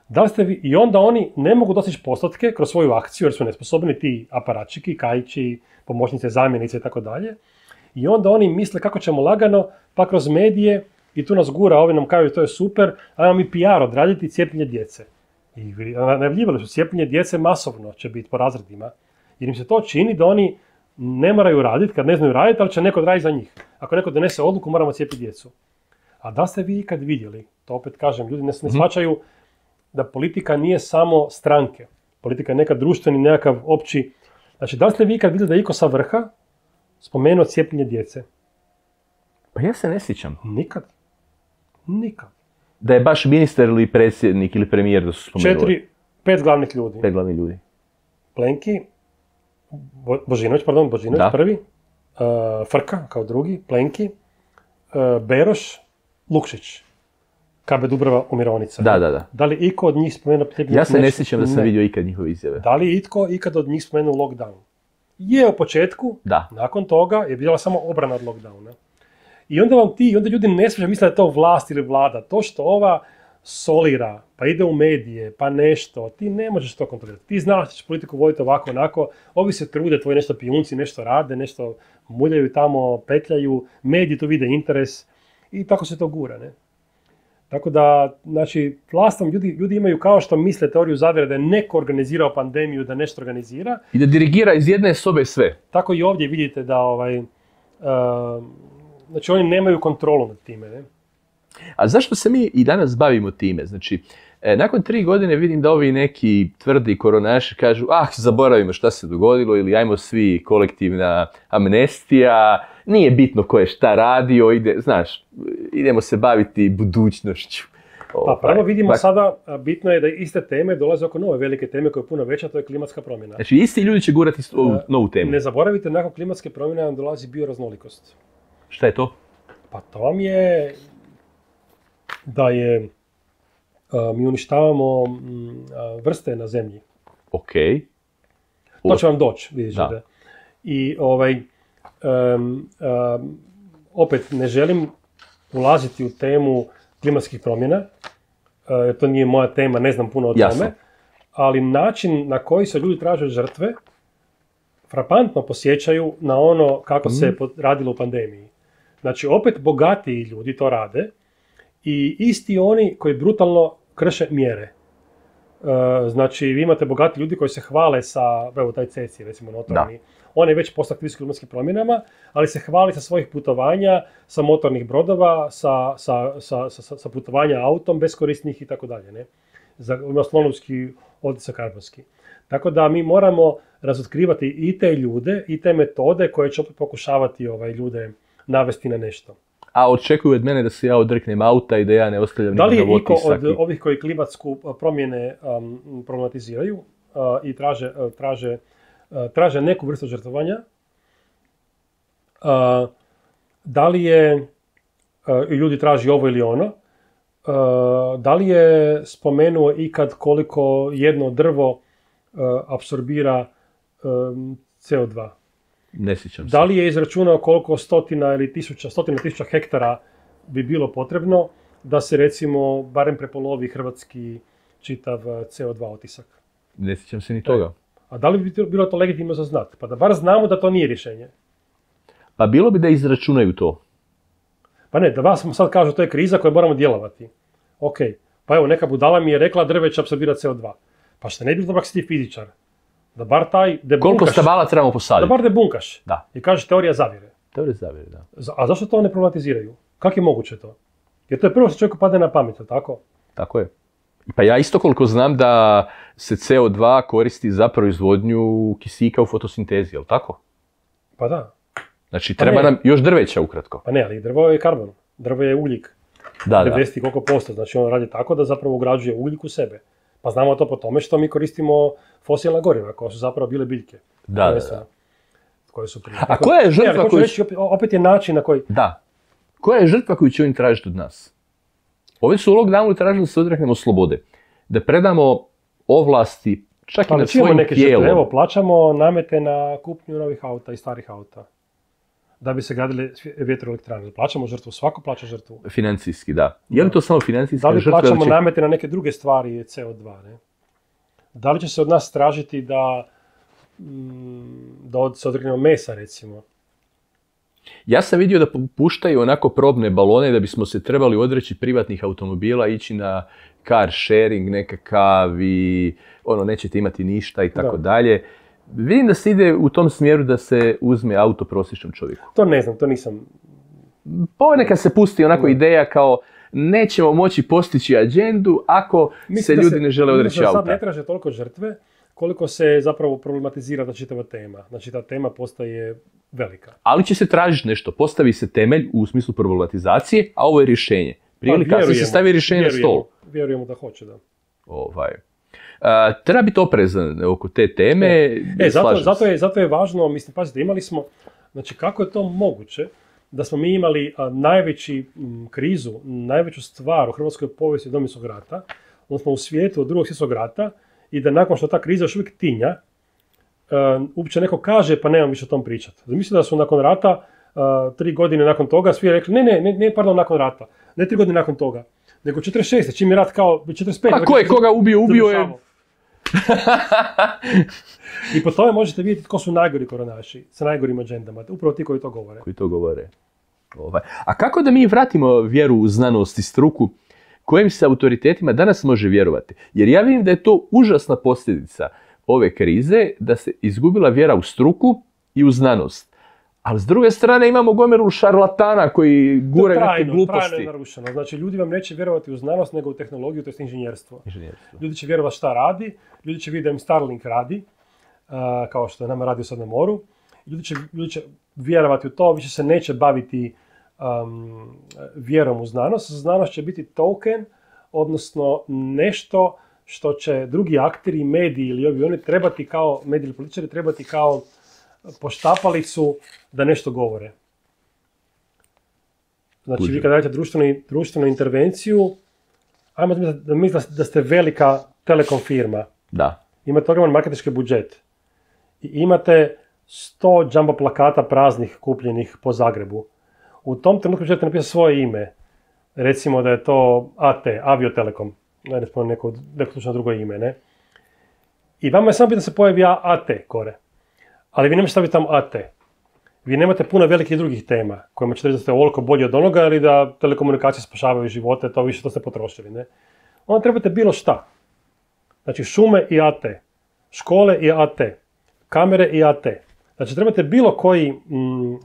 Da li ste vi, i onda oni ne mogu dostići postotke kroz svoju akciju jer su nesposobni ti aparačiki, Kajići, pomoćnice, zamjenice i tako dalje. I onda oni misle kako ćemo lagano pa kroz medije i tu nas gura, ovi nam kažu to je super, ajmo mi PR odraditi cijepljenje djece. I najavljivali su cijepljenje djece masovno će biti po razredima, jer im se to čini da oni ne moraju raditi, kad ne znaju raditi, ali će neko raditi za njih. Ako neko donese odluku, moramo cijepiti djecu. A da ste vi ikad vidjeli, to opet kažem, ljudi ne shvaćaju da politika nije samo stranke. Politika je nekad društveni, nekakav opći. Znači, da li ste vi ikad vidjeli da je iko sa vrha spomenuo cijepljenje djece? Pa ja se ne sjećam. Nikad. Da je baš ministar ili predsjednik ili premijer da su spomenuli. 5 glavnih ljudi. 5 glavnih ljudi. Plenki, Božinović prvi, Frka kao drugi, Plenki, Beroš, Lukšić, KB Dubrava u Mironica. Da. Da li iko od njih spomenuo cijepljenje? Ja se ne sjećam da sam vidio ikad njihove izjave. Da li itko ikad od njih spomenuo lockdown? Je u početku, nakon toga je bila samo obrana od lockdowna. I onda onda ljudi ne sviđaju, misle da je to vlast ili vlada. To što ova solira, pa ide u medije, pa nešto, ti ne možeš to kontrolirati. Ti znaš da ćeš politiku voditi ovako, onako, ovi se trude, tvoji nešto pijunci, nešto rade, nešto muljaju tamo, petljaju, mediji tu vide interes i tako se to gura, ne? Tako da, znači, vlastom ljudi imaju kao što misle teoriju zavjere da je neko organizirao pandemiju, da nešto organizira. I da dirigira iz jedne sobe sve. Tako i ovdje vidite da znači oni nemaju kontrolu nad time, ne? A zašto se mi i danas bavimo time? Znači, nakon 3 godine vidim da ovi neki tvrdi koronaši kažu zaboravimo šta se dogodilo ili ajmo svi kolektivna amnestija, nije bitno ko je šta radio, idemo se baviti budućnošću. Pa prvo vidimo sada, bitno je da iste teme dolaze oko nove velike teme koja je puno veća, to je klimatska promjena. Znači isti ljudi će gurati novu temu. Ne zaboravite, nakon klimatske promjene nam dolazi bioraznolikost. Šta je to? Pa to vam je da mi uništavamo vrste na zemlji. Ok. To će vam doći, vidite. Da. I opet ne želim ulaziti u temu klimatskih promjena, jer to nije moja tema, ne znam puno o tome, ali način na koji se ljudi traže žrtve frapantno posjećaju na ono kako se radilo u pandemiji. Znači, opet bogatiji ljudi to rade i isti oni koji brutalno krše mjere. Znači, vi imate bogati ljudi koji se hvale sa, evo taj Ceci, recimo notorni, on je već postao aktivist klimatskim promjenama, ali se hvali sa svojih putovanja, sa motornih brodova, sa putovanja autom beskorisnih i tako dalje, ne? Ima slonovski otisak karbonski. Tako da mi moramo razotkrivati i te ljude, i te metode koje će opet pokušavati ljude navesti na nešto. A očekuju od mene da se ja odreknem auta i da ja ne ostavljam nikog na otisak. Da li je iko od ovih koji klimatsku promjene problematiziraju i traže neku vrstu žrtvovanja, da li je, i ljudi traži ovo ili ono, da li je spomenuo ikad koliko jedno drvo apsorbira CO2? Ne sjećam se. Da li je izračunao koliko stotina tisuća hektara bi bilo potrebno da se recimo barem prepolovi hrvatski čitav CO2 otisak? Ne sjećam se ni toga. A da li bi bilo to legitimno za znati? Pa da bar znamo da to nije rješenje. Pa bilo bi da izračunaju to. Pa ne, da vas sad kažu to je kriza koju moramo djelovati. Ok, pa evo neka budala mi je rekla drve će apsorbirati CO2. Pa što ne bi bilo dobro ako si ti fizičar? Da bar taj debunkaš. Koliko stabala trebamo posaditi? Da bar debunkaš. Da. I kažeš teorija zavjere. Teorija zavjere, da. A zašto to ne problematiziraju? Kako je moguće to? Jer to je prvo što čovjeku padne na pamet, tako? Tako je. Pa ja isto koliko znam da se CO2 koristi za proizvodnju kisika u fotosintezi, je li tako? Pa da. Znači treba nam još drveća ukratko. Pa ne, ali drvo je karbon. Drvo je ugljik. Da. 90 koliko posto. Znači on radi tako da zapravo ugrađuje ugljik u sebe. Pa znamo to po tome što mi koristimo fosilna goriva, koje su zapravo bile biljke. Da. Koje su prije. A koja je žrtva koju... Opet je način na koji... Da. Koja je žrtva koju će oni tražiti od nas? Ovi su u lockdownu tražili da se odreknemo slobode. Da predamo ovlasti čak i nad svojim tijelom. Evo, plaćamo namete na kupnju novih auta i starih auta. Da bi se gradile vjetroelektrane. Plaćamo žrtvu, svako plaća žrtvu. Financijski, da. Je li to samo financijska žrtva? Da li plaćamo namete na neke druge stvari CO2, ne? Da li će se od nas tražiti da se odreknemo mesa, recimo? Ja sam vidio da puštaju onako probne balone da bismo se trebali odreći privatnih automobila, ići na car sharing nekakav i nećete imati ništa i tako dalje. Vidim da se ide u tom smjeru da se uzme auto prosječnom čovjeku. To ne znam, to nisam. Ponekad se pusti onako ideja kao nećemo moći postići agendu ako se ljudi ne žele odreći auta. Sad ne traže toliko žrtve koliko se zapravo problematizira čitava tema. Znači ta tema postaje velika. Ali će se tražiti nešto. Postavi se temelj u smislu problematizacije, a ovo je rješenje. Prije ili kasnije se stavi rješenje na stol. Vjerujemo da hoće, da. Treba biti oprezan oko te teme. Zato je važno, mislim, pazite, imali smo, znači kako je to moguće da smo mi imali najveći krizu, najveću stvar u hrvatskoj povijesti Domovinskog rata, odnosno u svijetu od Drugog svjetskog rata, i da nakon što ta kriza još uvijek tinja, uopće neko kaže pa nemam više o tom pričati. Mislim da su nakon rata, 3 godine nakon toga, svi rekli ne, pardon, nakon rata, ne 3 godine nakon toga, nego 46. čim je rat kao 45. A ko je koga ubio je... I po tome možete vidjeti tko su najgori koronaši, sa najgorim agendama, upravo ti koji to govore. A kako da mi vratimo vjeru u znanost i struku, kojim se autoritetima danas može vjerovati? Jer ja vidim da je to užasna posljedica ove krize, da se izgubila vjera u struku i u znanost. Ali s druge strane imamo gomilu šarlatana koji gure neke gluposti. Trajno je narušeno. Znači, ljudi vam neće vjerovati u znanost, nego u tehnologiju, to je inženjerstvo. Ljudi će vjerovati šta radi, ljudi će vidjeti da im Starlink radi, kao što je nama radio sad na moru. Ljudi će vjerovati u to, više se neće baviti vjerom u znanost. Znanost će biti token, odnosno nešto što će drugi akteri, mediji ili oni trebati kao, mediji ili političari trebati kao poštapalicu da nešto govore. Znači, vi kad radite društvenu intervenciju, ajmo da mislite da ste velika telekom firma. Da. Imate ogroman marketinški budžet. I imate 100 jumbo plakata praznih kupljenih po Zagrebu. U tom trenutku želite napisati svoje ime. Recimo da je to AT, Aviotelekom. Ne spomenu neko slučajno drugo ime, ne? I vama je samo bitno da se pojavi AT kore. Ali vi nemate staviti tamo AT. Vi nemate puno velikih drugih tema kojima ćete reći da ste ovoliko bolji od onoga ili da telekomunikacije spašavaju živote, to više što ste potrošili, ne? Onda trebate bilo šta. Znači šume i AT, škole i AT, kamere i AT. Znači trebate bilo koji,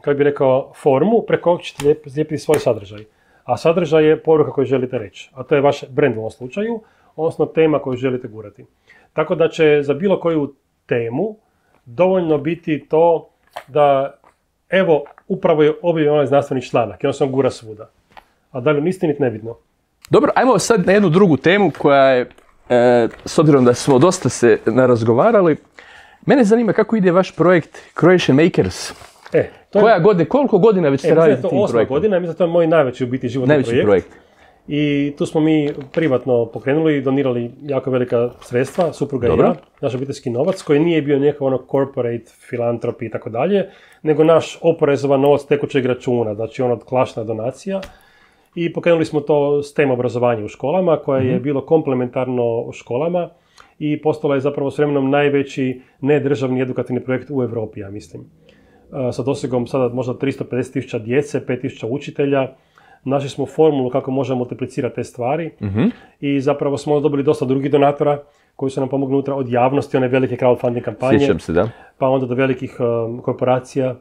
kako bi rekao, formu preko kojeg ćete zlijepiti svoj sadržaj. A sadržaj je poruka koju želite reći. A to je vaš brand u ovom slučaju, odnosno tema koju želite gurati. Tako da će za bilo koju temu dovoljno biti to da, evo, upravo je objavljen onaj znanstveni članak i on se on gura svuda. A da li niste niti nebitno. Dobro, ajmo sad na jednu drugu temu koja je, s obzirom da smo dosta se narazgovarali, mene zanima kako ide vaš projekt Croatian Makers. Koliko godina već ste radite tim projektom? Mislim da je to 8. godina, mislim da to je moj najveći u biti životni projekt. I tu smo mi privatno pokrenuli i donirali jako velika sredstva, supruga i ja, naš obiteljski novac, koji nije bio nekakav corporate, filantropi i tako dalje, nego naš oporezovan novac tekućeg računa, znači od klašna donacija. I pokrenuli smo to STEM obrazovanje u školama, koje je bilo komplementarno u školama i postalo je zapravo s vremenom najveći nedržavni edukativni projekt u Europi, ja mislim. Sa dosegom sada možda 350.000 djece, 5.000 učitelja. Našli smo formulu kako možemo multiplicirati te stvari i zapravo smo dobili dosta drugih donatora koji su nam pomogli unutra od javnosti, one velike crowdfunding kampanje. Sjećam se, da. Pa onda do velikih korporacija.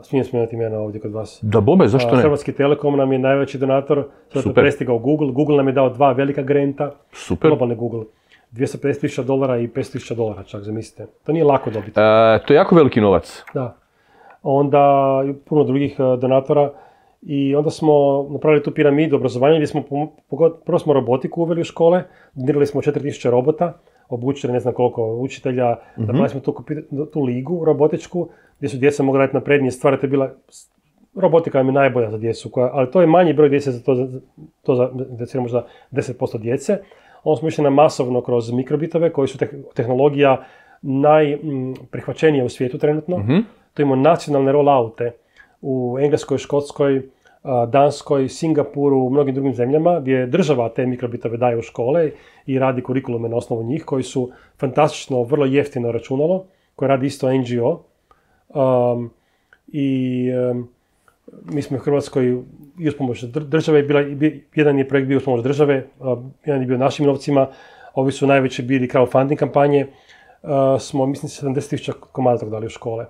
Smijem spomenuti imena ovdje kod vas. Da bome, zašto ne? Hrvatski Telekom nam je najveći donator, sada je prestigao Google. Google nam je dao 2 velika granta. Super. Globalni Google. $250.000 i $500.000, čak zamislite. To nije lako dobiti. To je jako veliki novac. Da. Onda puno drugih donatora. I onda smo napravili tu piramidu obrazovanja gdje smo, prvo smo robotiku uveli u škole, donirali smo 4.000 robota, obučili ne znam koliko učitelja, napravili smo tu ligu robotičku gdje su djeca mogla raditi naprednije stvari, to je bila, robotika je najbolja za djecu, ali to je manji broj djece za to za možda 10% djece. Onda smo išli na masovno kroz mikrobitove koji su tehnologija najprihvaćenija u svijetu trenutno. To imamo nacionalne rolloute u Engleskoj, Škotskoj, Danskoj, Singapuru, u mnogim drugim zemljama gdje država te mikrobitove daje u škole i radi kurikulume na osnovu njih koji su fantastično, vrlo jeftino računalo, koje radi isto NGO. Mi smo u Hrvatskoj i uz pomoć države, jedan je projekt bio uz pomoć države, jedan je bio našim novcima, ovi su najveći bili crowdfunding kampanje, smo, mislim, 70.000 komada tog dali u škole.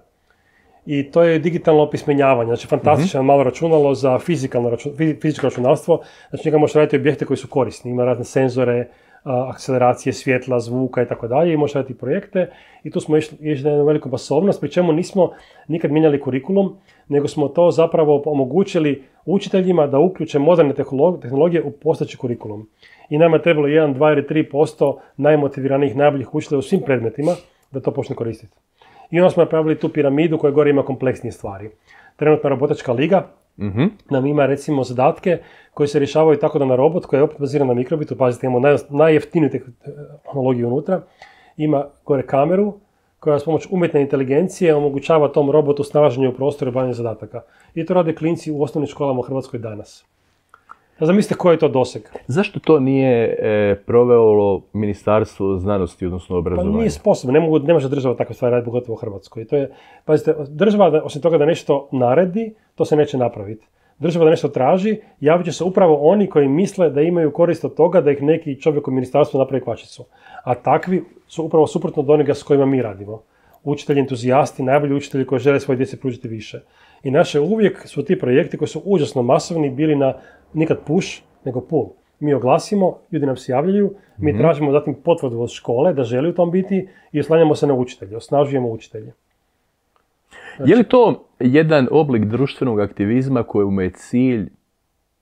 I to je digitalno opismenjavanje, znači fantastično malo računalo za fizičko računalstvo, znači njega možeš raditi objekte koji su korisni, ima razne senzore, akceleracije svjetla, zvuka i tako dalje i možeš raditi projekte i tu smo išli na jednu veliku masovnost, pri čemu nismo nikad mijenjali kurikulum, nego smo to zapravo omogućili učiteljima da uključe moderne tehnologije u postojeći kurikulum. I nama je trebalo 1, 2 ili 3% najmotiviranijih, najboljih učitelja u svim predmetima da to počne koristiti. I onda smo napravili tu piramidu koja gore ima kompleksnije stvari. Trenutna robotička liga nam ima recimo zadatke koji se rješavaju tako da na robot koji je opet baziran na mikrobitu, pazite, imamo najjeftiniju tehnologiju unutra, ima gore kameru koja s pomoć umjetne inteligencije omogućava tom robotu snalaženje u prostoru i obavljanje zadataka. I to rade klinci u osnovnim školama u Hrvatskoj danas. A zamislite koji je to doseg. Zašto to nije provelo Ministarstvo znanosti, odnosno obrazovanja? Pa nije sposobno, ne može država takve stvari raditi, pogotovo u Hrvatskoj. To je, pazite, država, osim toga da nešto naredi, to se neće napraviti. Država da nešto traži, javit će se upravo oni koji misle da imaju korist od toga da ih neki čovjek u ministarstvu napravi kvačicu. A takvi su upravo suprotno od onoga s kojima mi radimo. Učitelji, entuzijasti, najbolji učitelji koji žele svoje djeci pružiti više. I naše uvijek su ti projekti koji su užasno masovni bili na nikad push, nego pull. Mi oglasimo, ljudi nam se javljaju, mi tražimo zatim potvrdu od škole da želi u tom biti i oslanjamo se na učitelje, osnažujemo učitelje. Je li to jedan oblik društvenog aktivizma kojemu je cilj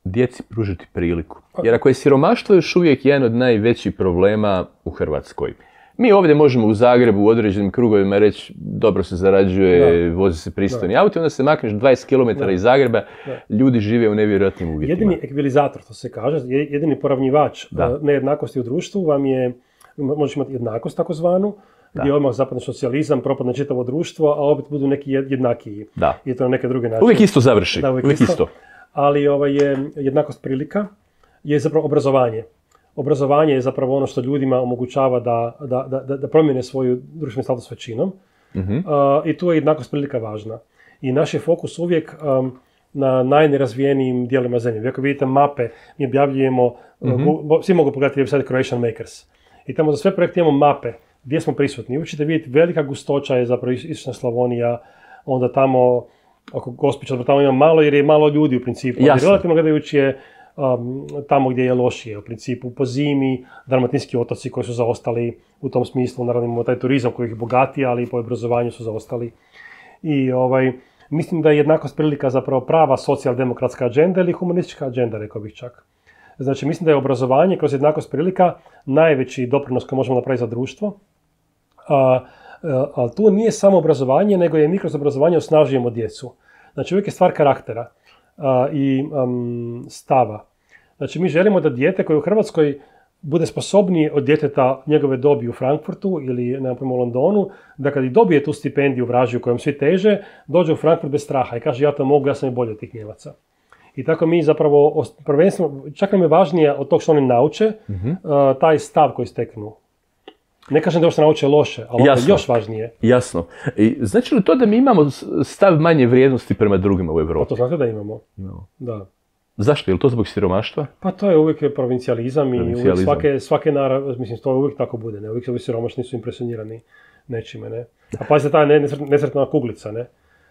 djeci pružiti priliku? Jer ako je siromaštvo još uvijek jedan od najvećih problema u Hrvatskoj. Mi ovdje možemo u Zagrebu u određenim krugovima reći dobro se zarađuje, vozi se pristojni auto, onda se makneš 20 km iz Zagreba, ljudi žive u nevjerojatnim uvjetima. Jedini ekvilizator, to se kaže, jedini poravnjivač nejednakosti u društvu vam je, možeš imati jednakost takozvanu, gdje odmah zapadne socijalizam, propadne čitavo društvo, a opet budu neki jednakiji. I to na neke druge načine. Uvijek isto završi. Da, uvijek isto. Ali je jednakost prilika je zapravo obrazovanje. Obrazovanje je zapravo ono što ljudima omogućava da promijene svoju društveni status većinom. I tu je jednakost prilika važna. I naš je fokus uvijek na najnerazvijenijim dijelima zemlje. Ako vidite mape, mi objavljujemo, svi mogu pogledati website Croatian Makers. I tamo za sve projekte imamo mape gdje smo prisutni. Uvijek ćete vidjeti velika gustoća je zapravo istočna Slavonija, onda tamo oko Gospića, tamo ima malo jer je malo ljudi u principu. Relativno gledajući je tamo gdje je lošije, u principu po zimi, dalmatinski otoci koji su zaostali u tom smislu, naravno imamo taj turizam koji ih bogati, ali i po obrazovanju su zaostali. I mislim da je jednakost prilika zapravo prava socijaldemokratska agenda ili humanistička agenda, rekao bih čak. Znači, mislim da je obrazovanje kroz jednakost prilika najveći doprinos koji možemo napraviti za društvo. Ali tu nije samo obrazovanje, nego je mi kroz obrazovanje osnažujemo djecu. Znači, uvijek je stvar karaktera i stava. Znači, mi želimo da dijete koje u Hrvatskoj bude sposobnije od djeteta njegove dobi u Frankfurtu ili u Londonu, da kad i dobije tu stipendiju vražiju kojom svi teže, dođe u Frankfurt bez straha i kaže ja to mogu, ja sam i bolji od tih Njemaca. I tako mi zapravo, prvenstveno, čak nam je važnije od tog što oni nauče, taj stav koji steknu. Ne kažem da još se nauče loše, ali ono je još važnije. Jasno. I znači li to da mi imamo stav manje vrijednosti prema drugima u Europi? Pa to znate da imamo. Da. Zašto? Je li to zbog siromaštva? Pa to je uvijek provincijalizam i uvijek svake mislim, to uvijek tako bude. Ne? Uvijek se ovi siromašni su impresionirani nečime. Ne? A pazite, ta nesretna kuglica. Ne?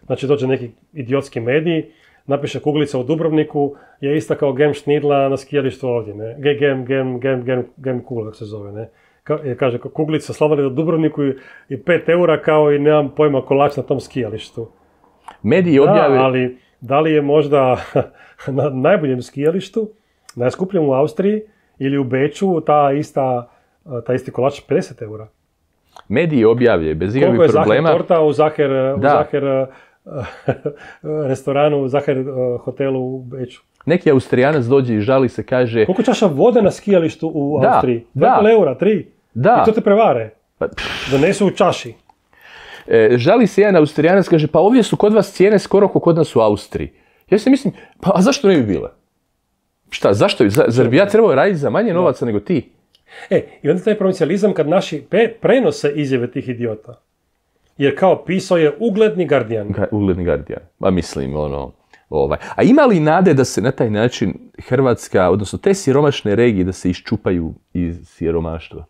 Znači dođe neki idiotski medij, napiše kuglica u Dubrovniku, je ista kao gem šnidla na skijalištu ovdje. Ne? Gem kugla, kako se zove. Ne? Kaže, kuglica sladoled u Dubrovniku i 5 eura kao i nemam pojma kolač na tom skijalištu. Mediji objave... ali da li je možda na najboljem skijalištu, najskupljem u Austriji ili u Beču taj isti kolač 50 eura? Mediji objavljaju bez ikakvih problema. Koliko je Zaher torta u Zaher restoranu, u Zaher hotelu u Beču? Neki Austrijanac dođe i žali se, kaže... Koliko čaša vode na skijalištu u Austriji? 2,5 eura, 3? Da. I to te prevare. Donesu u čaši. Žali se jedan Austrijanac, kaže, pa ovdje su kod vas cijene skoro kao kod nas u Austriji. Ja se mislim, pa a zašto ne bi bile? Šta, zašto? Zar bi ja trebao raditi za manje novaca nego ti? I onda taj provincijalizam kad naši prenose izjave tih idiota. Jer kao pisao je ugledni Guardian. Ugledni Guardian. Ma mislim, A ima li nade da se na taj način Hrvatska, odnosno te siromašne regije, da se iščupaju iz siromaštva?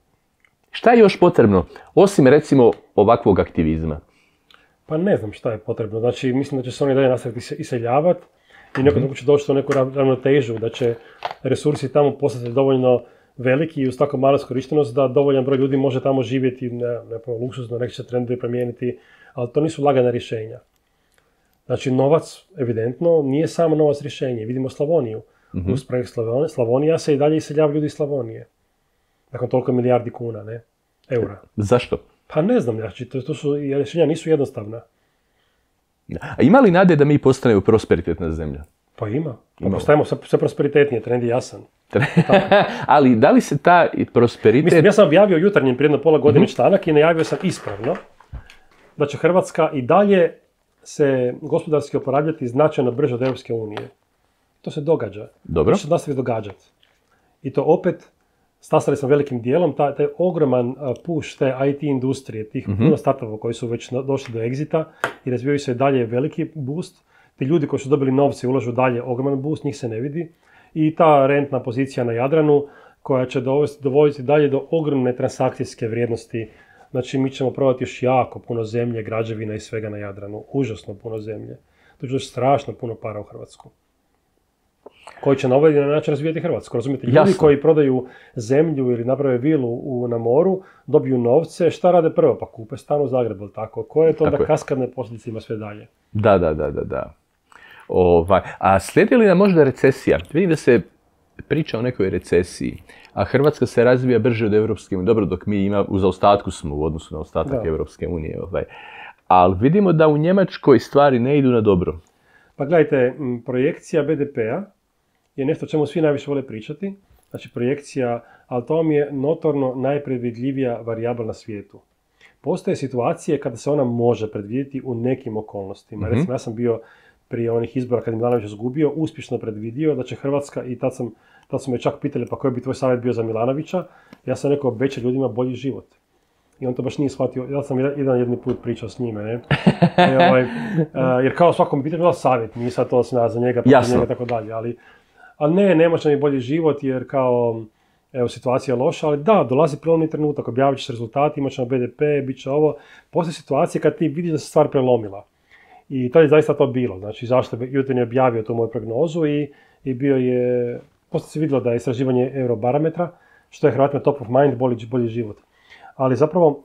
Šta je još potrebno, osim recimo ovakvog aktivizma? Pa ne znam šta je potrebno. Znači, mislim da će se oni dalje nastaviti iseljavati i nekako će doći do neku ravnotežu, da će resursi tamo postati dovoljno veliki i uz tako malu iskorištenost da dovoljan broj ljudi može tamo živjeti, ne luksuzno, neki će trendovi promijeniti, ali to nisu lagana rješenja. Znači, novac, evidentno, nije samo novac rješenje. Vidimo Slavoniju. Uz projekt Slavonija se i dalje iseljavaju ljudi iz Slavonije. Nakon toliko milijardi kuna, ne? Eura. Zašto? Pa ne znam, znači, to su, rješenja nisu jednostavna. A ima li nade da mi postanemo prosperitetna zemlja? Pa ima. Postajemo sve prosperitetnije, trend je jasan. Ali da li se ta prosperitet... Mislim, ja sam objavio jutarnjem prije jedno pola godine članak i najavio sam ispravno da će Hrvatska i dalje se gospodarski oporavljati značajno brže od Europske unije. To se događa. Dobro. To se nastavi događati. I to opet, stasali smo velikim dijelom, taj ogroman push te IT industrije, tih puno startupova koji su već došli do exita i razvijaju se dalje veliki boost. Ti ljudi koji su dobili novce i ulažu dalje ogroman boost, njih se ne vidi. I ta rentna pozicija na Jadranu koja će dovoditi dalje do ogromne transakcijske vrijednosti. Znači, mi ćemo prodati još jako puno zemlje, građevina i svega na Jadranu. Užasno puno zemlje. To će još strašno puno para u Hrvatsku. Koji će na ovaj način razvijati Hrvatsku. Razumijete, ljudi koji prodaju zemlju ili naprave vilu na moru, dobiju novce, šta rade prvo? Pa kupe stan u Zagrebu, tako? Koje je to da kaskadne posljedice ima sve dalje? Da. A slijedi li nam možda recesija? Vidim da se priča o nekoj recesiji, a Hrvatska se razvija brže od Europske unije. Dobro, dok mi u zaostatku smo u odnosu na ostatak Europske unije. Ali vidimo da u Njemačkoj stvari ne idu na dobro. Pa gledajte, projekcija BDP-a je nešto o čemu svi najviše vole pričati. Znači projekcija, ali to vam je notorno najpredvidljivija varijabla na svijetu. Postoje situacije kada se ona može predvidjeti u nekim okolnostima. Recimo, ja sam bio prije onih izbora kad je Milanović izgubio, uspješno predvidio da će Hrvatska, i tad su me čak pitali pa koji bi tvoj savjet bio za Milanovića, ja sam rekao obećaj ljudima bolji život. I on to baš nije shvatio, ja sam jedni put pričao s njime, ne? Jer kao svakom pitanju bila savjet, nije sad to za njega, pa za njega i tako dalje, ali ne može mi bolji život jer kao, evo, situacija je loša, ali da, dolazi prelomni trenutak, objavit ćeš rezultati, imat ćemo BDP, bit će ovo, postoje situacije kad ti vidiš da se stvar prelomila. I to je zaista to bilo, znači zašto Jutarnji je objavio tu moju prognozu i bio je, poslije se vidjelo da je istraživanje Eurobarometra, što je Hrvatima top of mind, bolji život. Ali zapravo,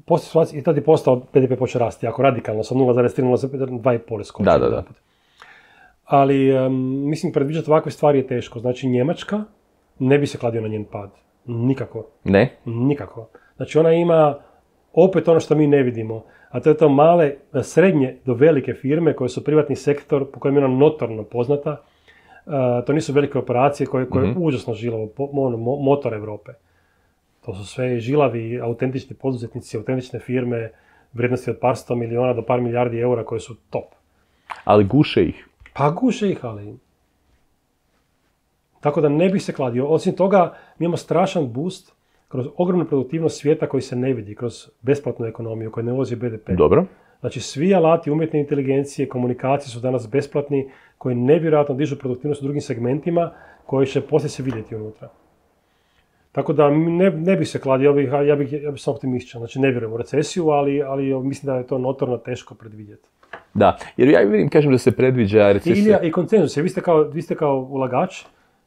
poslije situacije, i tada je postao BDP počeo rasti, jako radikalno, sa 0,3 na 2,5 skočio. Da. Ali, mislim, predviđati ovakve stvari je teško. Znači, Njemačka ne bi se kladio na njen pad. Nikako. Ne? Nikako. Znači, ona ima opet ono što mi ne vidimo, a to je to male, srednje do velike firme koje su privatni sektor, po kojem je ona notorno poznata. To nisu velike operacije koje je užasno žilavo, motor Europe. To su sve žilavi, autentični poduzetnici, autentične firme, vrijednosti od par 100 milijuna do par milijardi eura koje su top. Ali guše ih. Pa guše ih, ali... Tako da ne bi se kladio. Osim toga, mi imamo strašan boost kroz ogromnu produktivnost svijeta koji se ne vidi, kroz besplatnu ekonomiju koja ne uvozi BDP. Dobro. Znači, svi alati umjetne inteligencije, komunikacije su danas besplatni, koji nevjerojatno dižu produktivnost u drugim segmentima, koji će poslije se vidjeti unutra. Tako da ne bi se kladio, ja bih sam optimističan. Znači, ne vjerujem u recesiju, ali mislim da je to notorno teško predvidjeti. Da, jer ja vidim, kažem da se predviđa recesija. I konsenzus, vi ste kao ulagač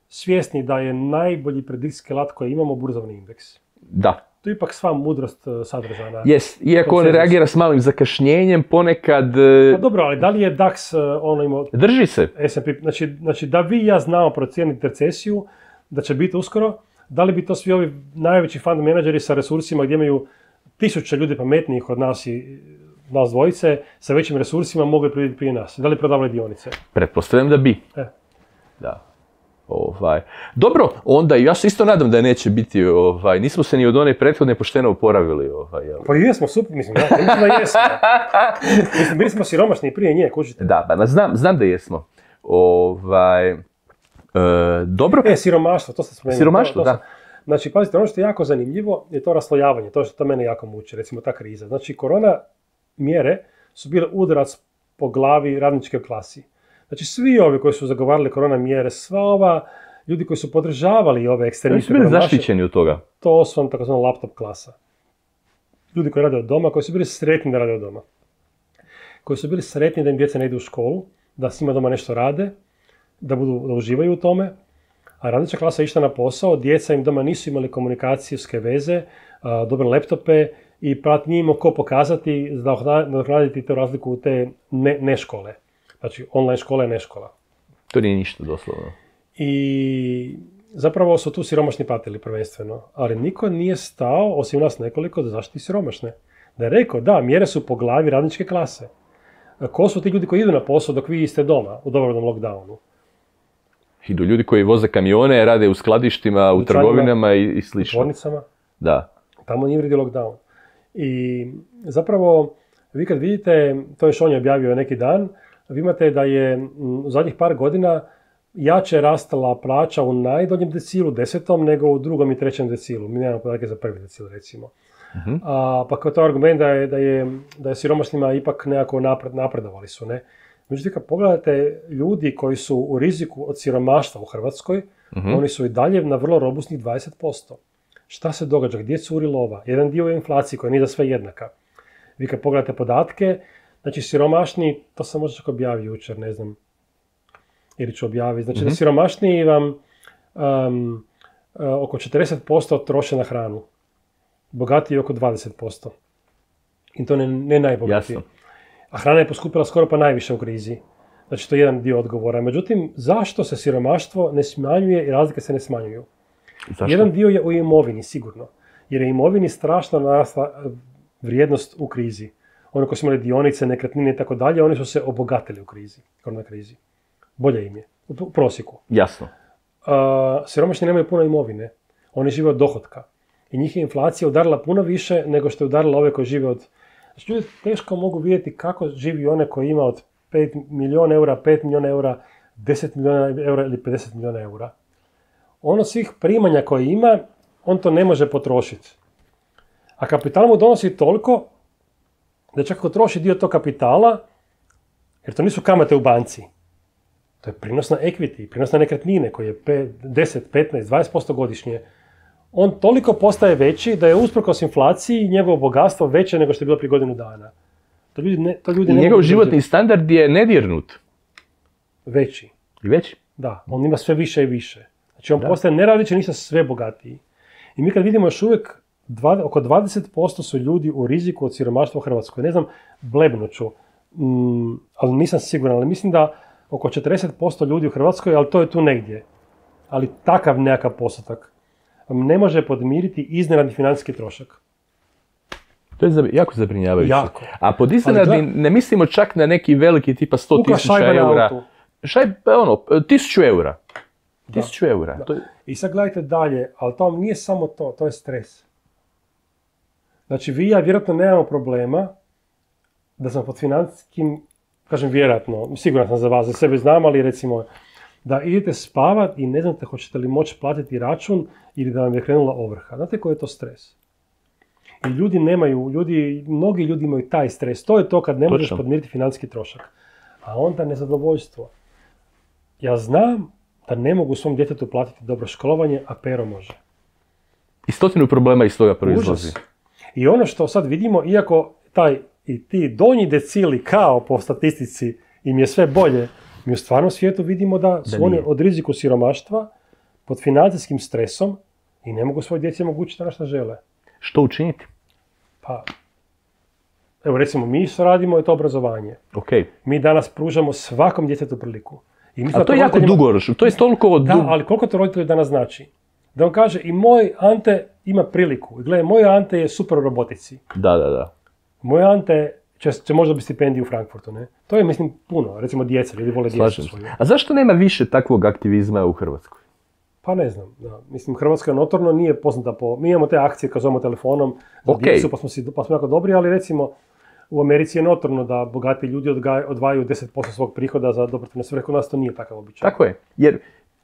svjesni da je najbolji predikcijski alat koji imamo burzovni indeks. Da. To je ipak sva mudrost sadržana. Jest, iako on reagira s malim zakašnjenjem, ponekad... Pa dobro, ali da li je DAX imao... Drži se. S&P, znači da vi i ja znamo procijeniti recesiju, da će biti uskoro, da li bi to svi ovi najveći fund menadžeri sa resursima gdje imaju 1000 ljudi pametnijih od nas i nas dvojice, sa većim resursima mogli predvidjeti prije nas? Da li prodavali dionice? Pretpostavljam da bi. Da. Dobro, onda ja se isto nadam da neće biti, nismo se ni od one prethodne pošteno oporavili. Pa jesmo, super, mislim da jesmo. Mislim, bili smo siromašni prije nje, kužite. Da, pa znam da jesmo. Dobro. Siromaštvo, to ste spomenuli. Siromaštvo, da. Znači, pazite, ono što je jako zanimljivo je to raslojavanje, to mene jako muči, recimo ta kriza. Znači, korona mjere su bile udarac po glavi radničke klasi. Znači svi ovi koji su zagovarali korona mjere, sva ova ljudi koji su podržavali ove ekstremiste, koji su bili zaštićeni od toga. To su vam takozvana laptop klasa. Ljudi koji rade od doma, koji su bili sretni da rade od doma. Koji su bili sretni da im djeca ne idu u školu, da s njima doma nešto rade, da uživaju u tome. A radnička klasa je išla na posao, djeca im doma nisu imali komunikacijske veze, dobre laptope i nije imao ko pokazati, nadoknaditi tu razliku u te ne škole. Znači, online škola je ne škola. To nije ništa doslovno. I zapravo su tu siromašni patili prvenstveno, ali niko nije stao, osim nas nekoliko, da zaštiti siromašne. Da je rekao, da, mjere su po glavi radničke klase. Ko su ti ljudi koji idu na posao dok vi ste doma u dobrovoljnom lockdownu? Idu ljudi koji voze kamione, rade u skladištima, u trgovinama i slično. U tvornicama. Da. Tamo nije vredi lockdown. I zapravo, vi kad vidite, to je što on je objavio neki dan, vi imate da je u zadnjih par godina jače rastala plaća u najdonjem decilu, 10. nego u 2. i 3. decilu. Mi nemamo podatke za 1. decil, recimo. Uh-huh. Pa kao to argument da je siromašnima ipak nekako napredovali su, ne? Međutim, kad pogledate ljudi koji su u riziku od siromaštva u Hrvatskoj, uh-huh. Oni su i dalje na vrlo robustnih 20%. Šta se događa? Gdje curi lova? Jedan dio je inflacija koja nije za sve jednaka. Vi kad pogledate podatke, znači siromašni, to sam možda čak objavio jučer, ne znam, ili ću objaviti. Znači da siromašniji vam oko 40% troše na hranu. Bogatiji oko 20%. I to ne najbogatiji. Jasno. A hrana je poskupila skoro pa najviše u krizi. Znači to je jedan dio odgovora. Međutim, zašto se siromaštvo ne smanjuje i razlike se ne smanjuju? Zašto? Jedan dio je u imovini, sigurno. Jer je imovini strašno narasla vrijednost u krizi. Oni koji su imali dionice, nekretnine i tako dalje, oni su se obogatili u krizi, korona krizi. Bolje im je, u prosjeku. Jasno. Siromašni nemaju puno imovine. Oni žive od dohotka. I njih je inflacija udarila puno više nego što je udarila ove koji žive od... Znači, ljudi teško mogu vidjeti kako živi one koji ima od 5 milijuna eura, 5 milijuna eura, 10 milijuna eura ili 50 milijuna eura. Ono svih primanja koje ima, on to ne može potrošiti. A kapital mu donosi toliko da čak ako troši dio tog kapitala, jer to nisu kamate u banci, to je prinos na equity, prinos na nekretnine koji je 10, 15, 20% godišnje, on toliko postaje veći da je usprkos inflaciji njegovo bogatstvo veće nego što je bilo prije godinu dana. To ljudi I njegov životni standard je nedirnut. Veći. I veći? Da, on ima sve više i više. Znači on postaje neradiće, ništa sve bogatiji. I mi kad vidimo još uvijek oko 20% su ljudi u riziku od siromaštva u Hrvatskoj. Ne znam, blebnuću, ali nisam siguran, ali mislim da oko 40% ljudi u Hrvatskoj, ali to je tu negdje. Ali takav nekakav postotak ne može podmiriti iznenadni financijski trošak. To je jako zabrinjavajuće. Jako. A pod iznenadni ne mislimo čak na neki veliki tipa 100.000 eura. 1.000 eura. 1.000 eura. To je... I sad gledajte dalje, ali to nije samo to je stres. Znači vi i ja vjerojatno nemamo problema da sam pod financijskim, kažem vjerojatno, siguran sam za vas, za sebe znam, ali recimo da idete spavat i ne znate hoćete li moći platiti račun ili da vam je krenula ovrha. Znate koji je to stres? I mnogi ljudi imaju taj stres. To je to kad ne možeš podmiriti financijski trošak. A onda nezadovoljstvo. Ja znam da ne mogu svom djetetu platiti dobro školovanje, a Pero može. I 100 problema iz toga proizlazi. I ono što sad vidimo, iako ti donji decili kao po statistici im je sve bolje, mi u stvarnom svijetu vidimo da su oni od riziku siromaštva pod financijskim stresom i ne mogu svoje djeci omogućiti ono što žele. Što učiniti? Pa, evo recimo mi radimo to obrazovanje. Okay. Mi danas pružamo svakom djetetu priliku. A to je jako dugoročno, to je toliko... Da, ali koliko to roditelju danas znači? Da on kaže, i moj Ante ima priliku. Gledaj, moj Ante je super u robotici. Da. Moj Ante će možda biti stipendiju u Frankfurtu, ne? To je, mislim, puno. Recimo djeca, ljudi vole djecu svoju. A zašto nema više takvog aktivizma u Hrvatskoj? Pa ne znam, da. Mislim, Hrvatska notorno nije poznata po... Mi imamo te akcije kad zovemo telefonom za djecu, pa smo jako dobri, ali recimo u Americi je notorno da bogati ljudi odvajaju 10% svog prihoda za dobrotvorne svrhe. Kod nas to nije takav običaj. Tako je, jer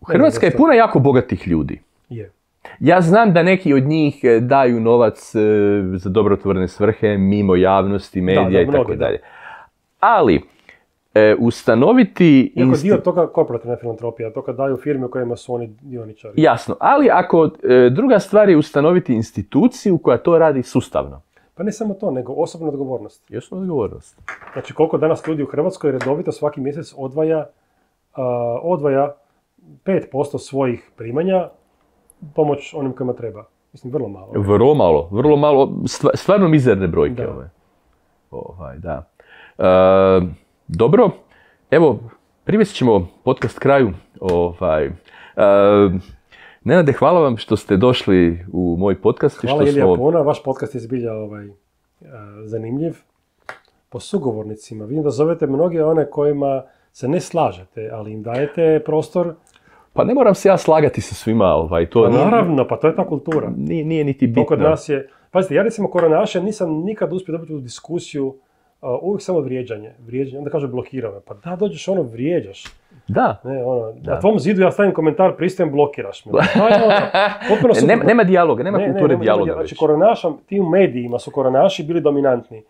Hrvatska je puna jako bogatih ljudi. Je. Ja znam da neki od njih daju novac za dobrotvorne svrhe mimo javnosti, medija i tako dalje. Ali ustanoviti... Iako dio toga korporativna filantropija, to kad daju firme u kojima su oni dioničari. Jasno, ali ako druga stvar je ustanoviti instituciju koja to radi sustavno. Pa ne samo to, nego osobna odgovornost. Osobna odgovornost. Znači koliko danas ljudi u Hrvatskoj redovito svaki mjesec odvaja 5% svojih primanja pomoć onim kojima treba. Mislim, vrlo malo. Vrlo malo, stvarno mizerne brojke. Da. Dobro, evo, privest ćemo podcast kraju. Nenade, hvala vam što ste došli u moj podcast. Hvala Ilija Pona, vaš podcast je zbilja zanimljiv. Po sugovornicima, vidim da zovete mnoge one kojima se ne slažete, ali im dajete prostor. Pa ne moram se ja slagati sa svima. To naravno, pa to je ta kultura. Nije niti bitno. To kod nas je... Pazite, ja recimo koronaše nisam nikad uspio dobiti u diskusiju, uvijek samo vrijeđanje. Onda kaže blokira me. Pa da, dođeš vrijeđaš. Da. Na tvom zidu ja stavim komentar, pristajem, blokiraš me. Nema dijaloga, nema kulture dijaloga. Znači, koronaša, ti u medijima su koronaši bili dominantni.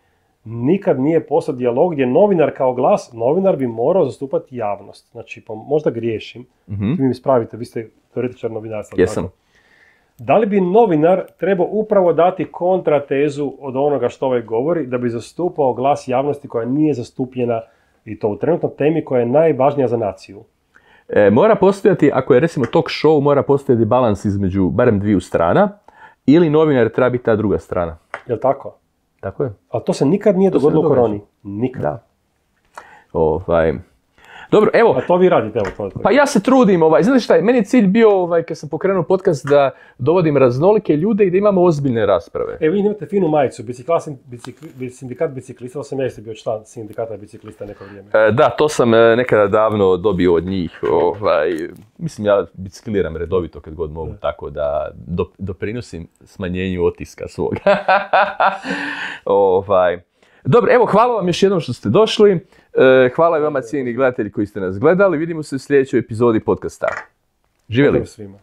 Nikad nije postao dijalog gdje novinar kao glas, novinar bi morao zastupati javnost. Znači, pa možda griješim, vi mi ispravite, vi ste teoretičar novinarstva. Jesam. Da li bi novinar trebao upravo dati kontratezu od onoga što ovaj govori, da bi zastupao glas javnosti koja nije zastupljena i to u trenutnoj temi koja je najvažnija za naciju? Mora postojati, ako je recimo talk show, mora postojati balans između barem dviju strana, ili novinar treba biti ta druga strana. Jel' tako? Tako je. Ali to se nikad nije dogodilo u koroni. Nikad. Da. Dobro, evo. A to vi radite, evo to. Pa ja se trudim, znate šta je, meni je cilj bio, kad sam pokrenuo podcast, da dovodim raznolike ljude i da imamo ozbiljne rasprave. Evo, vi imate finu majicu, sindikat biciklista, sam jeste bio član sindikata biciklista neko vrijeme. Da, to sam nekada davno dobio od njih. Mislim, ja bicikliram redovito kad god mogu, tako da doprinosim smanjenju otiska svog. Dobro, evo, hvala vam još jednom što ste došli. Hvala i vama, cijenjeni gledatelji koji ste nas gledali. Vidimo se u sljedećoj epizodi podcasta. Živjeli! Svima.